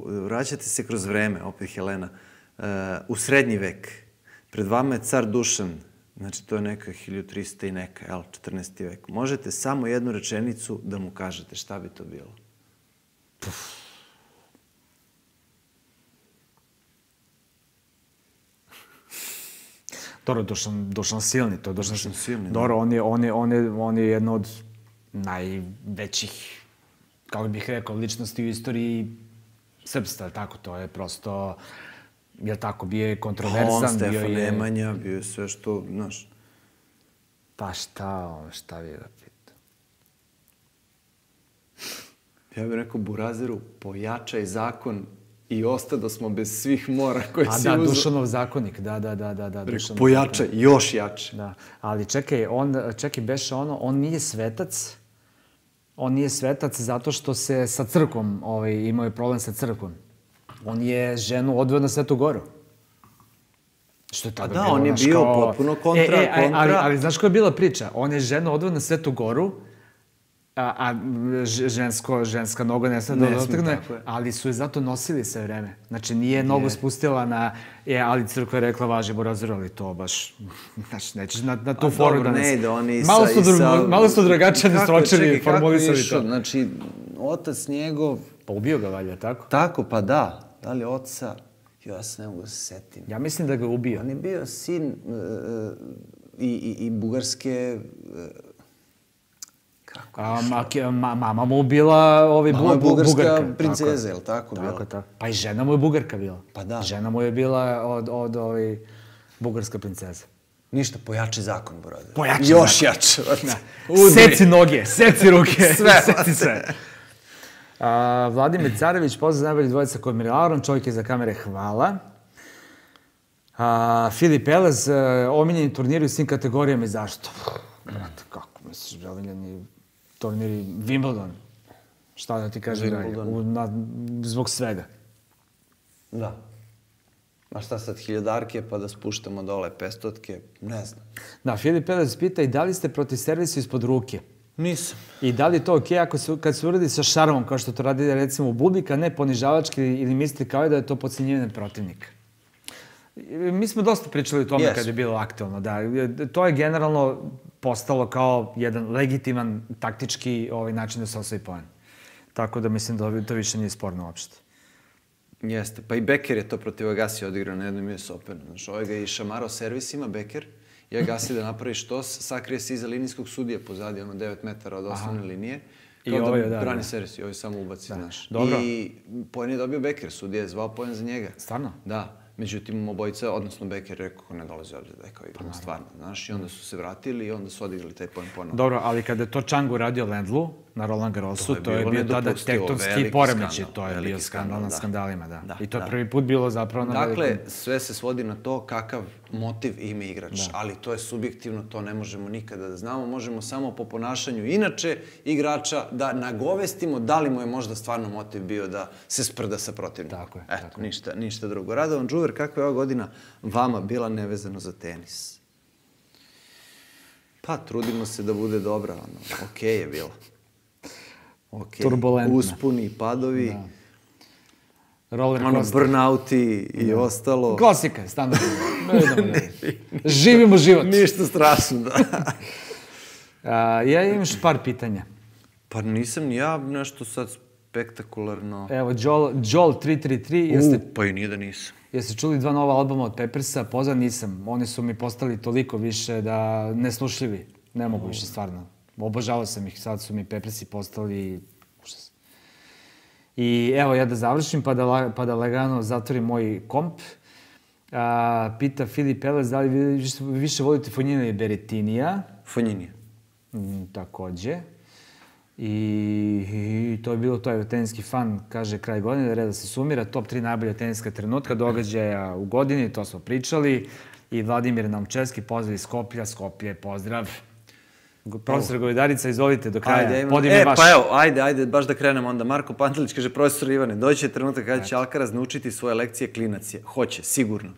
vraćate se kroz vreme, opet Helena, u srednji vek. Pred vama je car Dušan, znači to je neka 1300 i neka, 14. vek. Možete samo jednu rečenicu da mu kažete, šta bi to bilo? Dobro, Dušan silni, to je Dušan silni. Dobro, on je jedno od najvećih, kako bih rekao, ličnosti u istoriji srpstva, tako, to je prosto, je tako, bio je kontroverzan, on, Stefan Nemanja, bio je sve što, znaš. Pa šta bi da pitam? Ja bih rekao Burazeru, pojačaj zakon i ostado smo bez svih mora koje si uzeo. A da, Dušanov zakonik, da. Pojačaj, još jače. Da, ali čekaj, beše on nije svetac. On nije svetac zato što se sa crkvom, imao je problem sa crkvom. On je ženu odveo na Svetu Goru. Što je tada bilo, on je bio potpuno kontra. Ali znaš koja je bila priča? On je ženu odveo na Svetu Goru, a ženska noga ne smije da dotakne, ali su je zato nosili sve vreme. Znači, nije nogu spustila na... ali crkva je rekla, važi Burazeru, ali to baš... Znači, nećeš na tu foru da ne ide, oni malo su drugačije sročili, formulisali to. Znači, otac njegov... Pa ubio ga, valjda, tako? Tako, pa da. Da li oca... Ja se ne mogu da se setim. Ja mislim da ga ubio. On je bio sin i bugarske... Mama mu bila bugarska princeza, je li tako bila? Tako. Pa i žena mu je bugarka bila. Pa da. Žena mu je bila od bugarska princeza. Ništa, pojači zakon, brode. Pojači zakon. Još jače. Seci noge, seci ruke, seci sve. Vladimir Carević, pozdrav za najbolji dvojica kod Mirilaron, čovjek je za kamere, hvala. Filip Elez, omiljeni turniri u svim kategorijama i zašto? Brate, kako misliš, omiljeni turniri Wimbledon? Šta da ti kažem dalje? Zbog svega. Da. A šta sad, hiljadarke pa da spuštamo dole 500-tke? Ne znam. Da, Filip Elez pita i da li ste protiv servisa ispod ruke? Nisam. I da li je to okej kad se uradi sa šarmom, kao što to radi recimo u Bubika, ne ponižavački ili misli kao da je to podcenjivanje protivnika? Mi smo dosta pričali o tome kad je bilo aktualno, da. To je generalno postalo kao jedan legitiman taktički način da se osvoji poen. Tako da mislim da to više nije sporno uopšte. Jeste, pa i Beker je to protiv Agasi odigrao na jednom US Openu. Znaš, ovaj ga je i šamarao servisima, Beker, i Agasi da napravi štos, sakrije se iza linijskog sudije pozadi, 9 metara od osnovne linije. Kao da brani servis i ovaj samo ubaci, znaš. I poen je dobio Beker, sudija je zvao poen za njega. Stvarno? Da. Međutim, obojica, odnosno Beker rekao ne dolazi ovdje da je kao igramo stvarno, znaš, i onda su se vratili i onda su odigrali taj poen ponovno. Dobro, ali kada je to Changu radio Lendlu na Roland Garrosu, to je bio tada tektonski poremećaj, to je bio skandal na skandalima, da. I to je prvi put bilo zapravo na velikom... Dakle, sve se svodi na to kakav motiv ima igrač, ali to je subjektivno, to ne možemo nikada da znamo, možemo samo po ponašanju inače igrača da nagovestimo da li mu je možda stvarno motiv bio da se sprda sa protivnikom. Tako je. Eto, ništa drugo. Radovan Đuver, kakva je ova godina vama bila nevezano za tenis? Pa, trudimo se da bude dobra, okej je bila. Turbulentna. Uspuni, padovi, roller coaster. Burnouti i ostalo. Klasika je, standardno. Živimo život. Ništa strašno, da. Ja imam još par pitanja. Pa nisam ni ja nešto sad spektakularno. Evo, Joel 333. Pa i nije da nisam. Jeste čuli 2 nova albuma od Peppersa? Pozdrav, nisam. Oni su mi postali toliko više da neslušljivi. Ne mogu više, stvarno. Obožavao sam ih, sad su mi Peppersi postali užas. I evo, ja da završim pa da lagano zatvorim moj komp. Pita Filip Elez da li vi više volite Fognina ili Berettinija? Fognini. Takođe. I to je bilo to, teniski fan, kaže kraj godine, red da se sumira, top 3 najbolja teniska trenutka, događaja u godini, to smo pričali. I Vladimir Namčevski, pozdrav iz Skoplja, pozdrav. Profesor Govedarica, izvolite do kraja. Vaš. Pa evo, ajde, baš da krenemo onda. Marko Pantelić kaže, profesor Ivane, doći će trenutak kada će Alcaraz naučiti svoje lekcije klinac. Hoće, sigurno.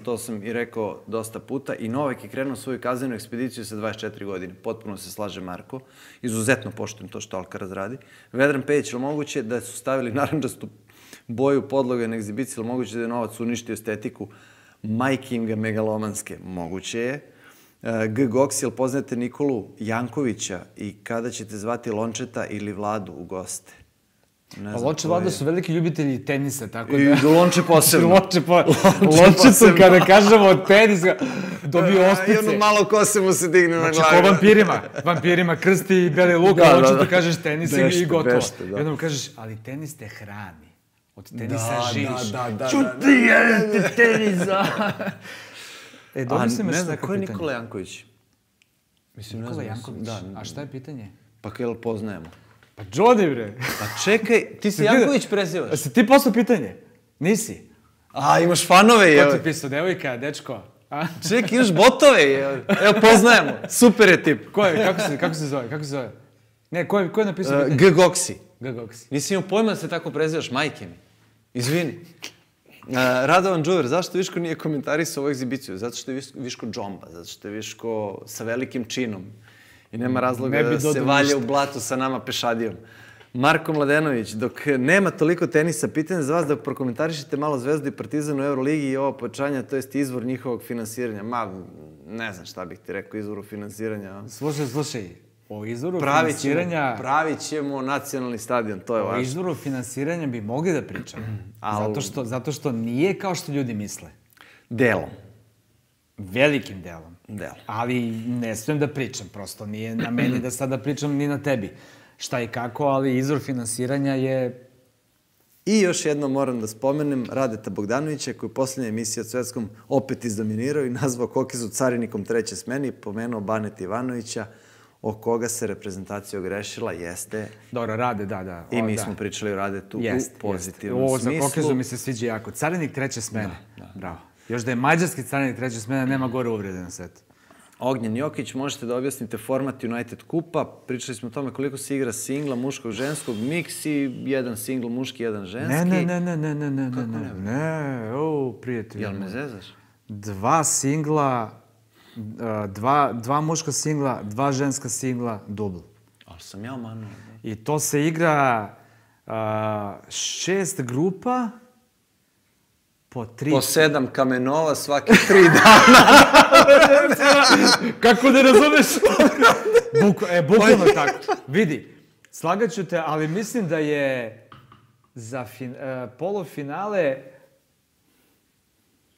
To sam i rekao dosta puta. I Novak je krenuo svoju kaznenu ekspediciju sa 24 godine. Potpuno se slaže Marko. Izuzetno poštujem to što Alcaraz radi. Vedran Pejić, ili moguće da su stavili narančastu boju podloge na egzibiciji, ili moguće da je Novac uništio estetiku majkinga megalomanske? Moguće je. G. Goks, jel poznate Nikolu Jankovića i kada ćete zvati Lončeta ili Vladu u goste? Lonče i Vlada su veliki ljubitelji tenisa, tako da... I Lonče posebno. Lončetu, kada kažemo tenis, dobio ospice. I ono malo kose mu se digne na glavu. Znači, ko vampirima. Vampirima krsti i beli luk, a Lončetu kažeš tenis i gotovo. I onda mu kažeš, ali tenis te hrani. Od tenisa živiš. Čuti, jedete tenisa! Dobro se me što neko pitanje. Ko je Nikola Janković? Nikola Janković? A šta je pitanje? Pa jel poznajemo? Pa Johnny, bre. Pa čekaj, ti se Janković prezivaš? A si ti poslao pitanje? Nisi. A, imaš fanove, je. Ko ti pisao, devojka, dečko? Čekaj, imaš botove, je. Evo, poznajemo. Super je tip. Ko je? Kako se zove? Ne, ko je napisao pitanje? G. Goksi. G. Goksi. Nisi imao pojma da se tako prezivaš, majke mi. Izvini. Radovan Đuver, zašto Viško nije komentarisao ovu egzibiciju? Zato što je Viško džomba, zato što je Viško sa velikim činom i nema razloga da se valja u blatu sa nama pešadijom. Marko Mladenović, dok nema toliko tenisa, pitanje za vas da prokomentarišete malo Zvezdu i Partizan u Euroligi i ovo pojačanje, to jest izvor njihovog finansiranja. Ne znam šta bih ti rekao, izvoru finansiranja. Slušaj, o izvoru finansiranja... Pravit ćemo nacionalni stadion, to je važno. O izvoru finansiranja bi mogli da pričamo. Zato što nije kao što ljudi misle. Delom. Velikim delom. Ali ne smijem da pričam, prosto nije na meni da sada pričam ni na tebi. Šta i kako, ali izvor finansiranja je... I još jedno moram da spomenem Radeta Bogdanovića, koji je posljednja emisija o Svetskom opet izdominirao i nazvao Kokizu carinikom treće smene i pomenuo Baneta Ivanovića, o koga se reprezentacija ogrešila, jeste... Dobro, Rade, da. I mi smo pričali o Radetu u pozitivnom smislu. Za Kokizu mi se sviđa jako. Carinik treće smene. Bravo. Još da je mađarski carinik treće smene, nema gore uvrede na svetu. Ognjen Jokić, možete da objasnite format United Kupa. Pričali smo o tome koliko se igra singla, muškog, ženskog, miks i jedan singl muški, jedan ženski. Ne, prijatelj. Jel me zezaš? Dva singla, dva muška singla, dva ženska singla, dubl. Ali sam ja manuo. I to se igra 6 grupa, po 7 kamenova svake 3 dana. Kako ne razumeš? Bukvalno tako. Vidi, slagaću te, ali mislim da je za polufinale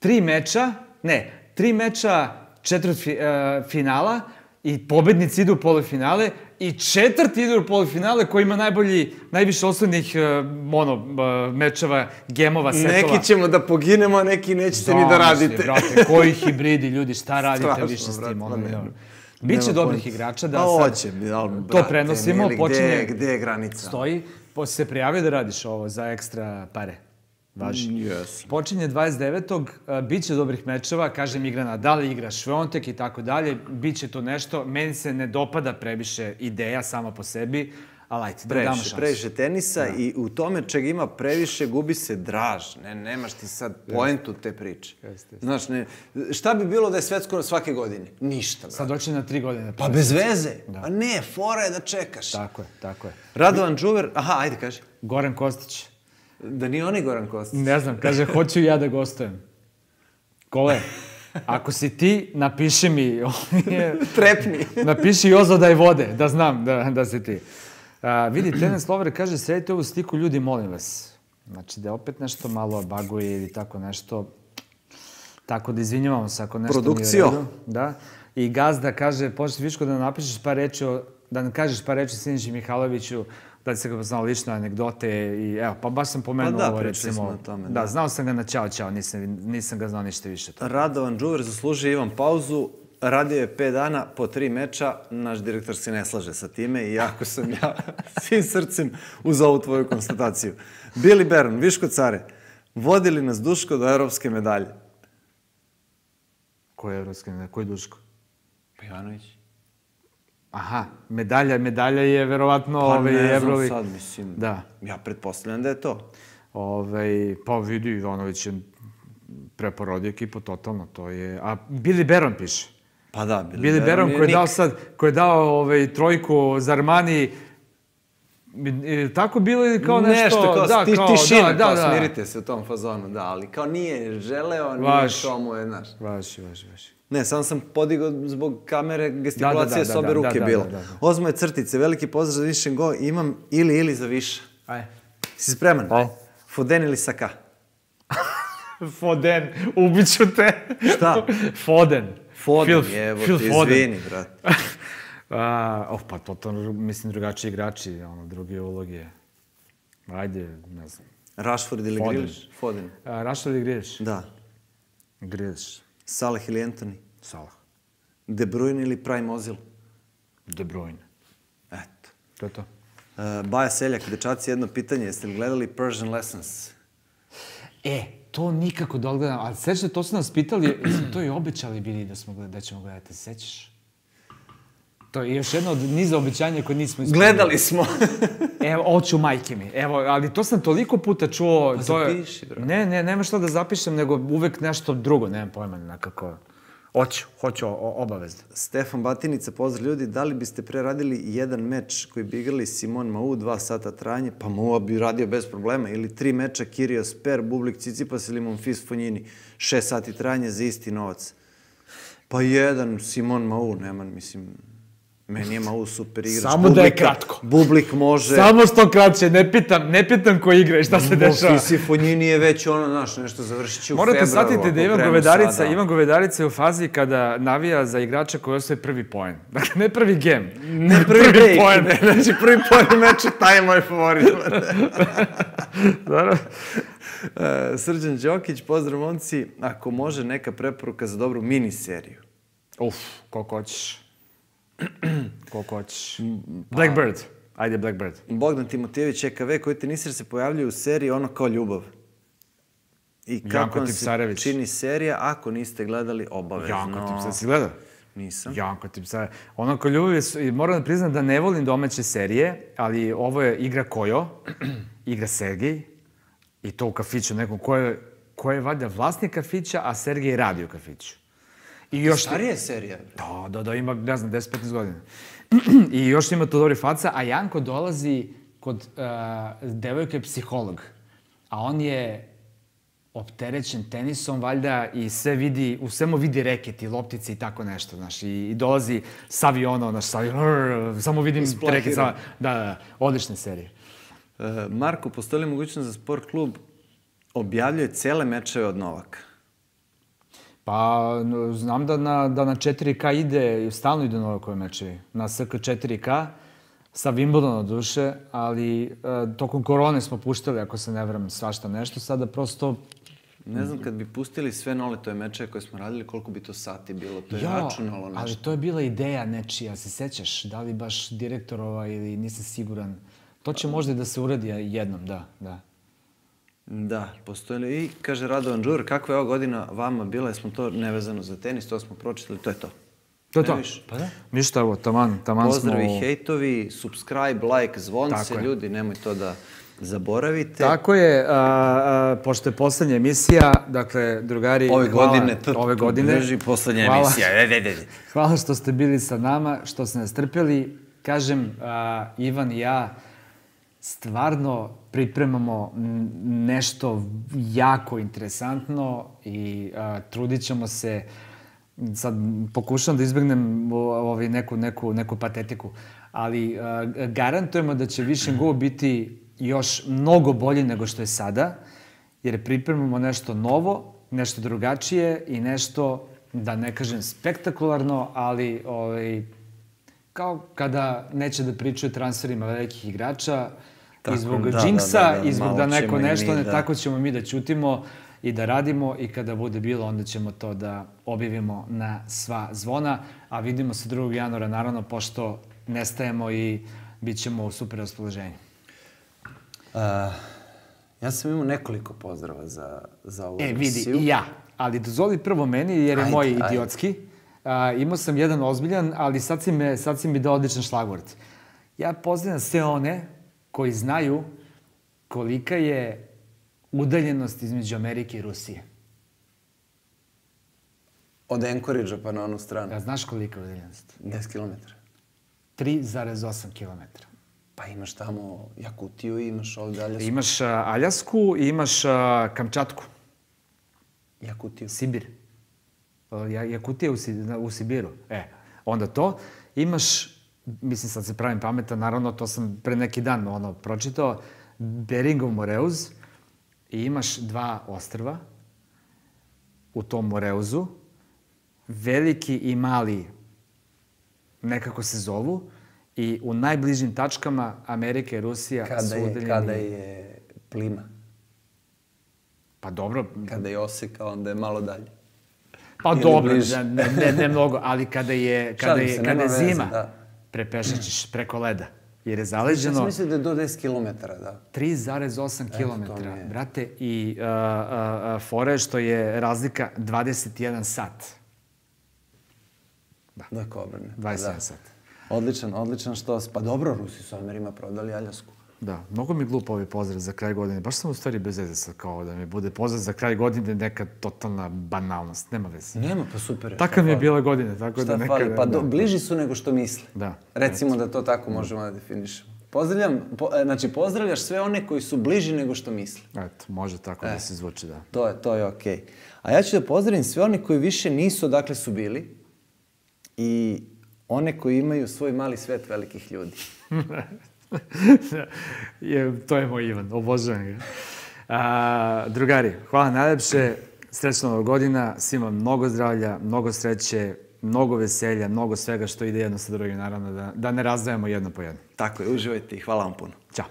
3 meča četvrtfinala i pobednici idu u polufinale i četvrti idu u polufinale koji ima najviše osnovnih mečeva, gemova, setova. Neki ćemo da poginemo, a neki nećete ni da radite. Brate, koji hibridi, ljudi, šta radite više s tim? Biće dobrih igrača da sad to prenosimo. Gde je granica? Stoji, se prijavio da radiš ovo za ekstra pare. Važi. Počinje 29. Biće dobrih mečeva, kažem, igra Nadal, igra Šviontek i tako dalje. Biće to nešto. Meni se ne dopada previše ideja sama po sebi, ali ajte, da damo šansu. Previše tenisa i u tome čega ima previše gubi se draž. Nemaš ti sad poentu te priče. Znaš, šta bi bilo da je svetsko svake godine? Ništa. Sad doći na 3 godine. Pa bez veze. A ne, fora je da čekaš. Tako je. Radovan Đuver, ajde kaži. Goran Kostić. Da nije on i Goran Kostić. Ne znam, kaže, hoću ja da gostujem. Kole, ako si ti, napiši mi... Trepni. Napiši Jozo daj vode, da znam da si ti. Vidi, Tenes Lover kaže, sredite ovu sliku, ljudi, molim vas. Znači, da opet nešto malo baguje ili tako nešto. Tako da izvinjavamo se ako nešto nije u redu. Da. I Gazda kaže, početi Viško da napišeš par reči, da nam kažeš par reči Siniši Mihajloviću, da se ga poznao lično anegdote i evo, pa baš sam pomenuo ovo recimo. Da, znao sam ga na Ćao, nisam ga znao ništa više. Radovan Đuver zaslužuje Ivan pauzu, radio je 5 dana po 3 meča, naš direktor se ne slaže sa time i jako sam ja svim srcem uz ovu tvoju konstataciju. Billy Baron, Viško care, vodili nas Duško do evropske medalje. Koje evropske medalje? Koji Duško? Pa Ivanović. Aha, medalja je verovatno Pa ne Evrovi. znam sad, mislim. Da. Ja pretpostavljam da je to. Pa vidi, Ivanović je preporodio ekipu totalno, to je... A Billy Baron piše. Pa da, Billy Baron koji je dao trojku za Armani, tako bilo ili kao nešto... Nešto, kao tišina, kao da. smirite se u tom fazonu, da, ali kao nije želeo, nije to mu je, znaš. Vaši. Ne, samo sam podigao zbog kamere, gestikulacije s obe ruke bila. Ozmoje crtice, veliki pozdrav za Višen Go, imam ili za više. Ajde. Si spreman? Foden ili Saka? Foden, ubiću te. Šta? Foden, evo ti, izvini, brat. Pa totalno, mislim, drugačiji igrači, druge uloge. Ajde, ne znam. Rashford ili Grealish? Foden. Rashford ili Grealish? Da. Grealish. Salah ili Antony? Salah. De Bruyne ili Prime Ozil? De Bruyne. Eto. To je to. Baja Seljak, dečaci, jedno pitanje. Jeste li gledali Persian Lessons? To nikako da odgledam, ali sećate, to su nas pitali, to i obećali bili da ćemo gledati, sećaš? To je još jedno od niza obećanja koje nismo ispunili. Gledali smo. Evo, oću majke mi. Evo, ali to sam toliko puta čuo. Pa zapiši, bro. Ne, nema šta da zapišem, nego uvek nešto drugo, nemam pojma, nekako. Hoću obavezno. Stefan Batinica, pozdrav ljudi, da li biste preradili jedan meč koji bi igrali Simon Mau, 2 sata trajanje, pa Mau bi radio bez problema, ili 3 meča Kyrgios Per, Bublik Cicipas ili Monfils Fonjini, 6 sati trajanje za isti novac. Pa jedan Simon Mau, neman, mislim... Meni je Mau super igrač. Samo da je kratko. Bublik može... Samo što kraće, ne pitam ko igra i šta se dešava. Monfils Fonjini je već znaš, nešto završit će u februaru. Morate shvatiti da Ivan Govedarica je u fazi kada navija za igrača koji osvoje prvi poen. Dakle, ne prvi gem. Ne prvi poen. Znači, prvi poen meča, taj je moj favorit. Srđan Đokić, pozdrav momci. Ako može, neka preporuka za dobru miniseriju. Koliko hoćeš. Blackbird. Ajde, Blackbird. Bogdan Timotijević, EKV, koji tenisir se pojavljaju u seriji Ono kao ljubav. I kako vam se čini serija, ako niste gledali, obavezno. Janko Tipsarević, si gledao? Nisam. Janko Tipsarević. Ono kao ljubav je, moram da priznam da ne volim domaće serije, ali ovo je igra Kojo, igra Sergej, i to u kafiću nekom ko je valjda vlasnik kafića, a Sergej radi u kafiću. Starija je serija. Da, ima, ne znam, 10-15 godina. I još ima to dobri faca, a Janko dolazi kod devojke psiholog. A on je opterećen tenisom, valjda, i u svemu vidi reket i loptice i tako nešto, znaš. I dolazi s aviona, znaš, samo vidim reket. Da, odlične serije. Marko, postoji li mogućnost da sport klub objavljuje cele mečeve od Novaka? Pa, znam da na 4K ide, stalno ide Novakove mečevi. Na SK 4K, sa Wimbledona duše, ali tokom korone smo puštali, ako se ne varam, svašta nešto. Sada prosto... Ne znam, kad bi pustili sve Noletove mečeve koje smo radili, koliko bi to sati bilo, to je računalo nešto. Ali to je bila ideja nečija, se sećaš? Da li baš direktorova ili nisam siguran. To će možda da se uradi jednom, da. Da, postoji li. I kaže Radovan Đur, kakva je ova godina vama bila, smo to nevezano za tenis, to smo pročitali, to je to. To je to? Pa da. Ništa, evo, taman smo... Pozdravi, hejtovi, subscribe, like, zvonce, ljudi, nemoj to da zaboravite. Tako je, pošto je poslednja emisija, dakle, drugari, ove godine, drži poslednja emisija. Hvala što ste bili sa nama, što ste nas trpeli. Kažem, Ivan i ja stvarno pripremamo nešto jako interesantno i trudit ćemo se, sad pokušam da izbjegnem neku patetiku, ali garantujemo da će Vision Go biti još mnogo bolji nego što je sada, jer pripremamo nešto novo, nešto drugačije i nešto, da ne kažem spektakularno, ali kao kada neće da pričaju transferima velikih igrača, i zbog džinksa, i zbog da neko nešto, ne tako ćemo mi da ćutimo i da radimo, i kada bude bilo, onda ćemo to da objavimo na sva zvona, a vidimo se 2. januara, naravno, pošto nestajemo i bit ćemo u super raspoloženju. Ja sam imao nekoliko pozdrava za ovu emisiju. Vidi, i ja, ali dozvoli prvo meni, jer je moj idiotski. Imao sam jedan ozbiljan, ali sad si mi dao odličan šlagvort. Ja pozdravljam sve one koji znaju kolika je udaljenost između Amerike i Rusije. Od Anchorage-a pa na onu stranu. Ja, znaš kolika je udaljenost? 10 kilometara. 3,8 kilometra. Pa imaš tamo Jakutiju i imaš ovde Aljasku. Imaš Aljasku i imaš Kamčatku. Jakutiju. Sibir. Jakutija u Sibiru. Onda to. Imaš, mislim sad se pravim pametan, naravno to sam pre neki dan pročitao, Beringov Moreuz i imaš 2 ostrva u tom Moreuzu, veliki i mali nekako se zovu i u najbližim tačkama Amerika i Rusija su udaljeni. Kada je plima? Pa dobro. Kada je oseka, onda je malo dalje. Pa dobro, ne mnogo, ali kada je zima, prepešaćeš preko leda. Jer je zaleđeno... Ja sam mislio da je do 10 kilometara, da. 3,8 kilometra, brate, i fora je što je razlika 21 sat. Da, kobrne. 21 sat. Odličan što... Pa dobro, Rusi su Amerima prodali Aljasku. Da, mnogo mi glupo ovaj pozdrav za kraj godine. Baš sam u stvari bez veze sad kao da mi bude pozdrav za kraj godine neka totalna banalnost. Nema veze. Nema, pa super je. Taka mi je bila godina, tako da neka... Šta fali? Pa bliži su nego što misle. Da. Recimo da to tako možemo da definišemo. Pozdravljaš sve one koji su bliži nego što misle. Eto, može tako da se zvuči, da. To je okej. A ja ću da pozdravim sve one koji više nisu odakle su bili i one koji imaju svoj mali svet velikih ljudi. To je moj Ivan, obožavam ga. Drugari, hvala najlepše, srećna Nova godina, svima mnogo zdravlja, mnogo sreće, mnogo veselja, mnogo svega što ide jedno sa drugim, naravno, da ne razdajemo jedno po jedno. Tako je, uživajte i hvala vam puno. Ćao.